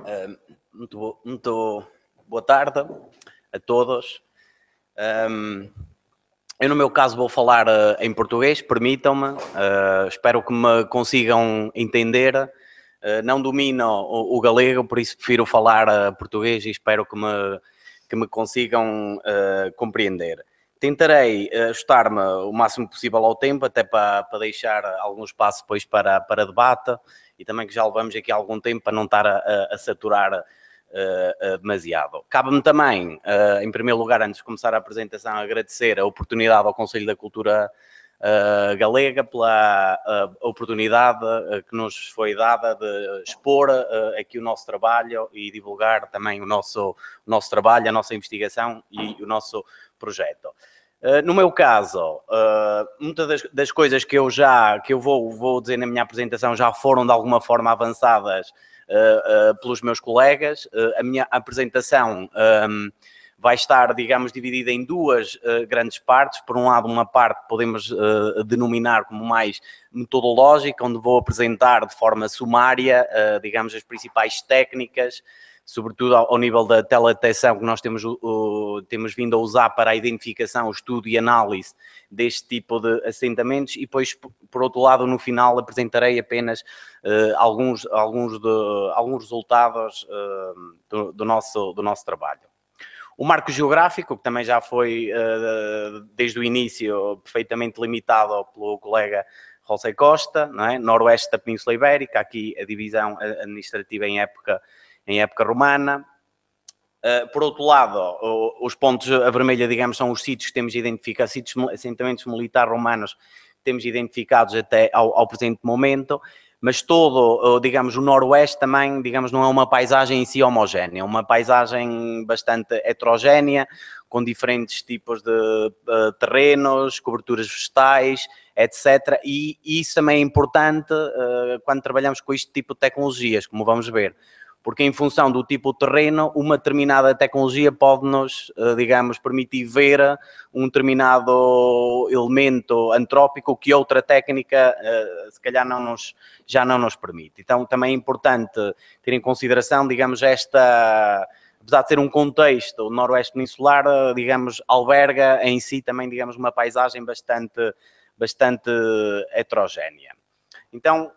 H: Uh, muito, bo muito boa tarde a todos. Um, eu, no meu caso, vou falar uh, em português, permitam-me. Uh, espero que me consigam entender. Uh, não domino o, o galego, por isso prefiro falar uh, português e espero que me, que me consigam uh, compreender. Tentarei ajustar-me o máximo possível ao tempo, até para, para deixar algum espaço depois para, para debate e também que já levamos aqui algum tempo para não estar a, a, a saturar uh, uh, demasiado. Cabe-me também, uh, em primeiro lugar, antes de começar a apresentação, agradecer a oportunidade ao Conselho da Cultura uh, Galega pela uh, oportunidade uh, que nos foi dada de expor uh, aqui o nosso trabalho e divulgar também o nosso, o nosso trabalho, a nossa investigação e o nosso projeto. Uh, no meu caso, uh, muitas das, das coisas que eu já que eu vou, vou dizer na minha apresentação já foram de alguma forma avançadas uh, uh, pelos meus colegas. Uh, a minha apresentação um, vai estar, digamos, dividida em duas uh, grandes partes. Por um lado, uma parte podemos uh, denominar como mais metodológica, onde vou apresentar de forma sumária, uh, digamos, as principais técnicas, sobretudo ao, ao nível da teledetecção que nós temos, uh, temos vindo a usar para a identificação, estudo e análise deste tipo de assentamentos, e depois, por outro lado, no final apresentarei apenas uh, alguns, alguns, de, alguns resultados uh, do, do, nosso, do nosso trabalho. O marco geográfico, que também já foi, uh, desde o início, perfeitamente limitado pelo colega José Costa, não é? Noroeste da Península Ibérica, aqui a divisão administrativa em época em época romana. Uh, por outro lado, o, os pontos a vermelha, digamos, são os sítios que temos identificados, sítios, assentamentos militares romanos que temos identificados até ao, ao presente momento, mas todo, digamos, o noroeste também, digamos, não é uma paisagem em si homogénea, é uma paisagem bastante heterogénea, com diferentes tipos de uh, terrenos, coberturas vegetais, etcétera. E, e isso também é importante uh, quando trabalhamos com este tipo de tecnologias, como vamos ver. Porque em função do tipo de terreno, uma determinada tecnologia pode-nos, digamos, permitir ver um determinado elemento antrópico que outra técnica, se calhar, não nos, já não nos permite. Então, também é importante ter em consideração, digamos, esta, apesar de ser um contexto, o noroeste peninsular, digamos, alberga em si também, digamos, uma paisagem bastante, bastante heterogénea. Então,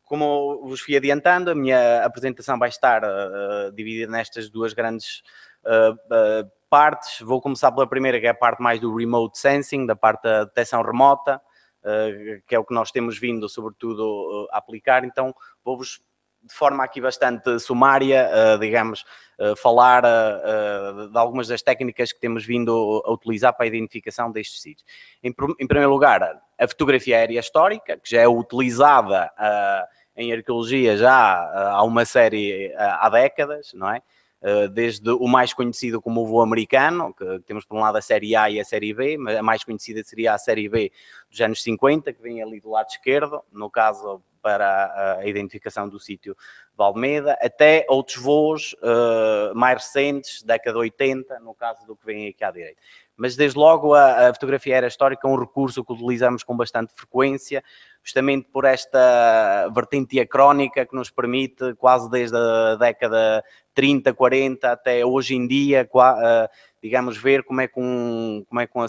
H: como vos fui adiantando, a minha apresentação vai estar uh, dividida nestas duas grandes uh, uh, partes. Vou começar pela primeira, que é a parte mais do remote sensing, da parte da detecção remota, uh, que é o que nós temos vindo, sobretudo, uh, a aplicar. Então, vou-vos, de forma aqui bastante sumária, uh, digamos, uh, falar uh, uh, de algumas das técnicas que temos vindo a utilizar para a identificação destes sítios. Em, em primeiro lugar, a fotografia aérea histórica, que já é utilizada uh, em arqueologia já uh, há uma série uh, há décadas, não é? Uh, desde o mais conhecido como o voo americano, que temos por um lado a série A e a série B, mas a mais conhecida seria a série B dos anos cinquenta, que vem ali do lado esquerdo, no caso para a identificação do sítio de Almeida, até outros voos uh, mais recentes, década de oitenta, no caso do que vem aqui à direita. Mas, desde logo, a, a fotografia aérea histórica é um recurso que utilizamos com bastante frequência, justamente por esta vertente diacrónica que nos permite, quase desde a década trinta, quarenta até hoje em dia, uh, digamos, ver como é que um, como é que um,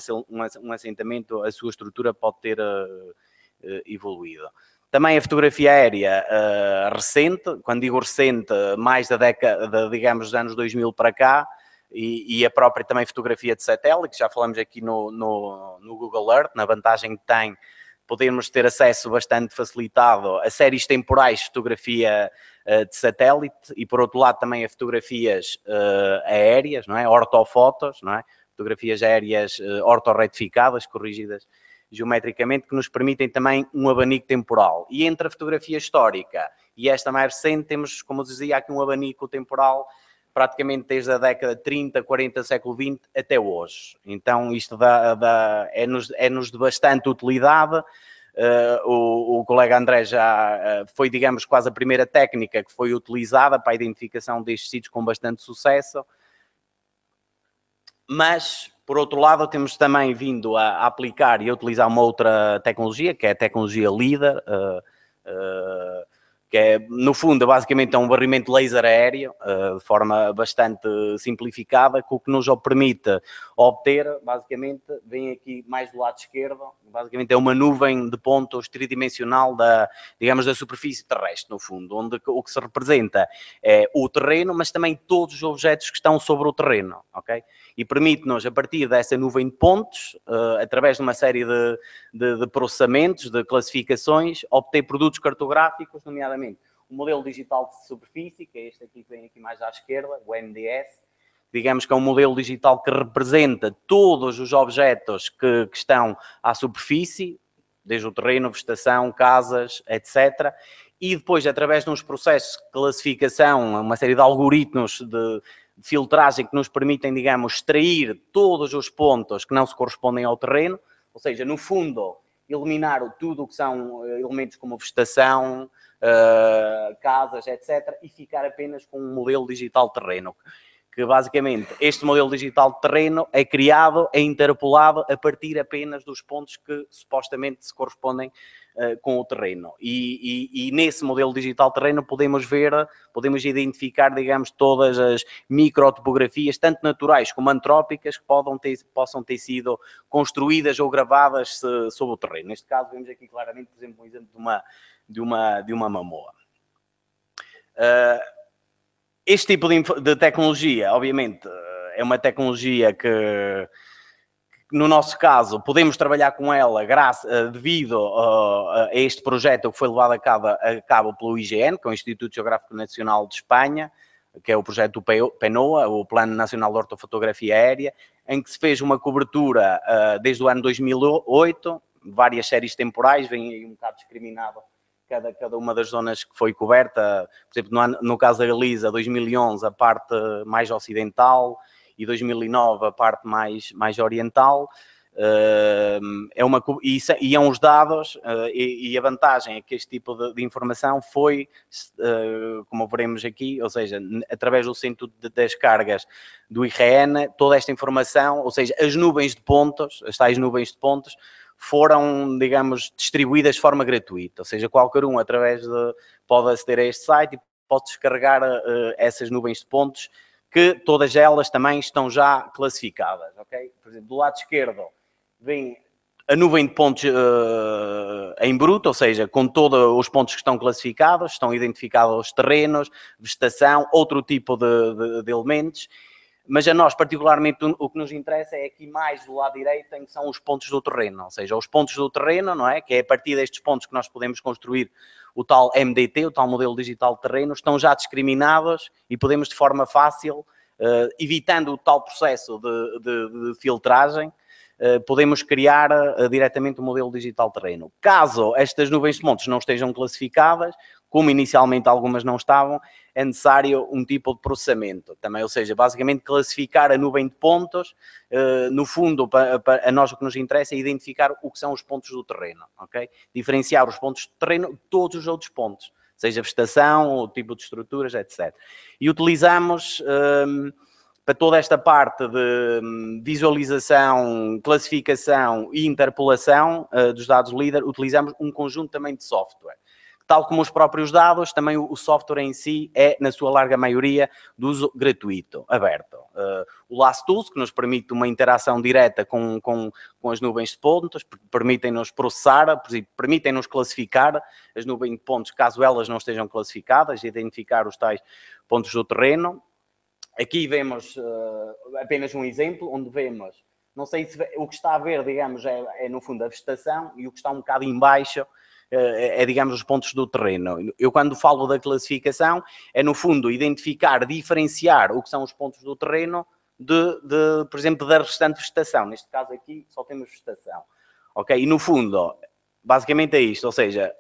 H: um assentamento, a sua estrutura pode ter uh, uh, evoluído. Também a fotografia aérea uh, recente, quando digo recente, mais da década, digamos, dos anos dois mil para cá, e, e a própria também fotografia de satélite, que já falamos aqui no, no, no Google Earth, na vantagem que tem podemos ter acesso bastante facilitado a séries temporais de fotografia uh, de satélite e, por outro lado, também a fotografias uh, aéreas, não é? Ortofotos, não é? Fotografias aéreas uh, ortorretificadas, corrigidas geometricamente, que nos permitem também um abanico temporal. E entre a fotografia histórica e esta mais recente, temos, como eu dizia, aqui um abanico temporal praticamente desde a década de trinta, quarenta, século vinte até hoje. Então, isto dá, dá, é-nos, é-nos de bastante utilidade. Uh, o, o colega André já uh, foi, digamos, quase a primeira técnica que foi utilizada para a identificação destes sítios com bastante sucesso. Mas, por outro lado, temos também vindo a, a aplicar e a utilizar uma outra tecnologia, que é a tecnologia LIDAR, uh, uh, que é, no fundo, basicamente é um barrimento laser aéreo, de forma bastante simplificada, que o que nos permite obter, basicamente, vem aqui mais do lado esquerdo, basicamente é uma nuvem de pontos tridimensional da, digamos, da superfície terrestre, no fundo, onde o que se representa é o terreno, mas também todos os objetos que estão sobre o terreno, ok? E permite-nos, a partir dessa nuvem de pontos, através de uma série de, de, de processamentos, de classificações, obter produtos cartográficos, nomeadamente o modelo digital de superfície, que é este aqui que vem aqui mais à esquerda, o M D S, digamos que é um modelo digital que representa todos os objetos que, que estão à superfície, desde o terreno, vegetação, casas, etcétera. E depois, através de uns processos de classificação, uma série de algoritmos de, de filtragem que nos permitem, digamos, extrair todos os pontos que não se correspondem ao terreno, ou seja, no fundo, eliminar tudo o que são elementos como vegetação, uh, casas, etcétera, e ficar apenas com um modelo digital terreno. Que basicamente este modelo digital de terreno é criado, é interpolado a partir apenas dos pontos que supostamente se correspondem uh, com o terreno. E, e, e nesse modelo digital de terreno podemos ver, podemos identificar, digamos, todas as microtopografias, tanto naturais como antrópicas, que podem ter, possam ter sido construídas ou gravadas se, sobre o terreno. Neste caso vemos aqui claramente, por exemplo, um exemplo de uma, de uma, de uma mamoa. Uh, Este tipo de, de tecnologia, obviamente, é uma tecnologia que, no nosso caso, podemos trabalhar com ela graças, devido a este projeto que foi levado a cabo, a cabo pelo I G N, que é o Instituto Geográfico Nacional de Espanha, que é o projeto PENOA, o Plano Nacional de Ortofotografia Aérea, em que se fez uma cobertura desde o ano dois mil e oito, várias séries temporais, vem aí um bocado discriminado Cada, cada uma das zonas que foi coberta, por exemplo, no, no caso da Galiza, dois mil e onze, a parte mais ocidental, e dois mil e nove, a parte mais, mais oriental. Uh, é uma, e, e é uns dados, uh, e, e a vantagem é que este tipo de, de informação foi, uh, como veremos aqui, ou seja, através do centro de, das cargas do I R N, toda esta informação, ou seja, as nuvens de pontos, as tais nuvens de pontos, foram, digamos, distribuídas de forma gratuita, ou seja, qualquer um, através de, pode aceder a este site e pode descarregar uh, essas nuvens de pontos, que todas elas também estão já classificadas, ok? Por exemplo, do lado esquerdo vem a nuvem de pontos uh, em bruto, ou seja, com todos os pontos que estão classificados, estão identificados os terrenos, vegetação, outro tipo de, de, de elementos. Mas a nós, particularmente, o que nos interessa é aqui mais do lado direito, em que são os pontos do terreno. Ou seja, os pontos do terreno, não é? Que é a partir destes pontos que nós podemos construir o tal M D T, o tal modelo digital de terreno, estão já discriminados e podemos, de forma fácil, uh, evitando o tal processo de, de, de filtragem, uh, podemos criar uh, diretamente o modelo digital de terreno. Caso estas nuvens de pontos não estejam classificadas, como inicialmente algumas não estavam, é necessário um tipo de processamento também, ou seja, basicamente classificar a nuvem de pontos, uh, no fundo, para, para, a nós o que nos interessa é identificar o que são os pontos do terreno, ok? Diferenciar os pontos do terreno de todos os outros pontos, seja vegetação, o tipo de estruturas, etcétera. E utilizamos, um, para toda esta parte de visualização, classificação e interpolação uh, dos dados líder, utilizamos um conjunto também de software. Tal como os próprios dados, também o software em si é, na sua larga maioria, de uso gratuito, aberto. Uh, o LastTools, que nos permite uma interação direta com, com, com as nuvens de pontos, permitem-nos processar, permitem-nos classificar as nuvens de pontos, caso elas não estejam classificadas, identificar os tais pontos do terreno. Aqui vemos uh, apenas um exemplo, onde vemos, não sei se o que está a ver, digamos, é, é no fundo a vegetação, e o que está um bocado em baixo é, digamos, os pontos do terreno. Eu, quando falo da classificação, é, no fundo, identificar, diferenciar o que são os pontos do terreno de, de, por exemplo, da restante vegetação. Neste caso aqui, só temos vegetação. Ok? E, no fundo, basicamente é isto, ou seja,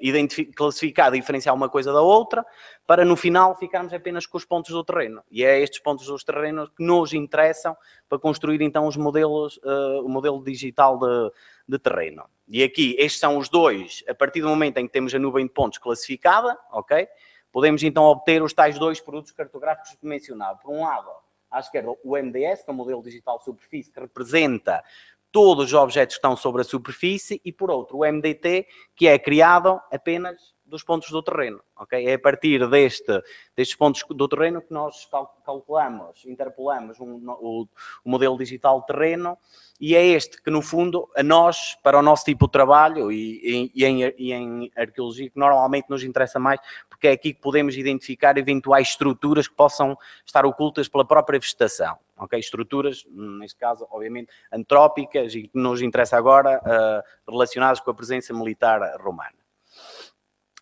H: classificar, diferenciar uma coisa da outra, para, no final, ficarmos apenas com os pontos do terreno. E é estes pontos dos terrenos que nos interessam para construir, então, os modelos, uh, o modelo digital de, de terreno. E aqui, estes são os dois, a partir do momento em que temos a nuvem de pontos classificada, ok? Podemos então obter os tais dois produtos cartográficos que mencionava. Por um lado, à esquerda, o M D S, que é o modelo digital de superfície, que representa todos os objetos que estão sobre a superfície, e por outro, o M D T, que é criado apenas dos pontos do terreno, ok? É a partir deste, destes pontos do terreno que nós cal calculamos, interpolamos um, o, o modelo digital de terreno, e é este que, no fundo, a nós, para o nosso tipo de trabalho e, e, e, em, e em arqueologia, que normalmente nos interessa mais, porque é aqui que podemos identificar eventuais estruturas que possam estar ocultas pela própria vegetação, ok? Estruturas, neste caso, obviamente, antrópicas e que nos interessa agora, uh, relacionadas com a presença militar romana.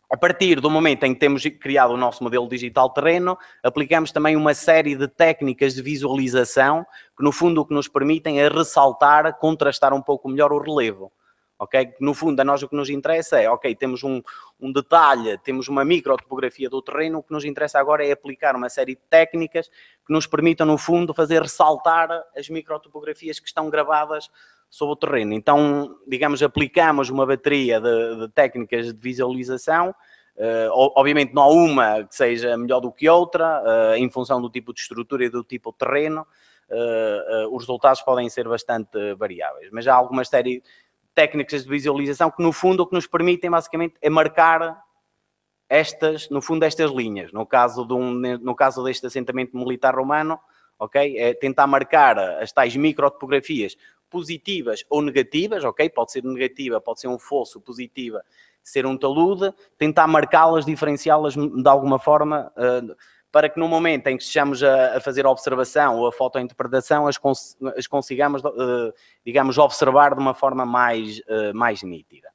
H: A partir do momento em que temos criado o nosso modelo digital terreno, aplicamos também uma série de técnicas de visualização que, no fundo, o que nos permitem é ressaltar, contrastar um pouco melhor o relevo. Okay? No fundo, a nós o que nos interessa é, ok, temos um, um detalhe, temos uma microtopografia do terreno, o que nos interessa agora é aplicar uma série de técnicas que nos permitam, no fundo, fazer ressaltar as microtopografias que estão gravadas sobre o terreno. Então, digamos, aplicamos uma bateria de, de técnicas de visualização. Uh, obviamente não há uma que seja melhor do que outra, uh, em função do tipo de estrutura e do tipo de terreno. Uh, uh, os resultados podem ser bastante variáveis, mas há algumas série de técnicas de visualização que, no fundo, o que nos permitem, basicamente, é marcar estas, no fundo, estas linhas. No caso, de um, no caso deste assentamento militar romano, ok, é tentar marcar as tais microtopografias positivas ou negativas, ok? Pode ser negativa, pode ser um fosso, positiva, ser um talude, tentar marcá-las, diferenciá-las de alguma forma, uh, para que no momento em que estejamos a, a fazer a observação ou a fotointerpretação, as, cons as consigamos, uh, digamos, observar de uma forma mais, uh, mais nítida.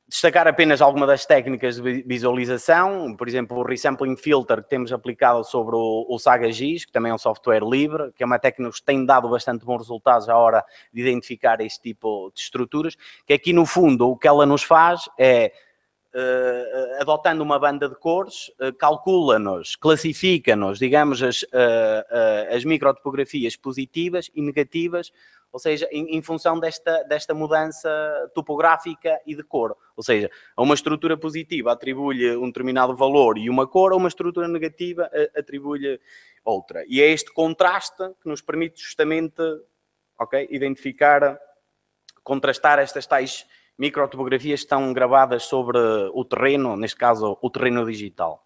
H: Destacar apenas alguma das técnicas de visualização, por exemplo, o Resampling Filter que temos aplicado sobre o, o SagaGIS, que também é um software livre, que é uma técnica que tem dado bastante bons resultados à hora de identificar este tipo de estruturas, que aqui no fundo o que ela nos faz é, uh, adotando uma banda de cores, uh, calcula-nos, classifica-nos, digamos, as, uh, uh, as microtopografias positivas e negativas, ou seja, em, em função desta, desta mudança topográfica e de cor. Ou seja, a uma estrutura positiva atribui-lhe um determinado valor e uma cor, a uma estrutura negativa atribui-lhe outra. E é este contraste que nos permite justamente, okay, identificar, contrastar estas tais microtopografias que estão gravadas sobre o terreno, neste caso o terreno digital.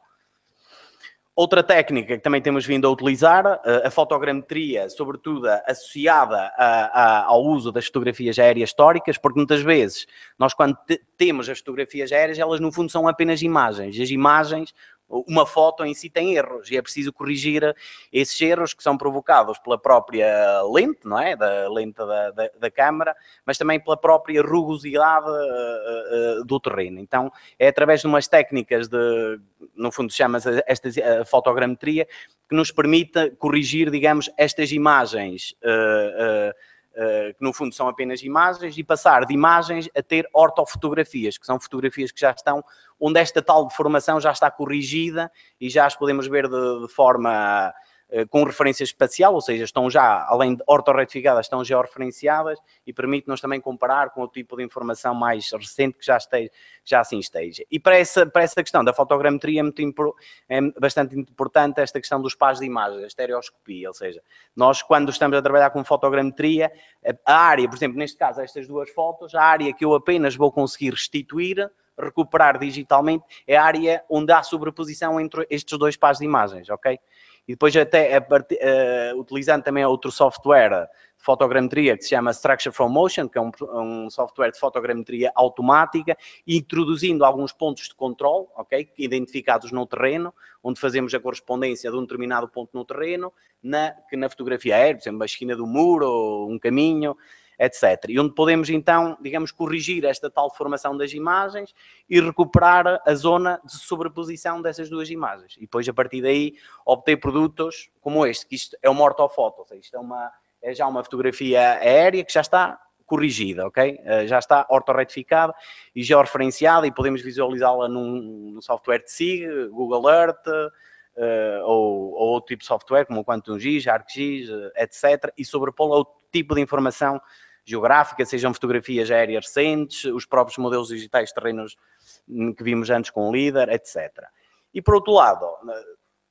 H: Outra técnica que também temos vindo a utilizar, a fotogrametria, sobretudo associada a, a, ao uso das fotografias aéreas históricas, porque muitas vezes nós quando temos as fotografias aéreas, elas no fundo são apenas imagens. E as imagens, uma foto em si tem erros e é preciso corrigir esses erros que são provocados pela própria lente, não é? Da lente da, da, da câmara, mas também pela própria rugosidade uh, uh, do terreno. Então, é através de umas técnicas de, no fundo, chama-se esta uh, fotogrametria, que nos permite corrigir, digamos, estas imagens uh, uh, Uh, que no fundo são apenas imagens, e passar de imagens a ter ortofotografias, que são fotografias que já estão, onde esta tal deformação já está corrigida e já as podemos ver de, de forma uh, com referência espacial, ou seja, estão já, além de ortorretificadas, estão georreferenciadas e permite-nos também comparar com o tipo de informação mais recente que já, esteja, já assim esteja. E para essa, para essa questão da fotogrametria é, muito, é bastante importante esta questão dos pares de imagens, a estereoscopia, ou seja, nós quando estamos a trabalhar com fotogrametria, a área, por exemplo, neste caso, estas duas fotos, a área que eu apenas vou conseguir restituir, recuperar digitalmente, é a área onde há sobreposição entre estes dois pares de imagens, ok? E depois até, uh, utilizando também outro software de fotogrametria que se chama Structure from Motion, que é um, um software de fotogrametria automática, introduzindo alguns pontos de controle, ok? Identificados no terreno, onde fazemos a correspondência de um determinado ponto no terreno, na, que na fotografia aérea, por exemplo, a esquina do muro, um caminho, etcétera. E onde podemos, então, digamos, corrigir esta tal formação das imagens e recuperar a zona de sobreposição dessas duas imagens. E depois, a partir daí, obter produtos como este, que isto é uma ortofoto, ou seja, isto é, uma, é já uma fotografia aérea que já está corrigida, ok? Já está ortorretificada e georreferenciada e podemos visualizá-la num, num software de S I G, Google Earth, uh, ou, ou outro tipo de software, como o QuantumGIS, ArcGIS, etcétera, e sobrepô-la a outro tipo de informação geográfica, sejam fotografias aéreas recentes, os próprios modelos digitais de terrenos que vimos antes com o LIDAR, etcétera. E por outro lado,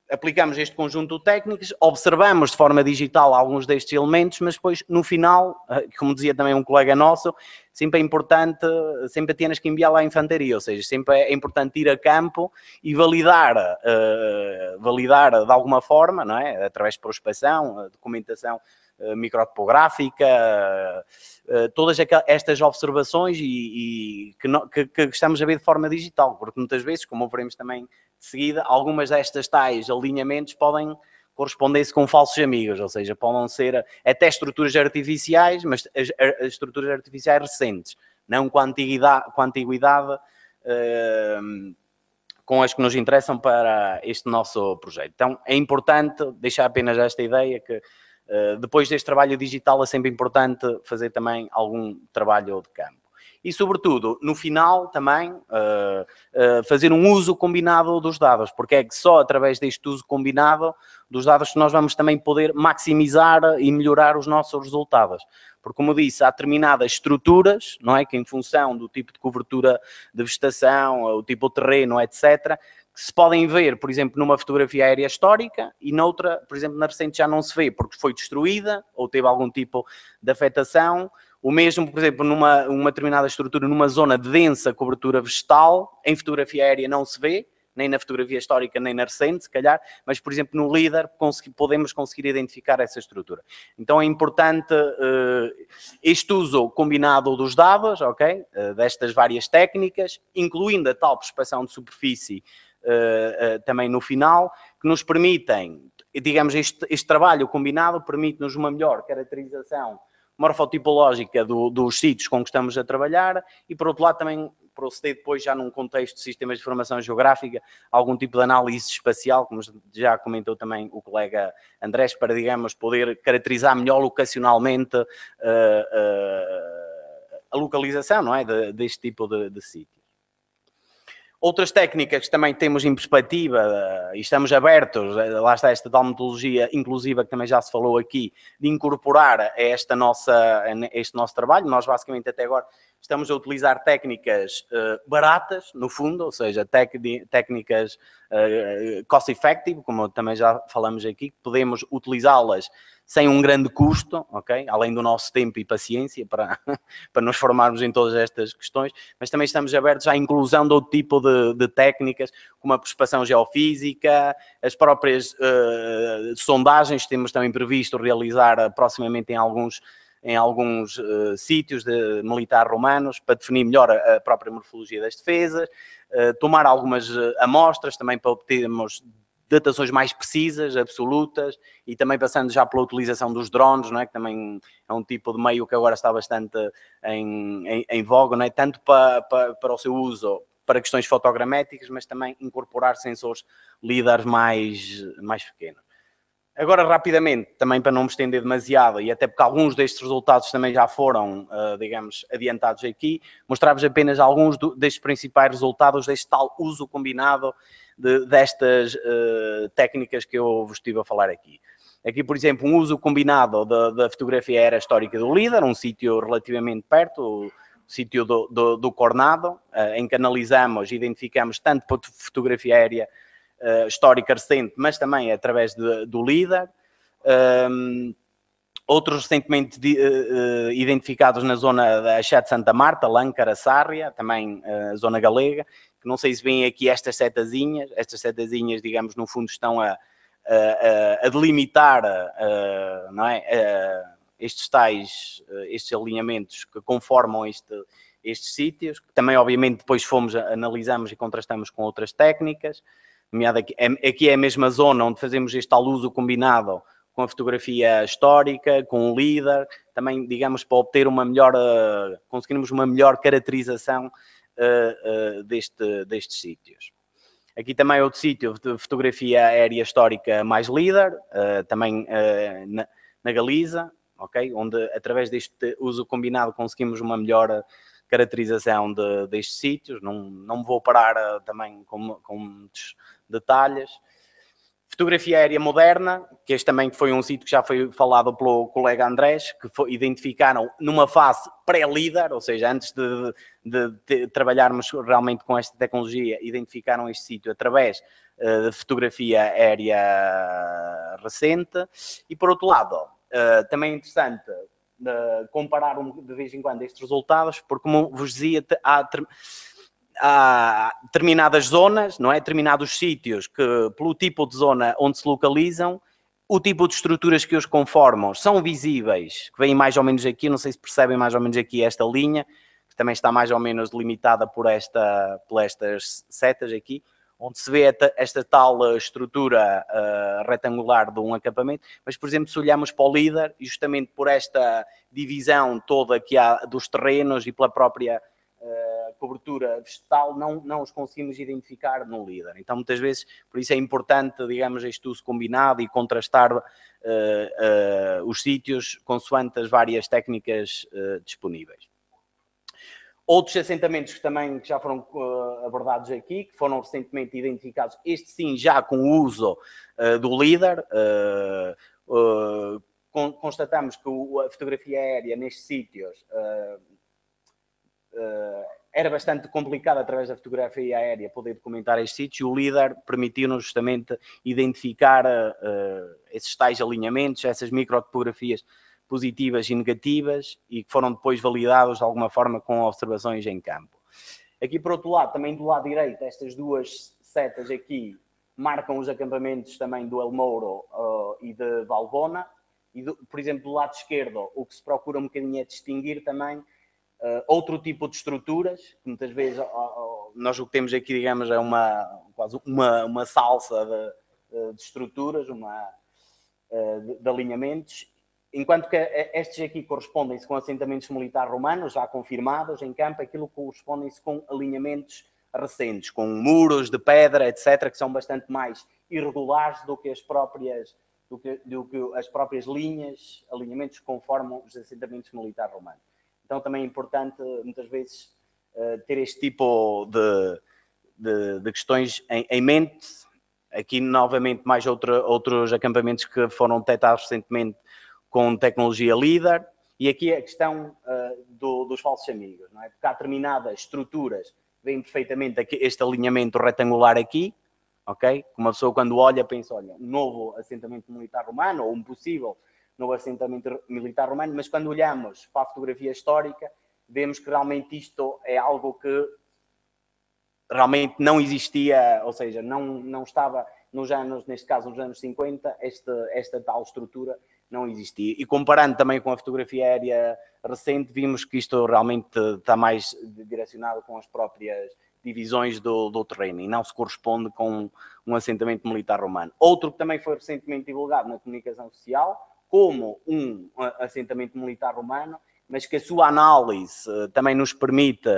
H: aplicamos este conjunto de técnicas, observamos de forma digital alguns destes elementos, mas depois, no final, como dizia também um colega nosso, sempre é importante, sempre tens que enviar lá a infantaria, ou seja, sempre é importante ir a campo e validar, uh, validar de alguma forma, não é? Através de prospeção, documentação uh, microtopográfica, uh, todas estas observações e, e que, no, que, que estamos a ver de forma digital, porque muitas vezes, como veremos também de seguida, algumas destas tais alinhamentos podem corresponder-se com falsos amigos, ou seja, podem ser até estruturas artificiais, mas as, as estruturas artificiais recentes, não com a antiguidade, com, a antiguidade uh, com as que nos interessam para este nosso projeto. Então, é importante deixar apenas esta ideia que uh, depois deste trabalho digital é sempre importante fazer também algum trabalho de campo. E, sobretudo, no final também, uh, uh, fazer um uso combinado dos dados, porque é que só através deste uso combinado dos dados que nós vamos também poder maximizar e melhorar os nossos resultados. Porque, como disse, há determinadas estruturas, não é, que em função do tipo de cobertura de vegetação, o tipo de terreno, etcétera, que se podem ver, por exemplo, numa fotografia aérea histórica e noutra, por exemplo, na recente já não se vê, porque foi destruída ou teve algum tipo de afetação. O mesmo, por exemplo, numa uma determinada estrutura, numa zona de densa cobertura vegetal, em fotografia aérea não se vê, nem na fotografia histórica, nem na recente, se calhar, mas, por exemplo, no LiDAR podemos conseguir identificar essa estrutura. Então é importante uh, este uso combinado dos dados, ok, uh, destas várias técnicas, incluindo a tal prospeção de superfície uh, uh, também no final, que nos permitem, digamos, este, este trabalho combinado permite-nos uma melhor caracterização morfotipológica do, dos sítios com que estamos a trabalhar e, por outro lado, também proceder depois já num contexto de sistemas de informação geográfica, algum tipo de análise espacial, como já comentou também o colega Andrés, para, digamos, poder caracterizar melhor locacionalmente uh, uh, a localização, não é, de, deste tipo de, de sítio. Outras técnicas que também temos em perspectiva e estamos abertos, lá está esta tal metodologia inclusiva que também já se falou aqui, de incorporar a, esta nossa, a este nosso trabalho. Nós basicamente até agora estamos a utilizar técnicas uh, baratas, no fundo, ou seja, tec, técnicas uh, cost-effective, como também já falamos aqui, podemos utilizá-las sem um grande custo, ok? Além do nosso tempo e paciência para, para nos formarmos em todas estas questões, mas também estamos abertos à inclusão de outro tipo de, de técnicas, como a prospeção geofísica, as próprias uh, sondagens que temos também previsto realizar proximamente em alguns, em alguns uh, sítios de militar romanos, para definir melhor a, a própria morfologia das defesas, uh, tomar algumas uh, amostras também para obtermos datações mais precisas, absolutas, e também passando já pela utilização dos drones, não é? Que também é um tipo de meio que agora está bastante em, em, em voga, não é? Tanto para, para, para o seu uso para questões fotogramétricas, mas também incorporar sensores LiDAR mais, mais pequenos. Agora, rapidamente, também para não me estender demasiado, e até porque alguns destes resultados também já foram, uh, digamos, adiantados aqui, mostrar-vos apenas alguns do, destes principais resultados deste tal uso combinado de, destas uh, técnicas que eu vos estive a falar aqui. Aqui, por exemplo, um uso combinado da, da fotografia aérea histórica do LiDAR, um sítio relativamente perto, o sítio do, do, do Cornado, uh, em que analisamos e identificamos tanto por fotografia aérea Uh, histórica recente, mas também através de, do LiDAR. Um, outros recentemente de, uh, identificados na zona da Axé Santa Marta, Lâncara, Sárria, também a uh, zona galega, que não sei se veem aqui estas setazinhas, estas setazinhas, digamos, no fundo estão a, a, a delimitar uh, não é, uh, estes tais, uh, estes alinhamentos que conformam este, estes sítios, que também obviamente depois fomos, analisamos e contrastamos com outras técnicas. Aqui, aqui é a mesma zona onde fazemos este tal uso combinado com a fotografia histórica, com o LiDAR, também, digamos, para obter uma melhor, uh, conseguirmos uma melhor caracterização uh, uh, deste, destes sítios. Aqui também é outro sítio de fotografia aérea histórica mais LiDAR, uh, também uh, na, na Galiza, okay? Onde através deste uso combinado conseguimos uma melhor caracterização de, destes sítios. Não, não me vou parar uh, também com, com muitos detalhes. Fotografia aérea moderna, que este também foi um sítio que já foi falado pelo colega Andrés, que foi, identificaram numa fase pré-líder, ou seja, antes de, de, de trabalharmos realmente com esta tecnologia, identificaram este sítio através uh, de fotografia aérea recente. E por outro lado, uh, também é interessante uh, comparar um, de vez em quando estes resultados, porque como vos dizia, há... há determinadas zonas, não é? Determinados sítios que, pelo tipo de zona onde se localizam, o tipo de estruturas que os conformam são visíveis, que vêm mais ou menos aqui, não sei se percebem mais ou menos aqui esta linha, que também está mais ou menos delimitada por, esta, por estas setas aqui, onde se vê esta, esta tal estrutura uh, retangular de um acampamento, mas, por exemplo, se olharmos para o líder, justamente por esta divisão toda que há dos terrenos e pela própria Uh, cobertura vegetal, não, não os conseguimos identificar no líder. Então, muitas vezes, por isso é importante, digamos, este uso combinado e contrastar uh, uh, os sítios consoante as várias técnicas uh, disponíveis. Outros assentamentos que também já foram uh, abordados aqui, que foram recentemente identificados, este sim já com o uso uh, do líder, uh, uh, con constatamos que o, a fotografia aérea nestes sítios uh, Uh, era bastante complicado através da fotografia aérea poder documentar este sítio. O líder permitiu-nos justamente identificar uh, esses tais alinhamentos, essas microtopografias positivas e negativas e que foram depois validados de alguma forma com observações em campo. Aqui por outro lado, também do lado direito, estas duas setas aqui marcam os acampamentos também do El Mouro uh, e de Valbona e, do, por exemplo, do lado esquerdo, o que se procura um bocadinho é distinguir também Uh, outro tipo de estruturas, que muitas vezes uh, uh, nós o que temos aqui, digamos, é uma, quase uma, uma salsa de, de estruturas, uma, uh, de, de alinhamentos, enquanto que estes aqui correspondem-se com assentamentos militares romanos, já confirmados em campo, aquilo correspondem-se com alinhamentos recentes, com muros de pedra, etcétera, que são bastante mais irregulares do que as próprias, do que, do que as próprias linhas, alinhamentos que conformam os assentamentos militares romanos. Então também é importante, muitas vezes, ter este tipo de, de, de questões em, em mente. Aqui, novamente, mais outra, outros acampamentos que foram detectados recentemente com tecnologia líder. E aqui a questão uh, do, dos falsos amigos, não é? Porque há determinadas estruturas, vem perfeitamente aqui, este alinhamento retangular aqui, ok? Uma pessoa quando olha, pensa, olha, um novo assentamento militar romano, ou um possível no assentamento militar romano, mas quando olhamos para a fotografia histórica, vemos que realmente isto é algo que realmente não existia, ou seja, não, não estava nos anos, neste caso nos anos cinquenta, esta, esta tal estrutura não existia. E comparando também com a fotografia aérea recente, vimos que isto realmente está mais direcionado com as próprias divisões do, do terreno e não se corresponde com um assentamento militar romano. Outro que também foi recentemente divulgado na comunicação social, como um assentamento militar romano, mas que a sua análise uh, também nos permite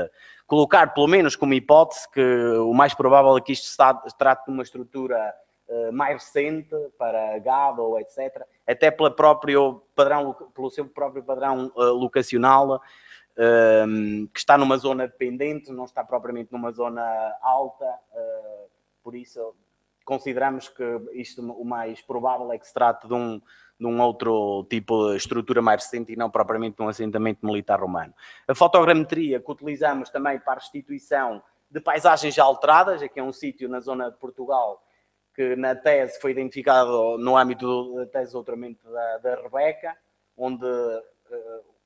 H: colocar, pelo menos como hipótese, que o mais provável é que isto se trate de uma estrutura uh, mais recente, para gado ou etcétera, até pela próprio padrão, pelo seu próprio padrão uh, locacional, uh, que está numa zona dependente, não está propriamente numa zona alta, uh, por isso consideramos que isto, o mais provável é que se trate de um de um outro tipo de estrutura mais recente e não propriamente de um assentamento militar romano. A fotogrametria que utilizamos também para a restituição de paisagens já alteradas, aqui é um sítio na zona de Portugal que na tese foi identificado no âmbito da tese de doutoramento da, da Rebeca, onde,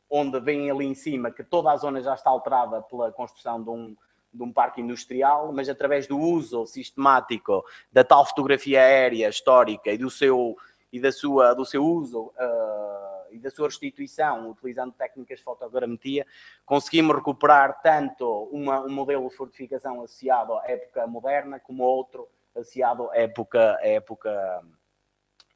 H: onde vem ali em cima que toda a zona já está alterada pela construção de um, de um parque industrial, mas através do uso sistemático da tal fotografia aérea histórica e do seu e da sua, do seu uso uh, e da sua restituição, utilizando técnicas de fotogrametria, conseguimos recuperar tanto uma, um modelo de fortificação associado à época moderna, como outro associado à época, à época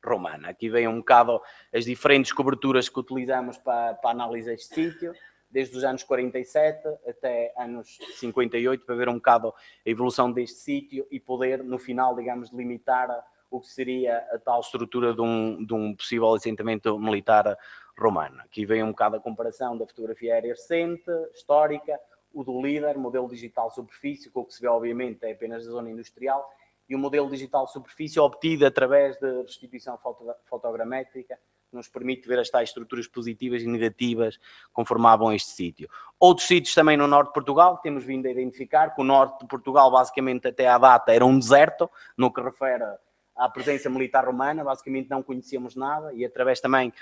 H: romana. Aqui vem um bocado as diferentes coberturas que utilizamos para, para a análise deste sítio, desde os anos quarenta e sete até anos cinquenta e oito, para ver um bocado a evolução deste sítio e poder, no final, digamos, delimitar o que seria a tal estrutura de um, de um possível assentamento militar romano. Aqui vem um bocado a comparação da fotografia aérea recente, histórica, o do líder, modelo digital superfície, com o que se vê, obviamente, é apenas a zona industrial, e o modelo digital de superfície obtido através de restituição foto, fotogramétrica, que nos permite ver as tais estruturas positivas e negativas que conformavam este sítio. Outros sítios também no norte de Portugal, que temos vindo a identificar, que o norte de Portugal, basicamente até à data, era um deserto, no que refere à presença militar romana, basicamente não conhecíamos nada, e através também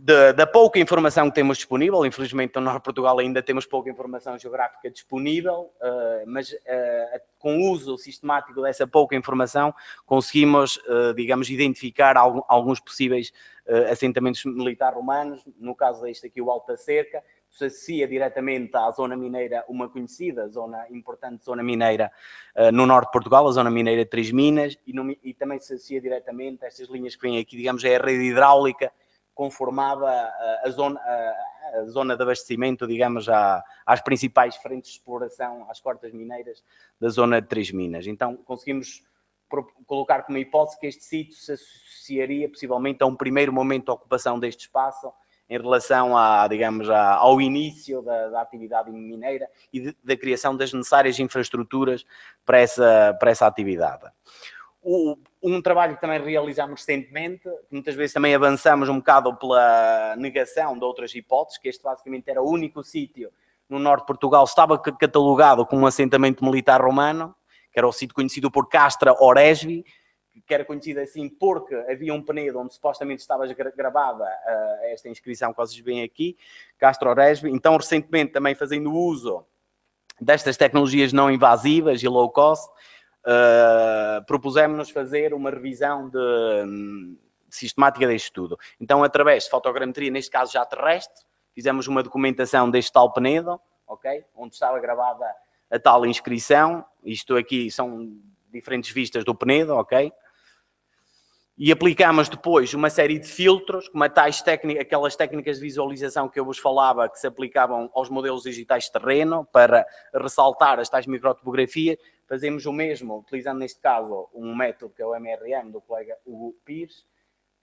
H: Da, da pouca informação que temos disponível, infelizmente no norte de Portugal ainda temos pouca informação geográfica disponível, uh, mas uh, com o uso sistemático dessa pouca informação conseguimos, uh, digamos, identificar algum, alguns possíveis uh, assentamentos militares romanos, no caso deste aqui o Alto da Cerca, se associa diretamente à zona mineira, uma conhecida zona, importante zona mineira uh, no norte de Portugal, a zona mineira de Três Minas, e, no, e também se associa diretamente a estas linhas que vêm aqui, digamos, é a rede hidráulica, conformava a, a, zona, a, a zona de abastecimento, digamos, à, às principais frentes de exploração, às cortas mineiras da zona de Três Minas. Então, conseguimos colocar como hipótese que este sítio se associaria, possivelmente, a um primeiro momento de ocupação deste espaço em relação a, digamos, a, ao início da, da atividade mineira e de, da criação das necessárias infraestruturas para essa, para essa atividade. O, um trabalho que também realizámos recentemente, que muitas vezes também avançamos um bocado pela negação de outras hipóteses, que este basicamente era o único sítio no norte de Portugal que estava catalogado como um assentamento militar romano, que era o sítio conhecido por Castra Oresbi, que era conhecido assim porque havia um penedo onde supostamente estava gravada uh, esta inscrição que vocês veem aqui, Castra Oresbi. Então, recentemente, também fazendo uso destas tecnologias não invasivas e low cost, Uh, propusemos-nos fazer uma revisão de, de sistemática deste estudo. Então, através de fotogrametria, neste caso já terrestre, fizemos uma documentação deste tal penedo, okay, onde estava gravada a tal inscrição. Isto aqui são diferentes vistas do penedo, ok? E aplicamos depois uma série de filtros, como tais técnicas, aquelas técnicas de visualização que eu vos falava, que se aplicavam aos modelos digitais de terreno, para ressaltar as tais microtopografias. Fazemos o mesmo, utilizando neste caso um método que é o M R M, do colega Hugo Pires.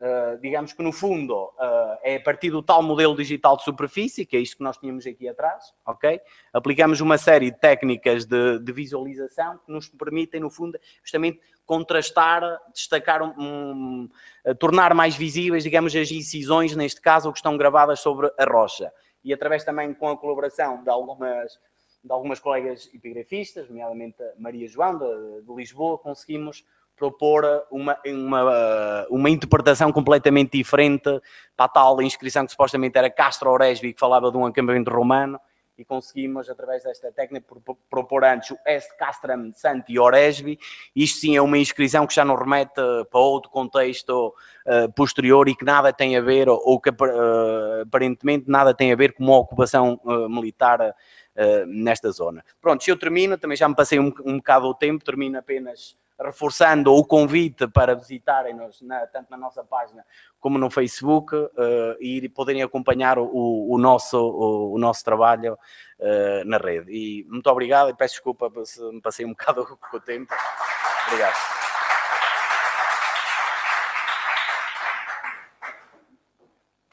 H: Uh, digamos que no fundo uh, é a partir do tal modelo digital de superfície, que é isto que nós tínhamos aqui atrás, ok? Aplicamos uma série de técnicas de, de visualização que nos permitem, no fundo, justamente contrastar, destacar, um, um, uh, tornar mais visíveis, digamos, as incisões, neste caso, que estão gravadas sobre a rocha. E através também com a colaboração de algumas, de algumas colegas epigrafistas, nomeadamente a Maria João, de, de Lisboa, conseguimos propor uma, uma, uma interpretação completamente diferente para a tal inscrição que supostamente era Castra Oresbi, que falava de um acampamento romano, e conseguimos, através desta técnica, propor antes o Est Castram Santi Oresbi. Isto sim é uma inscrição que já nos remete para outro contexto uh, posterior e que nada tem a ver, ou, ou que uh, aparentemente nada tem a ver com uma ocupação uh, militar uh, nesta zona. Pronto, se eu termino, também já me passei um, um bocado o tempo, termino apenas reforçando o convite para visitarem-nos na, tanto na nossa página como no Facebook uh, e poderem acompanhar o, o, nosso, o, o nosso trabalho uh, na rede. E muito obrigado e peço desculpa se me passei um bocado com o tempo. Obrigado.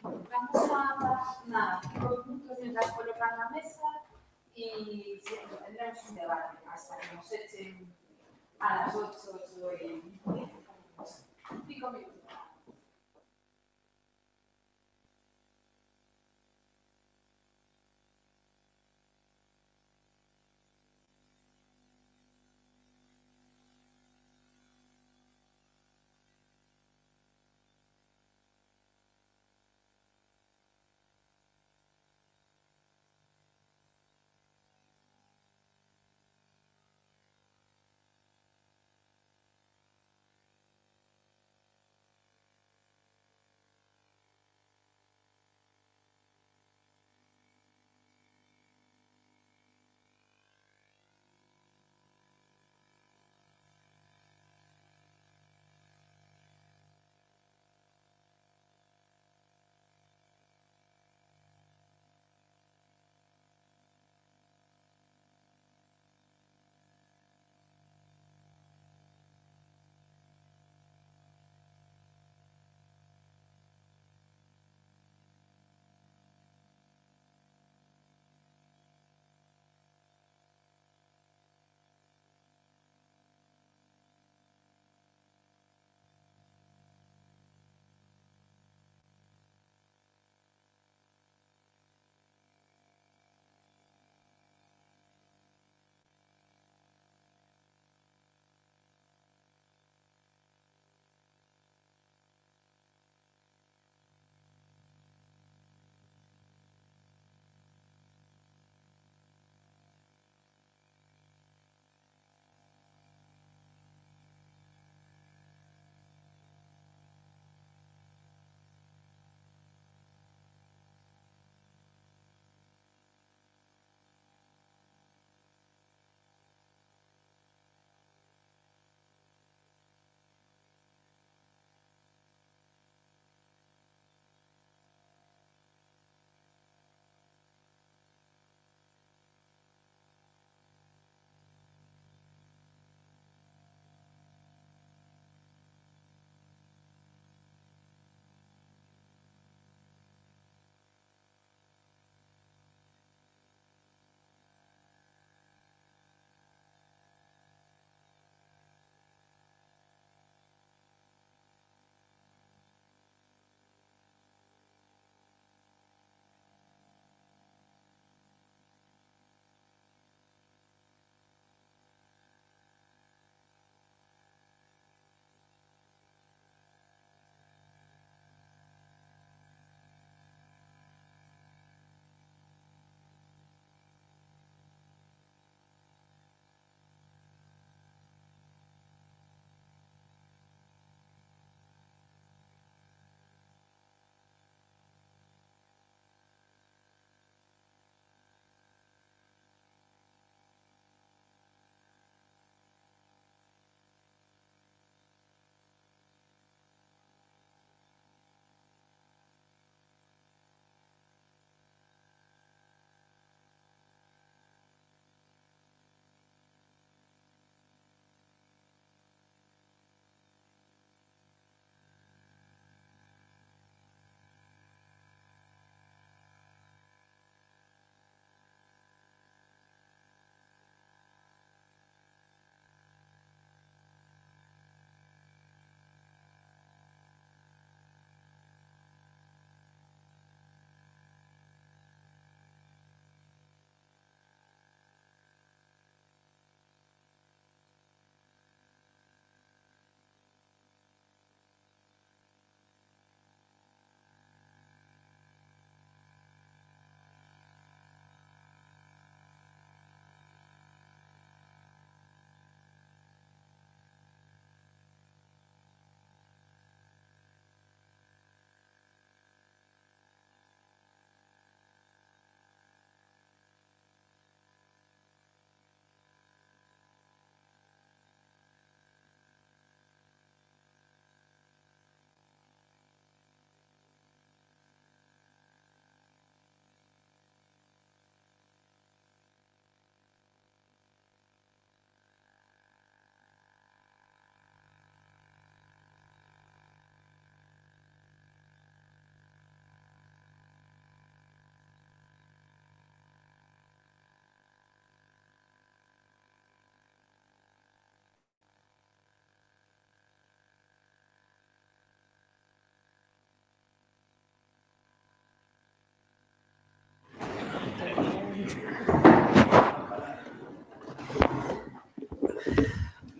A: Vamos a nada, puntos mientras colocan la mesa y tendremos un debate hasta que nos echen a las ocho, ocho y cinco minutos.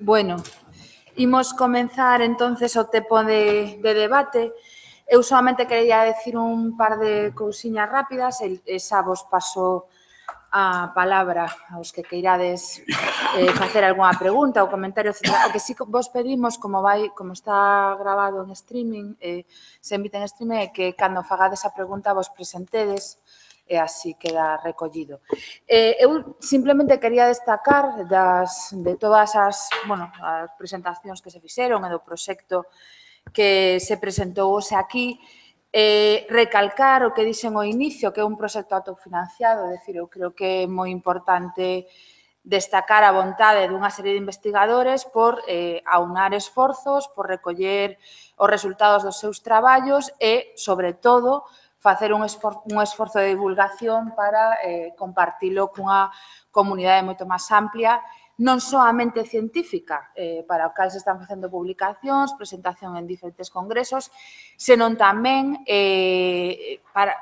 A: Bueno, imos comenzar entonces o tempo de, de debate. Eu solamente quería decir un par de cousiñas rápidas e, e xa vos paso a palabra aos que queirades eh, facer algunha pregunta ou comentario, etcétera. O que sí vos pedimos, como vai, como está grabado en streaming, eh, se emite en streaming, é que cando fagades a pregunta vos presentedes e así queda recollido. Eh, eu simplemente quería destacar das, de todas as, bueno, as presentacións que se fixeron e do proxecto que se presentou hoxe aquí, Eh, recalcar o que dixen ao inicio, que é un proxecto autofinanciado, é dicir, eu creo que é moi importante destacar a vontade dunha serie de investigadores por eh, aunar esforzos, por recoller os resultados dos seus traballos e, sobre todo, facer un esforzo, un esforzo de divulgación para eh, compartilo cunha comunidade moito máis amplia, non soamente científica, eh, para o cal se están facendo publicacións, presentación en diferentes congresos, senón tamén eh, para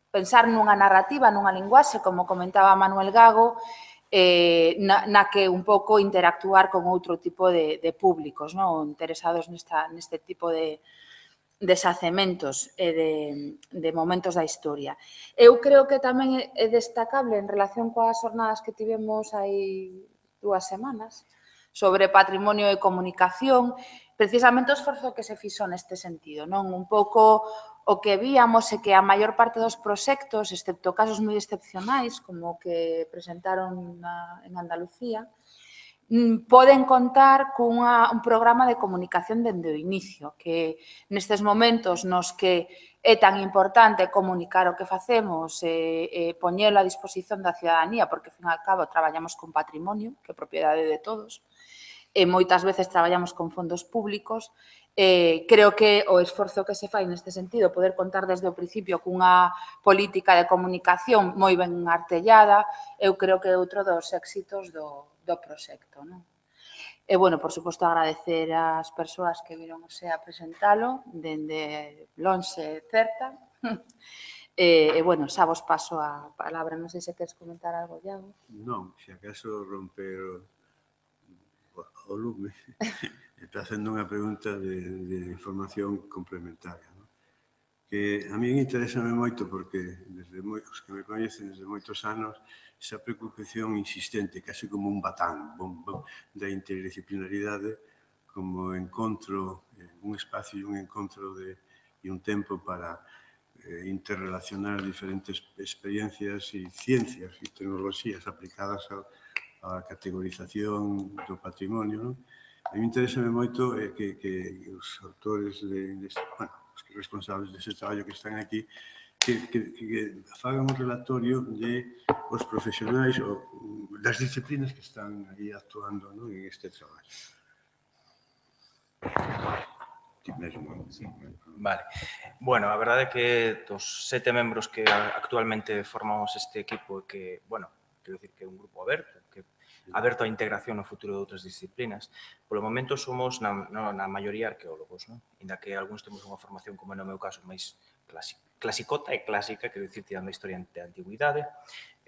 A: pensar nunha narrativa, nunha linguaxe, como comentaba Manuel Gago, eh, na, na que un pouco interactuar con outro tipo de, de públicos, non? Interesados nesta, neste tipo de deshacementos e de, de momentos da historia. Eu creo que tamén é destacable en relación coas jornadas que tivemos aí dúas semanas sobre patrimonio e comunicación, precisamente o esforzo que se fixo neste sentido, non? Un pouco o que víamos é que a maior parte dos proxectos, excepto casos moi excepcionais, como o que presentaron na, en Andalucía, poden contar cunha, un programa de comunicación dende o inicio, que nestes momentos nos que é tan importante comunicar o que facemos e, e poñelo a disposición da ciudadanía, porque, ao fin e ao cabo, traballamos con patrimonio, que é propiedade de todos, e moitas veces traballamos con fondos públicos. Eh, creo que o esforzo que se fai neste sentido, poder contar desde o principio cunha política de comunicación moi ben artellada, eu creo que é outro dos éxitos do, do proxecto, non? E, bueno, por suposto, agradecer ás persoas que viron o sea presentalo, dende lonxe certa. E, e, bueno, xa vos paso a palabra. Non sei se queres comentar algo, Iago.
B: Non, se acaso romper o, o lume. Está facendo unha pregunta de, de información complementaria, ¿no? Que a mí interésame moito porque desde moi, os que me coñecen desde moitos anos esa preocupación insistente, casi como un batán bom, bom, da interdisciplinaridade como encontro, un espacio e un encontro de, e un tempo para eh, interrelacionar diferentes experiencias e ciencias e tecnologías aplicadas a, a categorización do patrimonio, ¿no? A mí interésame moito eh, que, que os autores de, de, bueno, os responsables dese traballo que están aquí que, que, que fagan un relatorio de os profesionais ou das disciplinas que están aí actuando, ¿no? En este traballo. Ti mesmo.
C: Sí. Vale. Bueno, a verdade é que dos sete membros que actualmente formamos este equipo, que, bueno, quero dicir que é un grupo aberto, que aberto a integración no futuro de outras disciplinas. Polo momento somos na, na, na maioría arqueólogos, non? Inda que algúns temos unha formación, como no meu caso, máis clasicota e clásica, quero dicir, tirando a historia da antiguidade,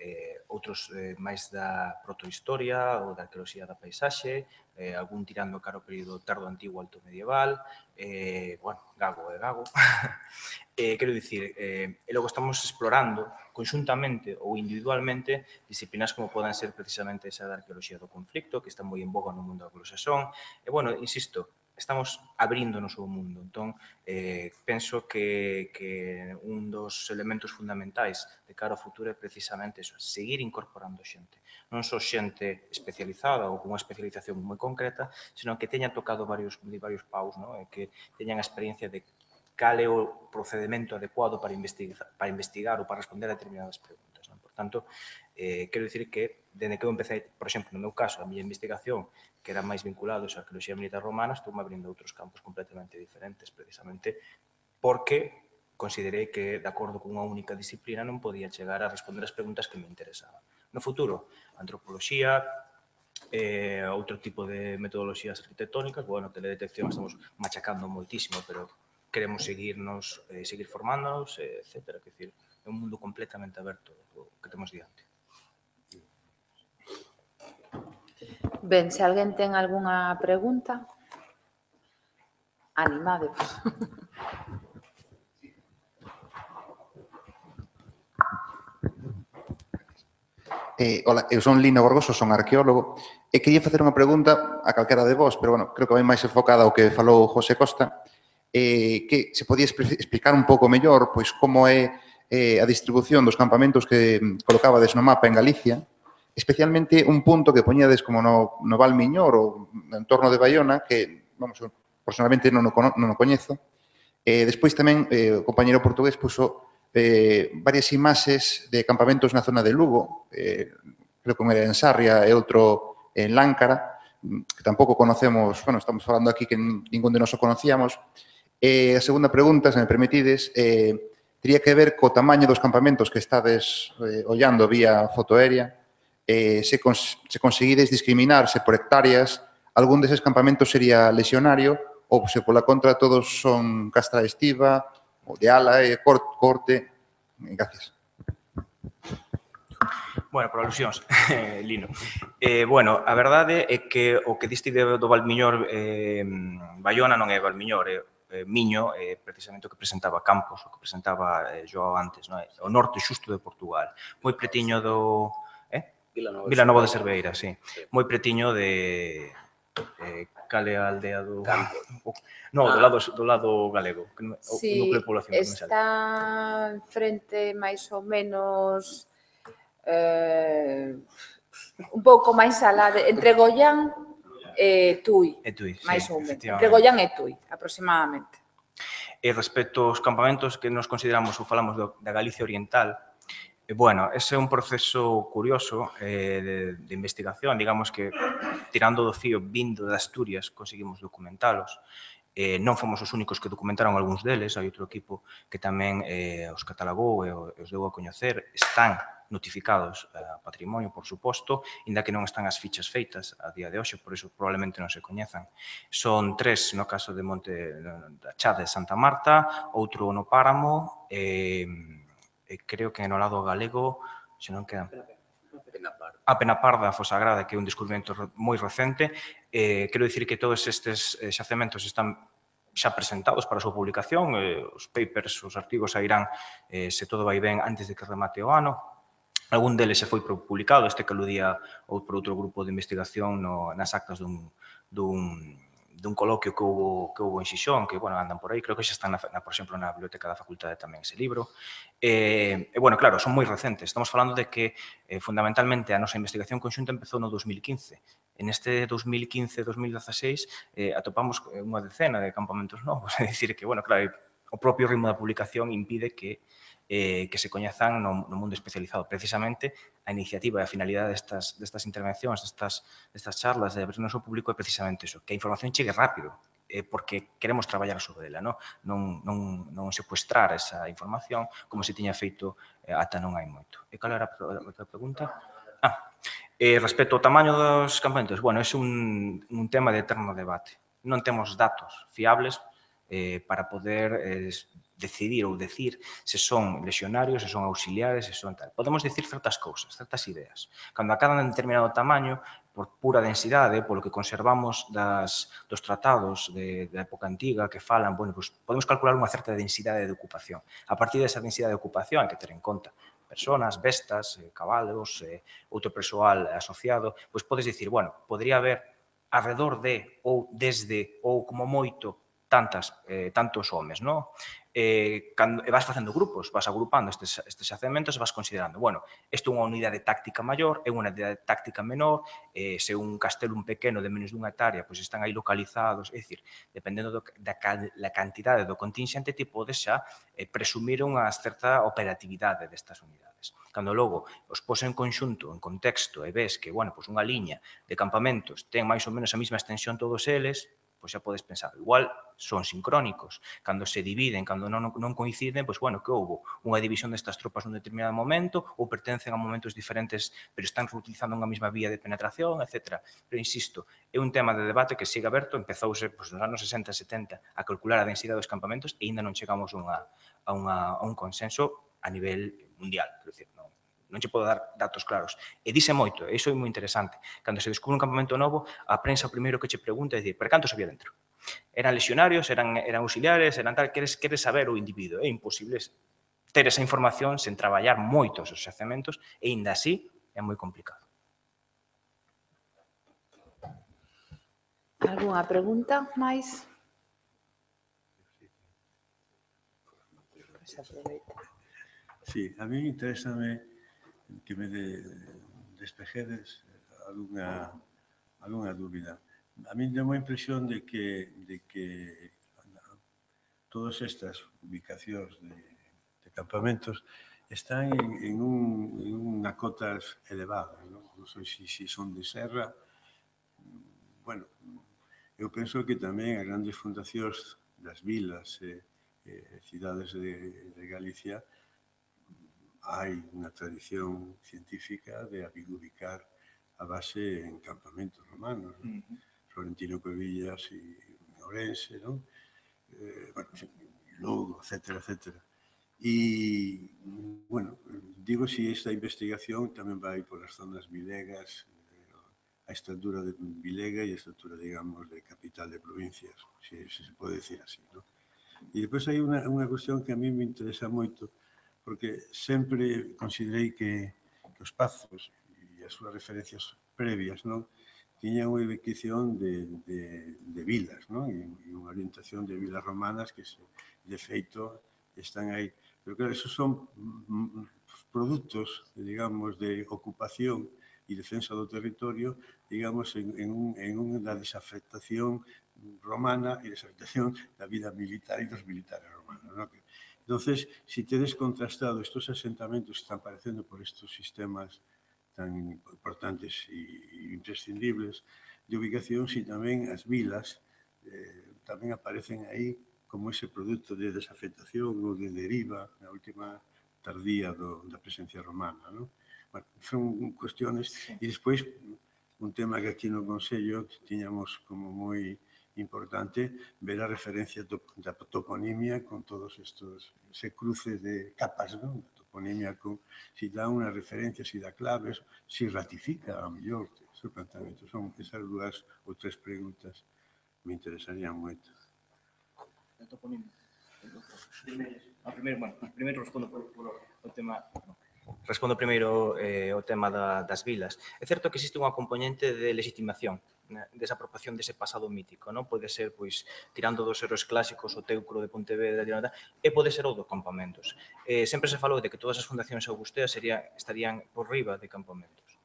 C: eh, outros eh, máis da protohistoria ou da arqueoloxía da paisaxe, eh, algún tirando cara ao período tardo antigo alto medieval, eh, bueno, gago e gago. eh, quero dicir, eh, e logo estamos explorando conxuntamente ou individualmente disciplinas como poden ser precisamente esa da arqueoloxía do conflicto, que está moi en boga no mundo anglosaxón. E, bueno, insisto, estamos abríndonos ao mundo. Entón, eh, penso que, que un dos elementos fundamentais de cara ao futuro é precisamente eso, seguir incorporando xente. Non só xente especializada ou con unha especialización moi concreta, senón que teña tocado varios, varios paus, ¿no? E que teñan a experiencia de cal é o procedimento adecuado para investigar, para investigar ou para responder a determinadas preguntas, ¿no? Por tanto, eh, quero dicir que, dende que eu empecé, por exemplo, no meu caso, a miña investigación, que era máis vinculado á arqueoloxía militar romana, estou abrindo outros campos completamente diferentes, precisamente porque considerei que, de acordo con unha única disciplina, non podía chegar a responder as preguntas que me interesaban. No futuro, antropoloxía, eh, outro tipo de metodoloxías arquitectónicas, bueno, teledetección estamos machacando moitísimo, pero queremos seguirnos, eh, seguir formándonos, eh, etcétera. Quer dizer, é un mundo completamente aberto o que temos diante.
A: Ben, se alguén ten algunha pregunta, animade.
I: Eh, hola, eu son Lino Gorgoso, son arqueólogo, e quería facer unha pregunta a calquera de vos, pero, bueno, creo que vai máis enfocada ao que falou José Costa, eh, que se podía explicar un pouco mellor, pois, como é eh, a distribución dos campamentos que colocabades no mapa en Galicia, especialmente un punto que poñades como no, no Val Miñor ou no entorno de Baiona, que, vamos, personalmente non o, non o coñezo. Eh, despois tamén eh, o compañero portugués puso eh, varias imaxes de campamentos na zona de Lugo, eh, creo que un era en Sarria e outro en Láncara, que tampouco conocemos, bueno, estamos falando aquí que ningún de nós o conocíamos. Eh, a segunda pregunta, se me permitides, eh, tería que ver co tamaño dos campamentos que estades eh, ollando vía fotoaérea, eh, se, cons se conseguides discriminar se por hectáreas, algún deses campamentos sería lesionario ou se pola contra todos son castra estiva, ou de ala e corte. Gracias.
C: Bueno, por alusións, Lino. Eh, bueno, a verdade é que o que diste do Valmiñor eh, Baiona non é Valmiñor, é eh, Miño, é precisamente o que presentaba Campos, o que presentaba eh, Joao antes, non é? O norte xusto de Portugal, moi pretiño do... Eh? Vilanova de Cerveira, sí. Moi pretiño de... Eh, cale a aldea do... Campo. No, ah. do, lado, do lado galego. O,
A: sí,
C: o núcleo de población.
A: Está frente máis ou menos eh, un pouco máis alá de, entre Goián e Tui,
C: e Tui
A: máis
C: sí,
A: ou menos. Entre Goián e Tui, aproximadamente.
C: E respecto aos campamentos que nos consideramos ou falamos do, da Galicia Oriental, bueno, ese é un proceso curioso eh, de, de investigación, digamos que tirando do fío vindo de Asturias conseguimos documentalos. Eh, non fomos os únicos que documentaron algúns deles, hai outro equipo que tamén eh, os catalogou e os deu a coñecer, están notificados a patrimonio, por suposto, inda que non están as fichas feitas a día de hoxe, por iso probablemente non se coñezan. Son tres no caso de Monte da Chá de Santa Marta, outro no Páramo, e... Eh, creo que no lado galego, se non quedan... A Penaparda, a Fosagrada, que é un descubrimento moi recente. Eh, quero dicir que todos estes xacementos están xa presentados para a súa publicación, eh, os papers, os artigos sairán, eh, se todo vai ben, antes de que remate o ano. Algún deles se foi publicado, este que aludía ou por outro grupo de investigación no, nas actas dun, dun dun coloquio que houve, que houve en Xixón, que, bueno, andan por aí, creo que xa están, na, na, por exemplo, na biblioteca da facultade tamén ese libro. E, e, bueno, claro, son moi recentes. Estamos falando de que, eh, fundamentalmente, a nosa investigación conxunta empezou no dos mil quince. En este dos mil quince dos mil dieciséis eh, atopamos unha decena de campamentos novos. É dicir que, bueno, claro, o propio ritmo da publicación impide que Eh, que se coñezan no, no mundo especializado. Precisamente, a iniciativa e a finalidade destas, destas intervencións, destas, destas charlas, de abrirnos ao público é precisamente eso, que a información chegue rápido, eh, porque queremos traballar sobre ela, non, non, non, non secuestrar esa información como se tiña feito eh, ata non hai moito. E cal era a outra pregunta? Ah, eh, respecto ao tamaño dos campamentos, bueno, é un, un tema de eterno debate. Non temos datos fiables eh, para poder eh, decidir ou decir se son lexionarios, se son auxiliares, se son tal. Podemos decir certas cousas, certas ideas. Cando acadan de determinado tamaño, por pura densidade, polo que conservamos das, dos tratados de, da época antiga que falan, bueno, pues podemos calcular unha certa densidade de ocupación. A partir desa densidade de ocupación hai que ter en conta personas, bestas, eh, cabalos, eh, outro persoal asociado, pois podes dicir, bueno, podría haber alrededor de, ou desde, ou como moito, tantas, eh, tantos homes, non? Eh, cando, e vas facendo grupos, vas agrupando estes, estes xacementos e vas considerando, bueno, isto é unha unidade táctica maior, é unha unidade táctica menor, eh, se un castelo un pequeno de menos dunha hectárea, pois están aí localizados, é dicir, dependendo do, da, da cantidade do contingente, ti podes xa eh, presumir unha certa operatividade destas unidades. Cando logo os pos en conxunto, en contexto, e ves que, bueno, pois unha liña de campamentos ten máis ou menos a mesma extensión todos eles, pois xa podes pensar, igual son sincrónicos. Cando se dividen, cando non, non coinciden, pois, bueno, que houve unha división destas tropas nun determinado momento ou pertencen a momentos diferentes, pero están reutilizando unha mesma vía de penetración, etcétera. Pero, insisto, é un tema de debate que sigue aberto, empezouse pois, nos anos sesenta e setenta a calcular a densidade dos campamentos e ainda non chegamos unha, a, unha, a un consenso a nivel mundial. Quero dicir, non, non che podo dar datos claros. E dice moito, e iso é moi interesante. Cando se descubre un campamento novo, a prensa o primeiro que che pregunta é dicir, pero cantos había dentro? Eran legionarios, eran, eran auxiliares, eran tal, queres, queres saber o individuo. É imposible ter esa información sen traballar moitos os xacementos e, ainda así, é moi complicado.
A: Algúnha pregunta máis?
B: Sí, a mí interésame que me de, despejedes alguna, alguna dúbida. A mí tengo a impresión de que, de que todas estas ubicacións de, de campamentos están en, en, un, en unha cotas elevadas, non? Non sei se si, si son de serra. Bueno, eu penso que tamén as grandes fundacións das vilas e eh, cidades de, de Galicia hai unha tradición científica de ubicar a base en campamentos romanos, ¿no? Uh-huh. Florentino Cuevillas e Ourense, ¿no? Eh, bueno, Lugo, etcétera, etcétera. E, bueno, digo si esta investigación tamén vai por as zonas vilegas, a estructura de vilega e a estructura, digamos, de capital de provincias, se, se se pode decir así, ¿no? E depois hai unha, unha cuestión que a mí me interesa moito, porque sempre considerei que, que os pazos e as súas referencias previas, non, tiñan unha ubicación de, de, de vilas, non? E, e unha orientación de vilas romanas que, se, de feito, están aí. Pero claro, esos son produtos, digamos, de ocupación e defensa do territorio, digamos, en, en, un, en unha desafectación romana e desafectación da vida militar e dos militares romanos, ¿no? Entonces, si tedes contrastado estos asentamentos que están aparecendo por estos sistemas tan importantes e imprescindibles de ubicación, si tamén as vilas eh, tamén aparecen aí como ese produto de desafectación ou de deriva na última tardía do, da presencia romana, ¿no? Bueno, son cuestiones, e despois un tema que aquí no Consello tiñamos como moi importante ver a referencia da toponimia con todos estos, ese cruce de capas, ¿no? La toponimia con, si dá unha referencia, si dá claves, si ratifica a mellor ese planteamento. Son esas dúas ou tres preguntas me interesarían moito.
C: A toponimia. A primeiro, bueno, primeiro respondo por, por o tema... Respondo primeiro eh, o tema da, das vilas. É certo que existe unha componente de legitimación, né, desapropiación dese pasado mítico, non? Pode ser, pois, tirando dos héroes clásicos, o Teucro de Pontevedra, e pode ser o dos campamentos. Eh, sempre se falou de que todas as fundacións augusteas sería, estarían por riba de campamentos.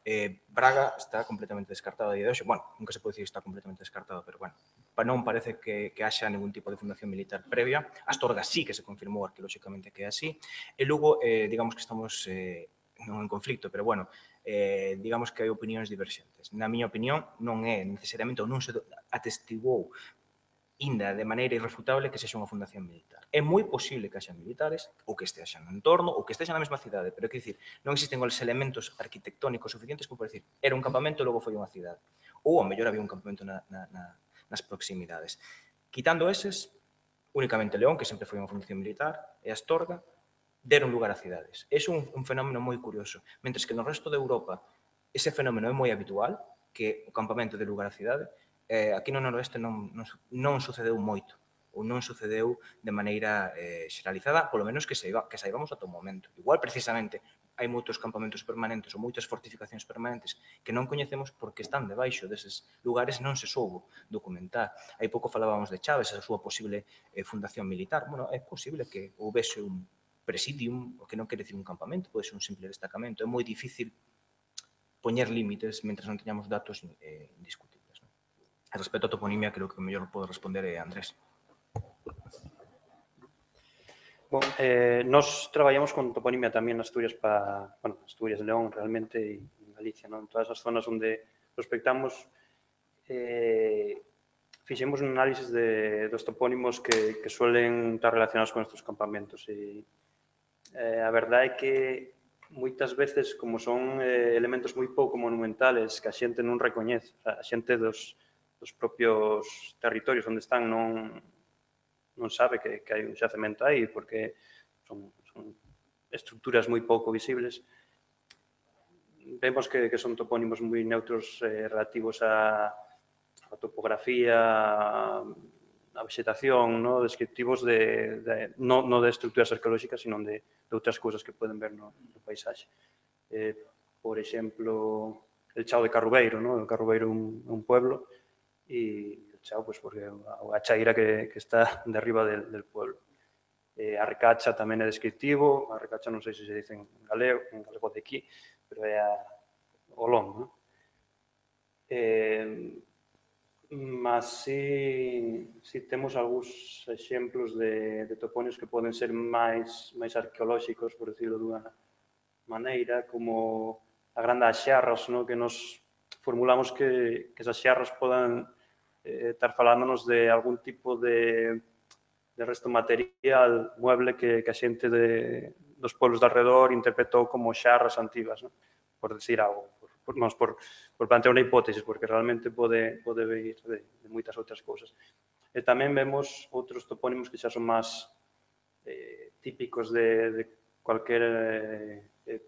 C: Eh, Braga está completamente descartado a día de hoxe. Bueno, nunca se pode dicir que está completamente descartado, pero bueno, non parece que, que haxa ningún tipo de fundación militar previa. Astorga sí que se confirmou arqueolóxicamente que é así. E logo, eh, digamos que estamos eh, non en conflicto, pero bueno, eh, digamos que hai opinións diverxentes. Na miña opinión, non é necesariamente ou non se atestiguou inda de maneira irrefutable que sexa unha fundación militar. É moi posible que haxa militares ou que estexan no entorno ou que estexan na mesma cidade, pero é que dicir, non existen os elementos arquitectónicos suficientes como para dicir, era un campamento e logo foi unha cidade. Ou, ao mellor, había un campamento na, na, na, nas proximidades. Quitando eses, únicamente León, que sempre foi unha fundación militar, e Astorga, deron lugar a cidades. É un, un fenómeno moi curioso. Mentres que no resto de Europa ese fenómeno é moi habitual, que o campamento de lugar a cidade, eh, aquí no noroeste non, non, non sucedeu moito, ou non sucedeu de maneira eh, xeralizada, polo menos que, saiba, que saibamos ata o momento. Igual, precisamente, hai moitos campamentos permanentes ou moitas fortificacións permanentes que non coñecemos porque están debaixo deses lugares, non se soubo documentar. Hai pouco falábamos de Chaves, a súa posible eh, fundación militar. Bueno, é posible que houvese un presidium, o que non quere dicir un campamento, pode ser un simple destacamento. É moi difícil poñer límites mentre non teñamos datos eh, indiscutibles. Respecto a toponimia, creo que o mellor pode responder é Andrés.
G: Bon, eh, nos traballamos con toponimia tamén en Asturias para, bueno, Asturias, León, realmente, e en Galicia, non? En todas as zonas onde prospectamos, eh, fixemos un análisis de, dos topónimos que, que suelen estar relacionados con estes campamentos. E, eh, a verdade é que moitas veces, como son eh, elementos moi pouco monumentales que a xente non recoñece, a xente dos dos propios territorios onde están non, non sabe que, que hai un xacemento aí, porque son, son estructuras moi pouco visibles, vemos que, que son topónimos moi neutros eh, relativos a, a topografía, a vegetación, ¿no? Descriptivos de, de no, no de estructuras arqueolóxicas, sino de, de outras cousas que poden ver no, no paisaxe. Eh, por exemplo, el Chao de Carrubeiro, ¿no? El Carrubeiro é un, un pueblo e el Chao, pues, porque a chaira que, que está de arriba del, del pueblo. Eh, a Recacha tamén é descriptivo, a Recacha non sei se se dice en galego, en galego de aquí, pero é a Olón, ¿no? Eh, mas si, si temos algúns exemplos de, de topónimos que poden ser máis, máis arqueolóxicos, por decirlo dunha maneira, como a grande as xarras, ¿no? Que nos formulamos que, que esas xarras podan eh, estar falándonos de algún tipo de, de resto material mueble que, que a xente de, dos pueblos de alrededor interpretou como xarras antigas, ¿no? Por decir algo. Por, vamos, por, por plantear unha hipótesis, porque realmente pode, pode vir de, de moitas outras cousas. E tamén vemos outros topónimos que xa son máis eh, típicos de, de cualquier eh,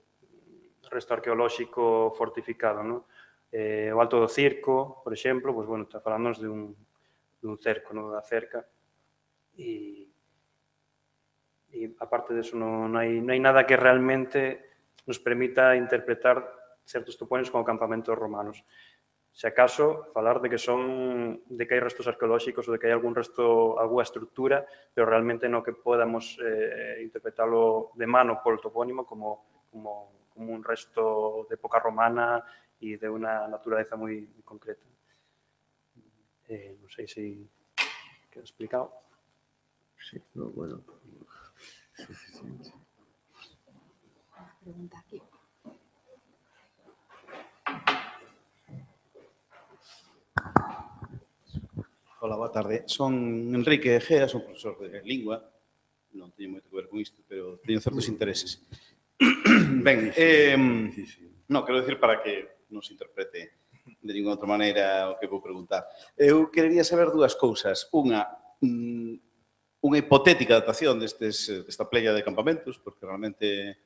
G: resto arqueolóxico fortificado, ¿no? Eh, o Alto do Circo, por exemplo, pues, bueno, está falándonos de un, de un cerco, ¿no? Da cerca. E, e aparte de eso, non, non, hai, non hai nada que realmente nos permita interpretar certos topónimos como campamentos romanos. Se acaso, falar de que son de que hai restos arqueolóxicos ou de que hai algún resto, alguna estructura, pero realmente no que podamos eh, interpretarlo de mano por el topónimo como, como, como un resto de época romana e de unha naturaleza moi, moi concreta. Eh, non sei se queda explicado.
J: Sí, no, bueno, suficiente.
A: Pregunta aquí.
K: Hola, boa tarde. Son Enrique Egea, son profesor de lingua. Non teño moito que ver con isto, pero teño certos intereses. Ben, eh, non, quero decir para que non se interprete de ninguna outra maneira o que vou preguntar. Eu querería saber dúas cousas. Unha, unha hipotética datación destes, desta playa de campamentos, porque realmente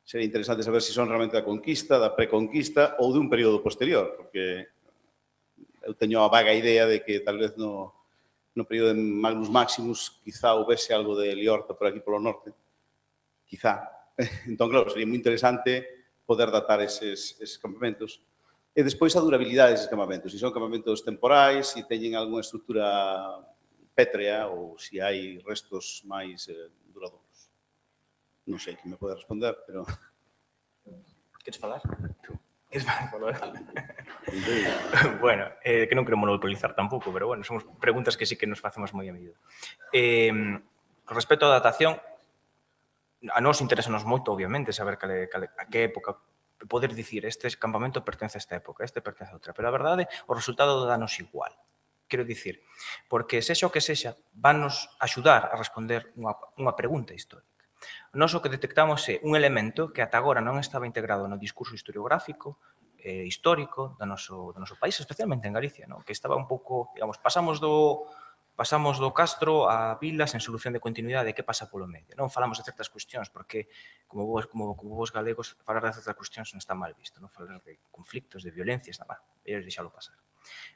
K: sería interesante saber se son realmente da conquista, da preconquista ou de un período posterior, porque eu teño a vaga idea de que tal vez no, no período de Magnus Maximus quizá houvese algo de Liorta por aquí polo norte. Quizá. Entón, claro, sería moi interesante poder datar eses, eses campamentos. E despois a durabilidade deses campamentos. Se son campamentos temporais, se teñen algunha estructura pétrea ou se hai restos máis eh, duradouros. Non sei que me pode responder, pero...
C: Queres falar? Queres falar? Bueno, eh, que non quero monopolizar tampouco, pero bueno, son preguntas que sí que nos facemos moi a menudo. Eh, con respecto á datación, a nós interesanos moito, obviamente, saber cale, cale, a que época, poder dicir este campamento pertence a esta época, este pertence a outra, pero a verdade, o resultado danos igual. Quero dicir, porque sexa o que sexa, vanos axudar a responder unha, unha pregunta histórica. Nós o que detectamos é un elemento que ata agora non estaba integrado no discurso historiográfico, eh, histórico do noso, do noso país, especialmente en Galicia, ¿no? Que estaba un pouco, digamos, pasamos do, pasamos do Castro a Vilas en solución de continuidade, que pasa polo medio. Non falamos de certas cuestións, porque, como vos, como, como vos galegos, falar de certas cuestións non está mal visto, non falar de conflictos, de violencias, nada, ellos deixalo pasar.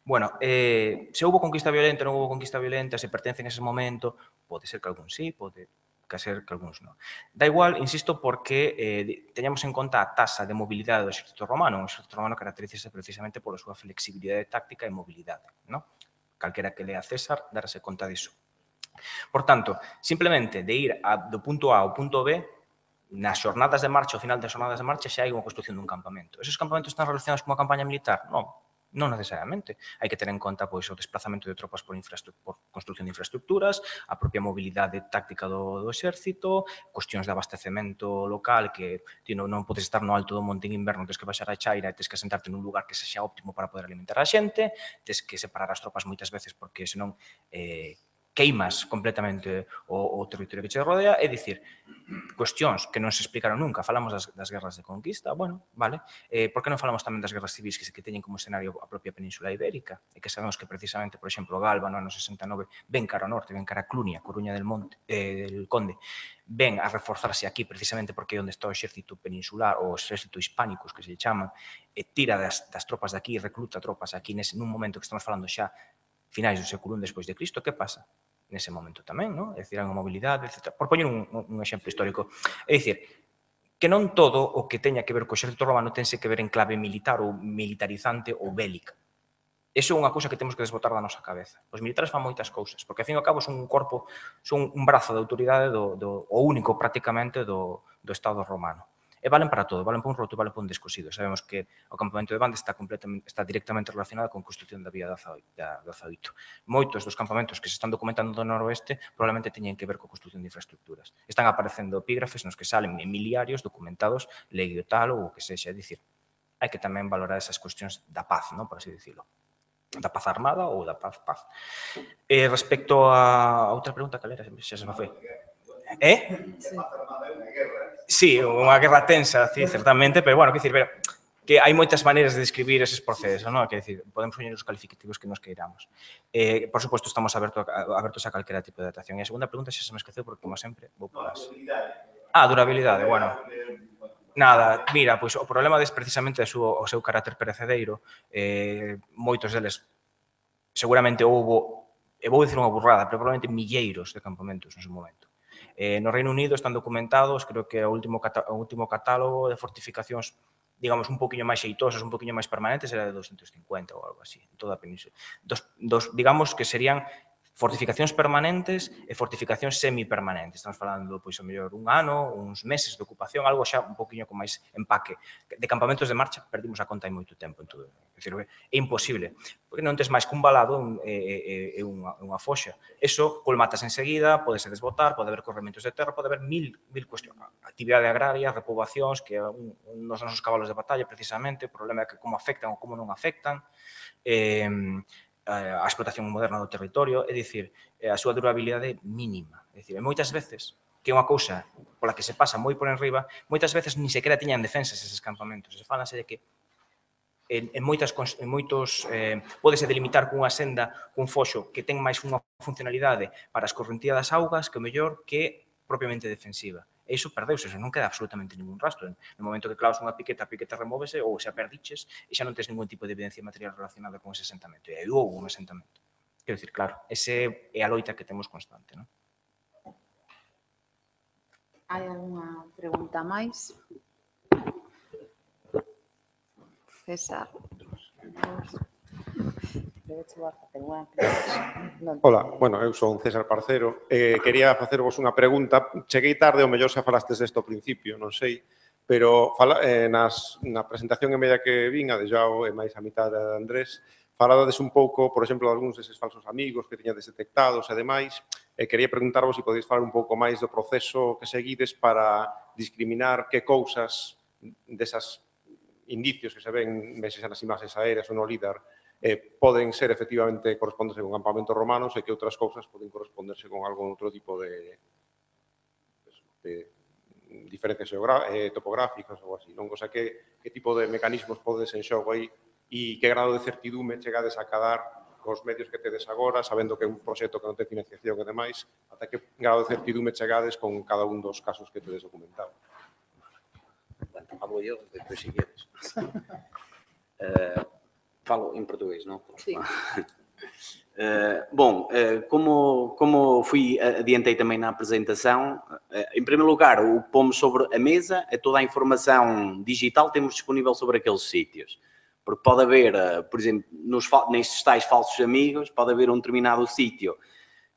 C: Bueno, eh, se houve conquista violenta, non houve conquista violenta, se pertence en ese momento, pode ser que algún sí, pode que ser que algúns non. Da igual, insisto, porque eh, teñamos en conta a tasa de mobilidade do exército romano. O exército romano caracterízase precisamente pola súa flexibilidade táctica e mobilidade, non? Calquera que lea César darase conta diso. Por tanto, simplemente de ir a, do punto A ao punto B, nas xornadas de marcha, ao final das xornadas de marcha, xa hai unha construción dun campamento. Esos campamentos están relacionados con a campaña militar? Non. Non necesariamente. Hai que ter en conta pois, o desplazamento de tropas por, por construcción de infraestructuras, a propia mobilidade táctica do, do exército, cuestións de abastecemento local que ti non, non podes estar no alto do monte en inverno, tens que baixar a chaira e tens que sentarte nun lugar que sexa óptimo para poder alimentar a xente, tens que separar as tropas moitas veces porque senón eh, queimas completamente o, o territorio que che rodea, é dicir, cuestións que non se explicaron nunca. Falamos das, das guerras de conquista, bueno, vale. Eh, por que non falamos tamén das guerras civis que, que teñen como escenario a propia Península Ibérica? E que sabemos que precisamente, por exemplo, Galba no ano sesenta e nove ven cara ao norte, ven cara a Clunia, Coruña del Monte, eh, del Conde, ven a reforzarse aquí precisamente porque é onde está o exército peninsular, ou o exército hispánicos que se chaman, e tira das, das tropas de aquí, recluta tropas aquí nese, nun momento que estamos falando xa finais do século I despois de Cristo. Que pasa? Nese momento tamén, non? É dicir, hai unha mobilidade, etcétera. Por poñer un, un exemplo histórico. É dicir, que non todo o que teña que ver co exército romano tense que ver en clave militar ou militarizante ou bélica. Eso é unha cousa que temos que desbotar da nosa cabeza. Os militares fan moitas cousas, porque, ao fin e ao cabo, son un corpo, son un brazo de autoridade do, do, o único, prácticamente, do, do Estado romano. E valen para todo, valen para un roto e valen para un descosido. Sabemos que o campamento de Banda está, completamente, está directamente relacionado con a construcción da vía do Azaoito. Moitos dos campamentos que se están documentando do noroeste probablemente teñen que ver coa construcción de infraestructuras. Están aparecendo epígrafes nos que salen emiliarios documentados, leio tal ou o que sexa. É dicir, hai que tamén valorar esas cuestións da paz, non, por así dicilo. Da paz armada ou da paz paz. E respecto a outra pregunta, cal era? Xa se me foi. Eh? Sí, unha guerra tensa, sí, certamente, pero, bueno, que dicir, ver, que hai moitas maneiras de describir eses procesos, non? Que dicir, podemos poñer os calificativos que nos queiramos. Eh, por suposto, estamos abertos a, abertos a calquera tipo de adaptación. E a segunda pregunta xa se me esqueceu, porque, como sempre, vou por as... Ah, durabilidade, bueno. Nada, mira, pois o problema des precisamente é o seu carácter perecedeiro. Eh, moitos deles, seguramente houbo, e vou dicir unha burrada, pero probablemente milleiros de campamentos no seu momento. Eh, no Reino Unido están documentados, creo que o último, o último catálogo de fortificacións, digamos, un poquinho máis xeitosas, un poquinho máis permanentes, era de doscientos cincuenta ou algo así, en toda a península. Dos, dos, digamos que serían fortificacións permanentes e fortificacións semipermanentes. Estamos falando, pois, a mellor, un ano, uns meses de ocupación, algo xa un poquinho con máis empaque. De campamentos de marcha, perdimos a conta hai moito tempo en todo. É dicir, é imposible, porque non tes máis que un balado e, e, e unha, unha foxa. Eso colmatas enseguida, podese desbotar, pode haber corrementos de terra, pode haber mil, mil cuestións. Actividade agraria, repoboacións, que é un, un dos nosos cabalos de batalla, precisamente, o problema é que como afectan ou como non afectan. Eh, a explotación moderna do territorio, é dicir, a súa durabilidade é mínima. É dicir, moitas veces, que é unha cousa pola que se pasa moi por enriba, moitas veces ni sequera tiñan defensas eses campamentos. Se falanse de que en, en, moitas, en moitos eh, pódese delimitar cunha senda, cun foxo que ten máis unha funcionalidade para a escorrentía das augas que o mellor que propiamente defensiva. E iso perdeuse, non queda absolutamente ningún rastro. No momento que clavas unha piqueta, a piqueta remóvese ou xa perdiches e xa non tens ningún tipo de evidencia material relacionada con ese asentamento. E aí houve un asentamento. Quero dicir, claro, ese é a loita que temos constante, non?
A: Hai algunha pregunta máis? César.
L: Ola, bueno, eu son César Parcero. Eh, quería facervos unha pregunta. Cheguei tarde, o mellor xa falastes desto ao principio, non sei, pero fala, eh, nas, na presentación en media que vin, a de Joao e máis a mitad de Andrés, faladades un pouco, por exemplo, de algúns deses falsos amigos que tiñades detectados e demais, e quería preguntarvos se podéis falar un pouco máis do proceso que seguides para discriminar que cousas desas indicios que se ven meses nas imaxes aéreas ou no LIDAR eh, poden ser efectivamente corresponderse con campamentos romanos e que outras cousas poden corresponderse con algún outro tipo de, de diferencias eh, topográficas ou así, non? O sea, que, que tipo de mecanismos podes en xogo aí e que grado de certidume chegades a cadar cos medios que tedes agora, sabendo que é un proxecto que non ten financiación e demais, ata que grado de certidume chegades con cada un dos casos que tedes documentado.
H: Bueno, hablo eu, depois si queres. Uh, falo em português, não?
A: Sim.
H: Uh, bom, uh, como, como fui, adiantei também na apresentação, uh, em primeiro lugar, o que pomos sobre a mesa é toda a informação digital que temos disponível sobre aqueles sítios. Porque pode haver, uh, por exemplo, nos, nestes tais falsos amigos, pode haver um determinado sítio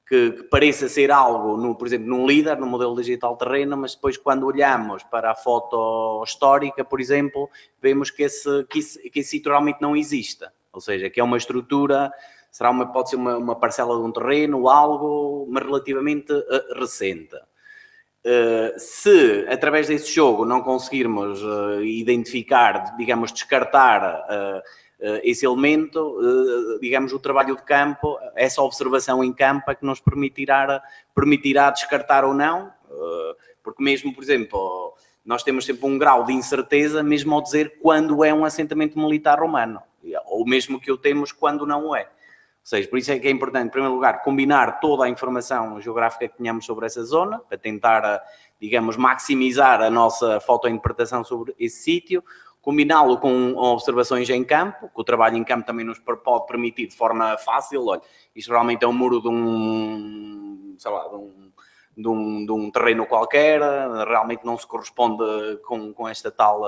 H: que, que pareça ser algo, no, por exemplo, num LIDAR, no modelo digital terreno, mas depois quando olhamos para a foto histórica, por exemplo, vemos que esse, que esse, que esse sítio realmente não existe. Ou seja, que é uma estrutura, será uma, pode ser uma, uma parcela de um terreno, algo, mas relativamente uh, recente. Uh, se, através desse jogo, não conseguirmos uh, identificar, digamos, descartar uh, esse elemento, digamos, o trabalho de campo, essa observação em campo é que nos permitirá, permitirá descartar ou não, porque mesmo, por exemplo, nós temos sempre um grau de incerteza, mesmo ao dizer quando é um assentamento militar romano, ou mesmo que o temos quando não o é. Ou seja, por isso é que é importante, em primeiro lugar, combinar toda a informação geográfica que tenhamos sobre essa zona, para tentar, digamos, maximizar a nossa fotointerpretação sobre esse sítio, combiná-lo com observações em campo, que o trabalho em campo também nos pode permitir de forma fácil. Olha, isto realmente é um muro de um, sei lá, de um, de um, de um terreno qualquer, realmente não se corresponde com, com esta tal,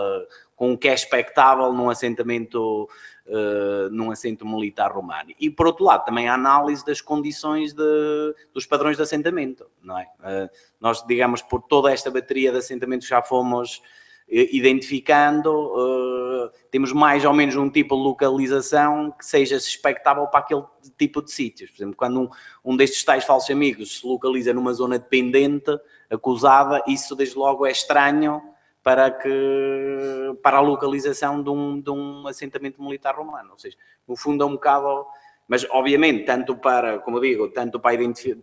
H: com o que é expectável num assentamento, uh, num assento militar romano. E, por outro lado, também a análise das condições de, dos padrões de assentamento, não é? Uh, nós, digamos, por toda esta bateria de assentamentos já fomos identificando, uh, temos mais ou menos um tipo de localização que seja expectável para aquele tipo de sítios. Por exemplo, quando um, um destes tais falsos amigos se localiza numa zona dependente, acusada, isso desde logo é estranho para, que, para a localização de um, de um assentamento militar romano. Ou seja, no fundo é um bocado... Mas, obviamente, tanto para, como digo, tanto para a,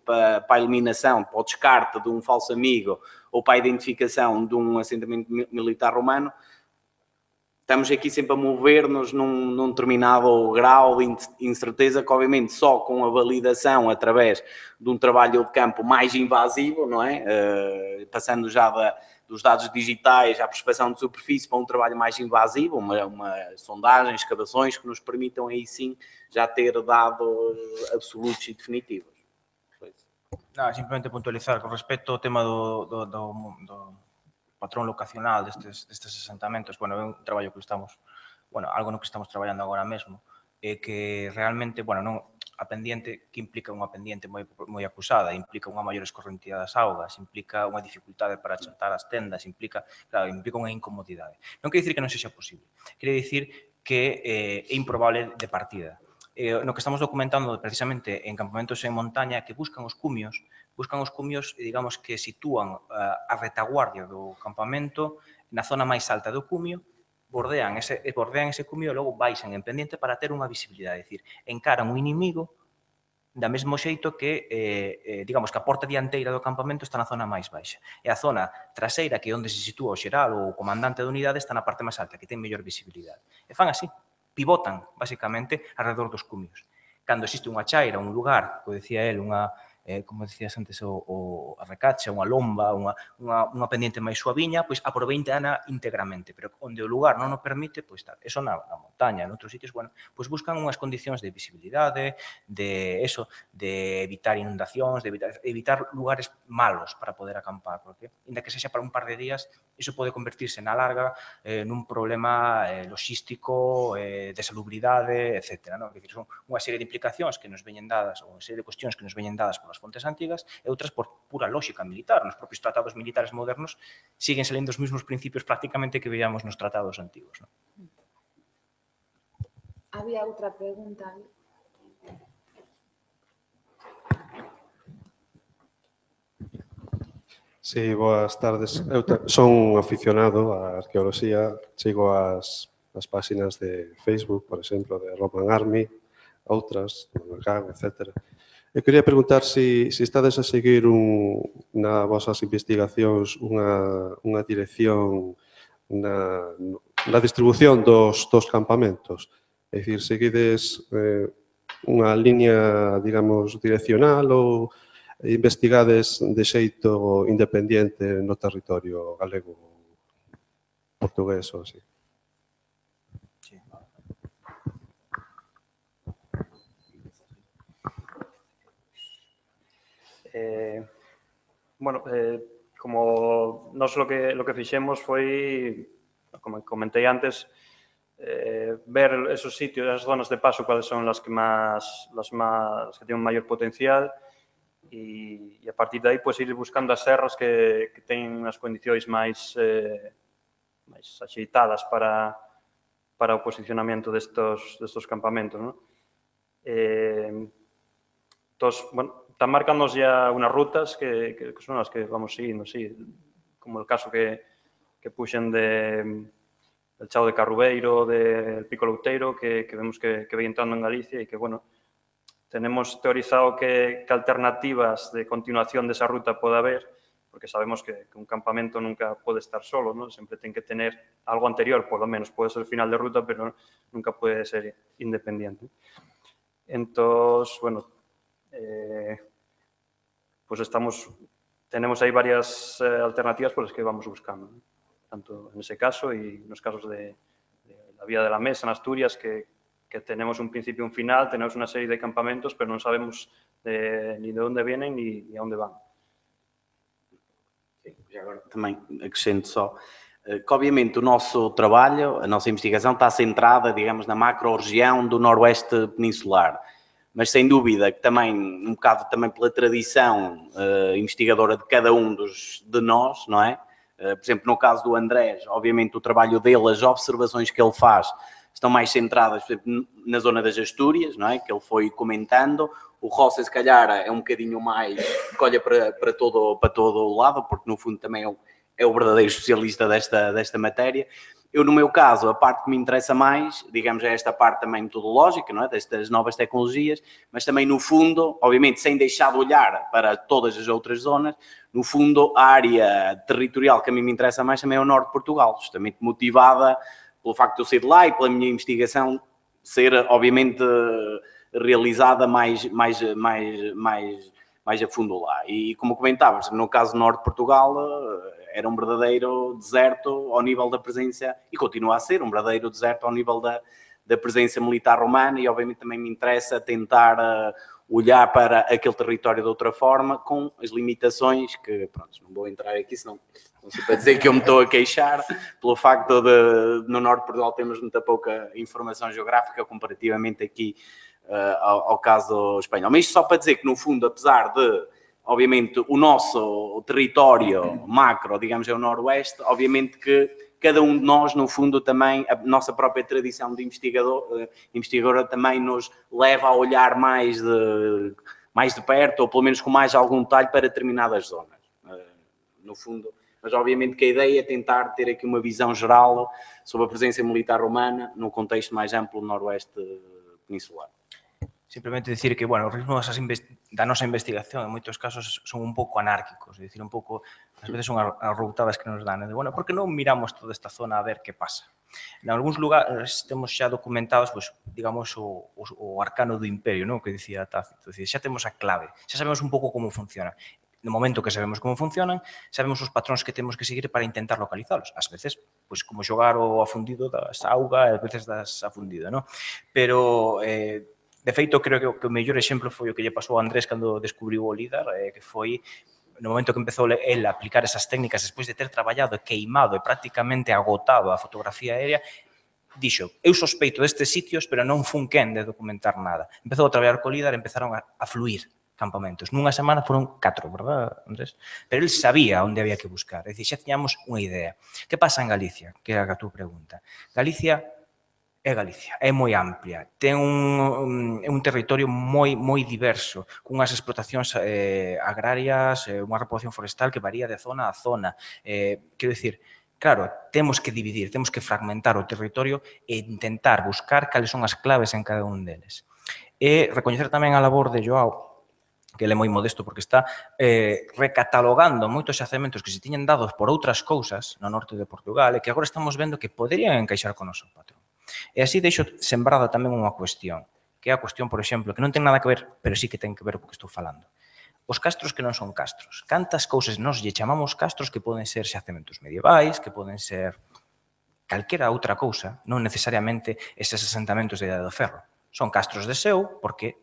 H: para, para a eliminação, para o descarte de um falso amigo ou para a identificação de um assentamento militar romano, estamos aqui sempre a mover-nos num, num determinado grau de incerteza que, obviamente, só com a validação através de um trabalho de campo mais invasivo, não é? Uh, passando já da, dos dados digitais à prospeção de superfície para um trabalho mais invasivo, uma, uma sondagem, escavações que nos permitam aí sim já ter dados absolutos e definitivos.
C: Não, simplemente puntualizar con respecto ao tema do, do, do, do patrón locacional destes, destes asentamentos. Bueno, é un traballo que estamos, bueno, algo no que estamos traballando agora mesmo, é que realmente, bueno, non, a pendiente que implica unha pendiente moi, moi acusada, implica unha maior escorrentía das augas, implica unha dificultade para achatar as tendas, implica, claro, implica unha incomodidade. Non quere dicir que non sexa posible, quere dicir que eh, é improbable de partida. Eh, no que estamos documentando precisamente en campamentos en montaña que buscan os cumios, buscan os cumios, digamos, que sitúan uh, a retaguardia do campamento na zona máis alta do cumio, bordean ese, bordean ese cumio e logo baixan en pendiente para ter unha visibilidade, é dicir, encaran un inimigo da mesmo xeito que, eh, eh, digamos, que a porta dianteira do campamento está na zona máis baixa. E a zona traseira, que é onde se sitúa o xeral ou o comandante da unidade, está na parte máis alta, que ten mellor visibilidade. E fan así, pivotan, basicamente, alrededor dos cumios. Cando existe unha chaira, un lugar, como decía él, unha, eh, como decías antes, o, o a recacha, unha lomba, unha, unha, unha pendiente máis suaviña, pois aproveitana íntegramente, pero onde o lugar non o permite, pois tal. Eso na, na montaña, en outros sitios, bueno, pois buscan unhas condicións de visibilidade, de eso, de evitar inundacións, de evitar, evitar lugares malos para poder acampar, porque, inda que sexa para un par de días, iso pode convertirse na larga eh, nun problema eh, logístico, eh, de salubridade, etcétera. ¿No? Decir, son unha serie de implicacións que nos veñen dadas, ou unha serie de cuestións que nos veñen dadas polas fontes antigas, e outras por pura lógica militar. Nos propios tratados militares modernos siguen salindo os mesmos principios prácticamente que veíamos nos tratados antigos. ¿No?
A: Había outra pregunta.
M: Sí, boas tardes. Eu son un aficionado á arqueoloxía, sigo as, as páxinas de Facebook, por exemplo, de Roman Army, outras, Manacán, etcétera. Eu quería preguntar se si, si estades a seguir un, na vosas investigacións unha, unha dirección na, na distribución dos, dos campamentos. É dicir, seguides eh, unha liña, digamos, direccional ou investigades de xeito independente no territorio galego, portugués ou así.
G: Eh, bueno, eh, como nos lo que, lo que fixemos foi, como comentei antes, eh, ver esos sitios, esas zonas de paso, cuáles son las que más, las más, que tienen un mayor potencial, y, y a partir de aí pues, ir buscando as serras que, que teñen as condicións máis, eh, máis axeitadas para, para o posicionamento destos, destos campamentos. ¿No? Eh, entonces, bueno, están marcándonos ya unas rutas que, que son las que vamos siguiendo, sí, como el caso que, que puxen de, del Chao de Carrubeiro, del Pico Louteiro, que, que vemos que, que ve entrando en Galicia y que, bueno, tenemos teorizado que, que alternativas de continuación de esa ruta puede haber, porque sabemos que, que un campamento nunca puede estar solo, ¿no? Siempre tiene que tener algo anterior, por lo menos puede ser el final de ruta, pero nunca puede ser independiente. Entonces, bueno, eh, pues estamos, tenemos ahí varias eh, alternativas por las que vamos buscando, ¿no? Tanto en ese caso y en los casos de, de la Vía de la Mesa en Asturias, que, que tenemos un principio y un final, tenemos una serie de campamentos, pero no sabemos de, ni de dónde vienen ni, ni a dónde van.
H: Já agora também acrescento só que, obviamente, o nosso trabalho, a nossa investigação está centrada, digamos, na macro-região do Noroeste Peninsular. Mas, sem dúvida, que também, um bocado também pela tradição uh, investigadora de cada um dos, de nós, não é? Uh, por exemplo, no caso do Andrés, obviamente, o trabalho dele, as observações que ele faz, estão mais centradas, por exemplo, na zona das Astúrias, não é? Que ele foi comentando. O Rossi, se calhar, é um bocadinho mais que olha para, para, todo, para todo o lado, porque no fundo também é o, é o verdadeiro especialista desta, desta matéria. Eu, no meu caso, a parte que me interessa mais, digamos, é esta parte também metodológica, não é? Destas novas tecnologias, mas também, no fundo, obviamente, sem deixar de olhar para todas as outras zonas, no fundo, a área territorial que a mim me interessa mais também é o norte de Portugal, justamente motivada pelo facto de eu ser de lá e pela minha investigação ser, obviamente, realizada mais, mais, mais, mais, mais a fundo lá. E, como comentavas, no caso do norte de Portugal, era um verdadeiro deserto ao nível da presença, e continua a ser um verdadeiro deserto ao nível da, da presença militar romana, e obviamente também me interessa tentar uh, olhar para aquele território de outra forma, com as limitações que, pronto, não vou entrar aqui, senão não sei para dizer que eu me estou a queixar, pelo facto de, no norte de Portugal termos muita pouca informação geográfica comparativamente aqui Uh, ao, ao caso espanhol. Mas isto só para dizer que, no fundo, apesar de, obviamente, o nosso território macro, digamos, é o noroeste, obviamente que cada um de nós, no fundo, também, a nossa própria tradição de investigador, uh, investigadora também nos leva a olhar mais de, mais de perto, ou pelo menos com mais algum detalhe para determinadas zonas. Uh, no fundo, mas obviamente que a ideia é tentar ter aqui uma visão geral sobre a presença militar romana num contexto mais amplo do noroeste peninsular.
C: Simplemente decir que, bueno, os ritmos da nosa investigación en moitos casos son un pouco anárquicos, é dicir, un pouco, ás veces son as routadas que nos dan, de, bueno, por que non miramos toda esta zona a ver que pasa? En algúns lugares temos xa documentados, pues, digamos, o, o, o arcano do imperio, ¿no? Que dicía Tácito, decir, xa temos a clave, xa sabemos un pouco como funciona. No momento que sabemos como funcionan, sabemos os patróns que temos que seguir para intentar localizalos. Ás veces, pois, como xogar o afundido das auga, ás veces das afundido, ¿no? Pero, eh, de feito, creo que o, que o mellor exemplo foi o que lle pasou a Andrés cando descubriu o LIDAR, eh, que foi no momento que empezou el a aplicar esas técnicas despois de ter traballado e queimado e prácticamente agotado a fotografía aérea, dixo, eu sospeito destes sitios, pero non fun quen de documentar nada. Empezou a traballar co LIDAR e empezaron a, a fluir campamentos. Nunha semana foron catro, verdad, Andrés? Pero el sabía onde había que buscar. É dicir, xa tiñamos unha idea. Que pasa en Galicia? Que é a túa pregunta. Galicia é Galicia, é moi amplia, ten un, un, un territorio moi moi diverso, cunhas explotacións eh, agrarias, eh, unha repoboación forestal que varía de zona a zona. Eh, quero dicir, claro, temos que dividir, temos que fragmentar o territorio e intentar buscar cales son as claves en cada un deles. E recoñecer tamén a labor de Joao, que ele é moi modesto porque está eh, recatalogando moitos xacementos que se tiñen dados por outras cousas no norte de Portugal e que agora estamos vendo que poderían encaixar con o noso patrón. E así deixo sembrada tamén unha cuestión, que é a cuestión, por exemplo, que non ten nada que ver, pero sí que ten que ver co que estou falando. Os castros que non son castros. Cantas cousas nos lle chamamos castros que poden ser xacementos medievais, que poden ser calquera outra cousa, non necesariamente eses asentamentos de Idade do Ferro. Son castros de seu porque,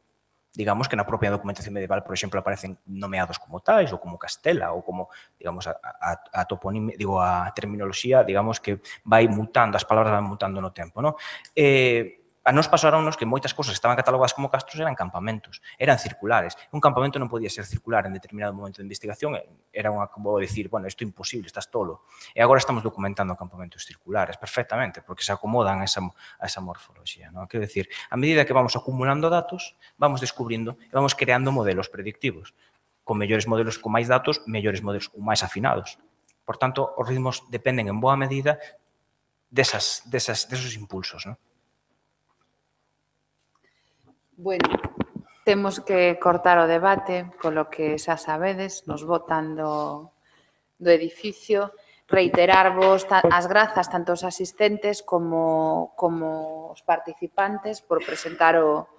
C: digamos que na propia documentación medieval, por exemplo, aparecen nomeados como tais ou como Castela ou como, digamos, a, a, a toponimia, digo, a terminoloxía, digamos, que vai mutando, as palabras van mutando no tempo, non? Eh, a nos pasaronnos que moitas cousas que estaban catalogadas como castros eran campamentos, eran circulares. Un campamento non podía ser circular en determinado momento de investigación, era unha, como decir, bueno, isto é imposible, estás tolo. E agora estamos documentando campamentos circulares perfectamente, porque se acomodan a esa, a esa morfoloxía, non? Quero decir, a medida que vamos acumulando datos, vamos descubrindo e vamos creando modelos predictivos. Con mellores modelos, con máis datos, mellores modelos ou máis afinados. Por tanto, os ritmos dependen en boa medida desas, desas, desos impulsos, non?
A: Bueno, temos que cortar o debate, polo que xa sabedes, nos botan do, do edificio, reiterarvos as grazas tanto aos asistentes como, como os participantes por presentar o,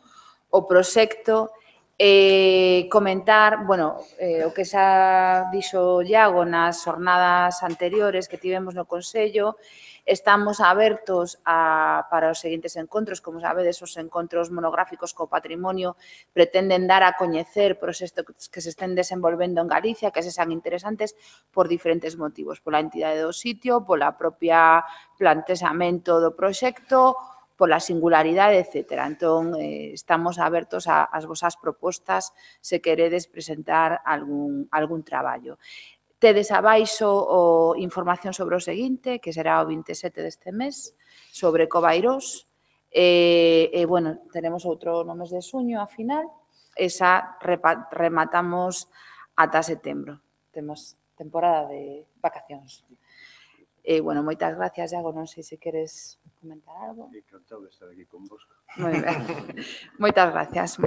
A: o proxecto e comentar, bueno, eh, o que xa dixo Iago nas jornadas anteriores que tivemos no Consello. Estamos abertos a, para os seguintes encontros. Como sabedes, os encontros monográficos co patrimonio pretenden dar a coñecer proxectos que se estén desenvolvendo en Galicia, que se sean interesantes por diferentes motivos, pola entidade do sitio, pola propia plantexamento do proxecto, pola singularidade, etcétera. Entón, eh, estamos abertos ás vosas propostas se queredes presentar algún, algún traballo. Tedes abaixo o información sobre o seguinte, que será o vinte e sete deste mes, sobre Covairós. E, e, bueno, tenemos outro no mes de xuño, a final. Esa rematamos ata setembro. Temos temporada de vacacións. E, bueno, moitas gracias, Iago. Non sei se queres comentar algo.
J: Encantado de estar aquí con vos.
A: Moi ben. Moitas gracias.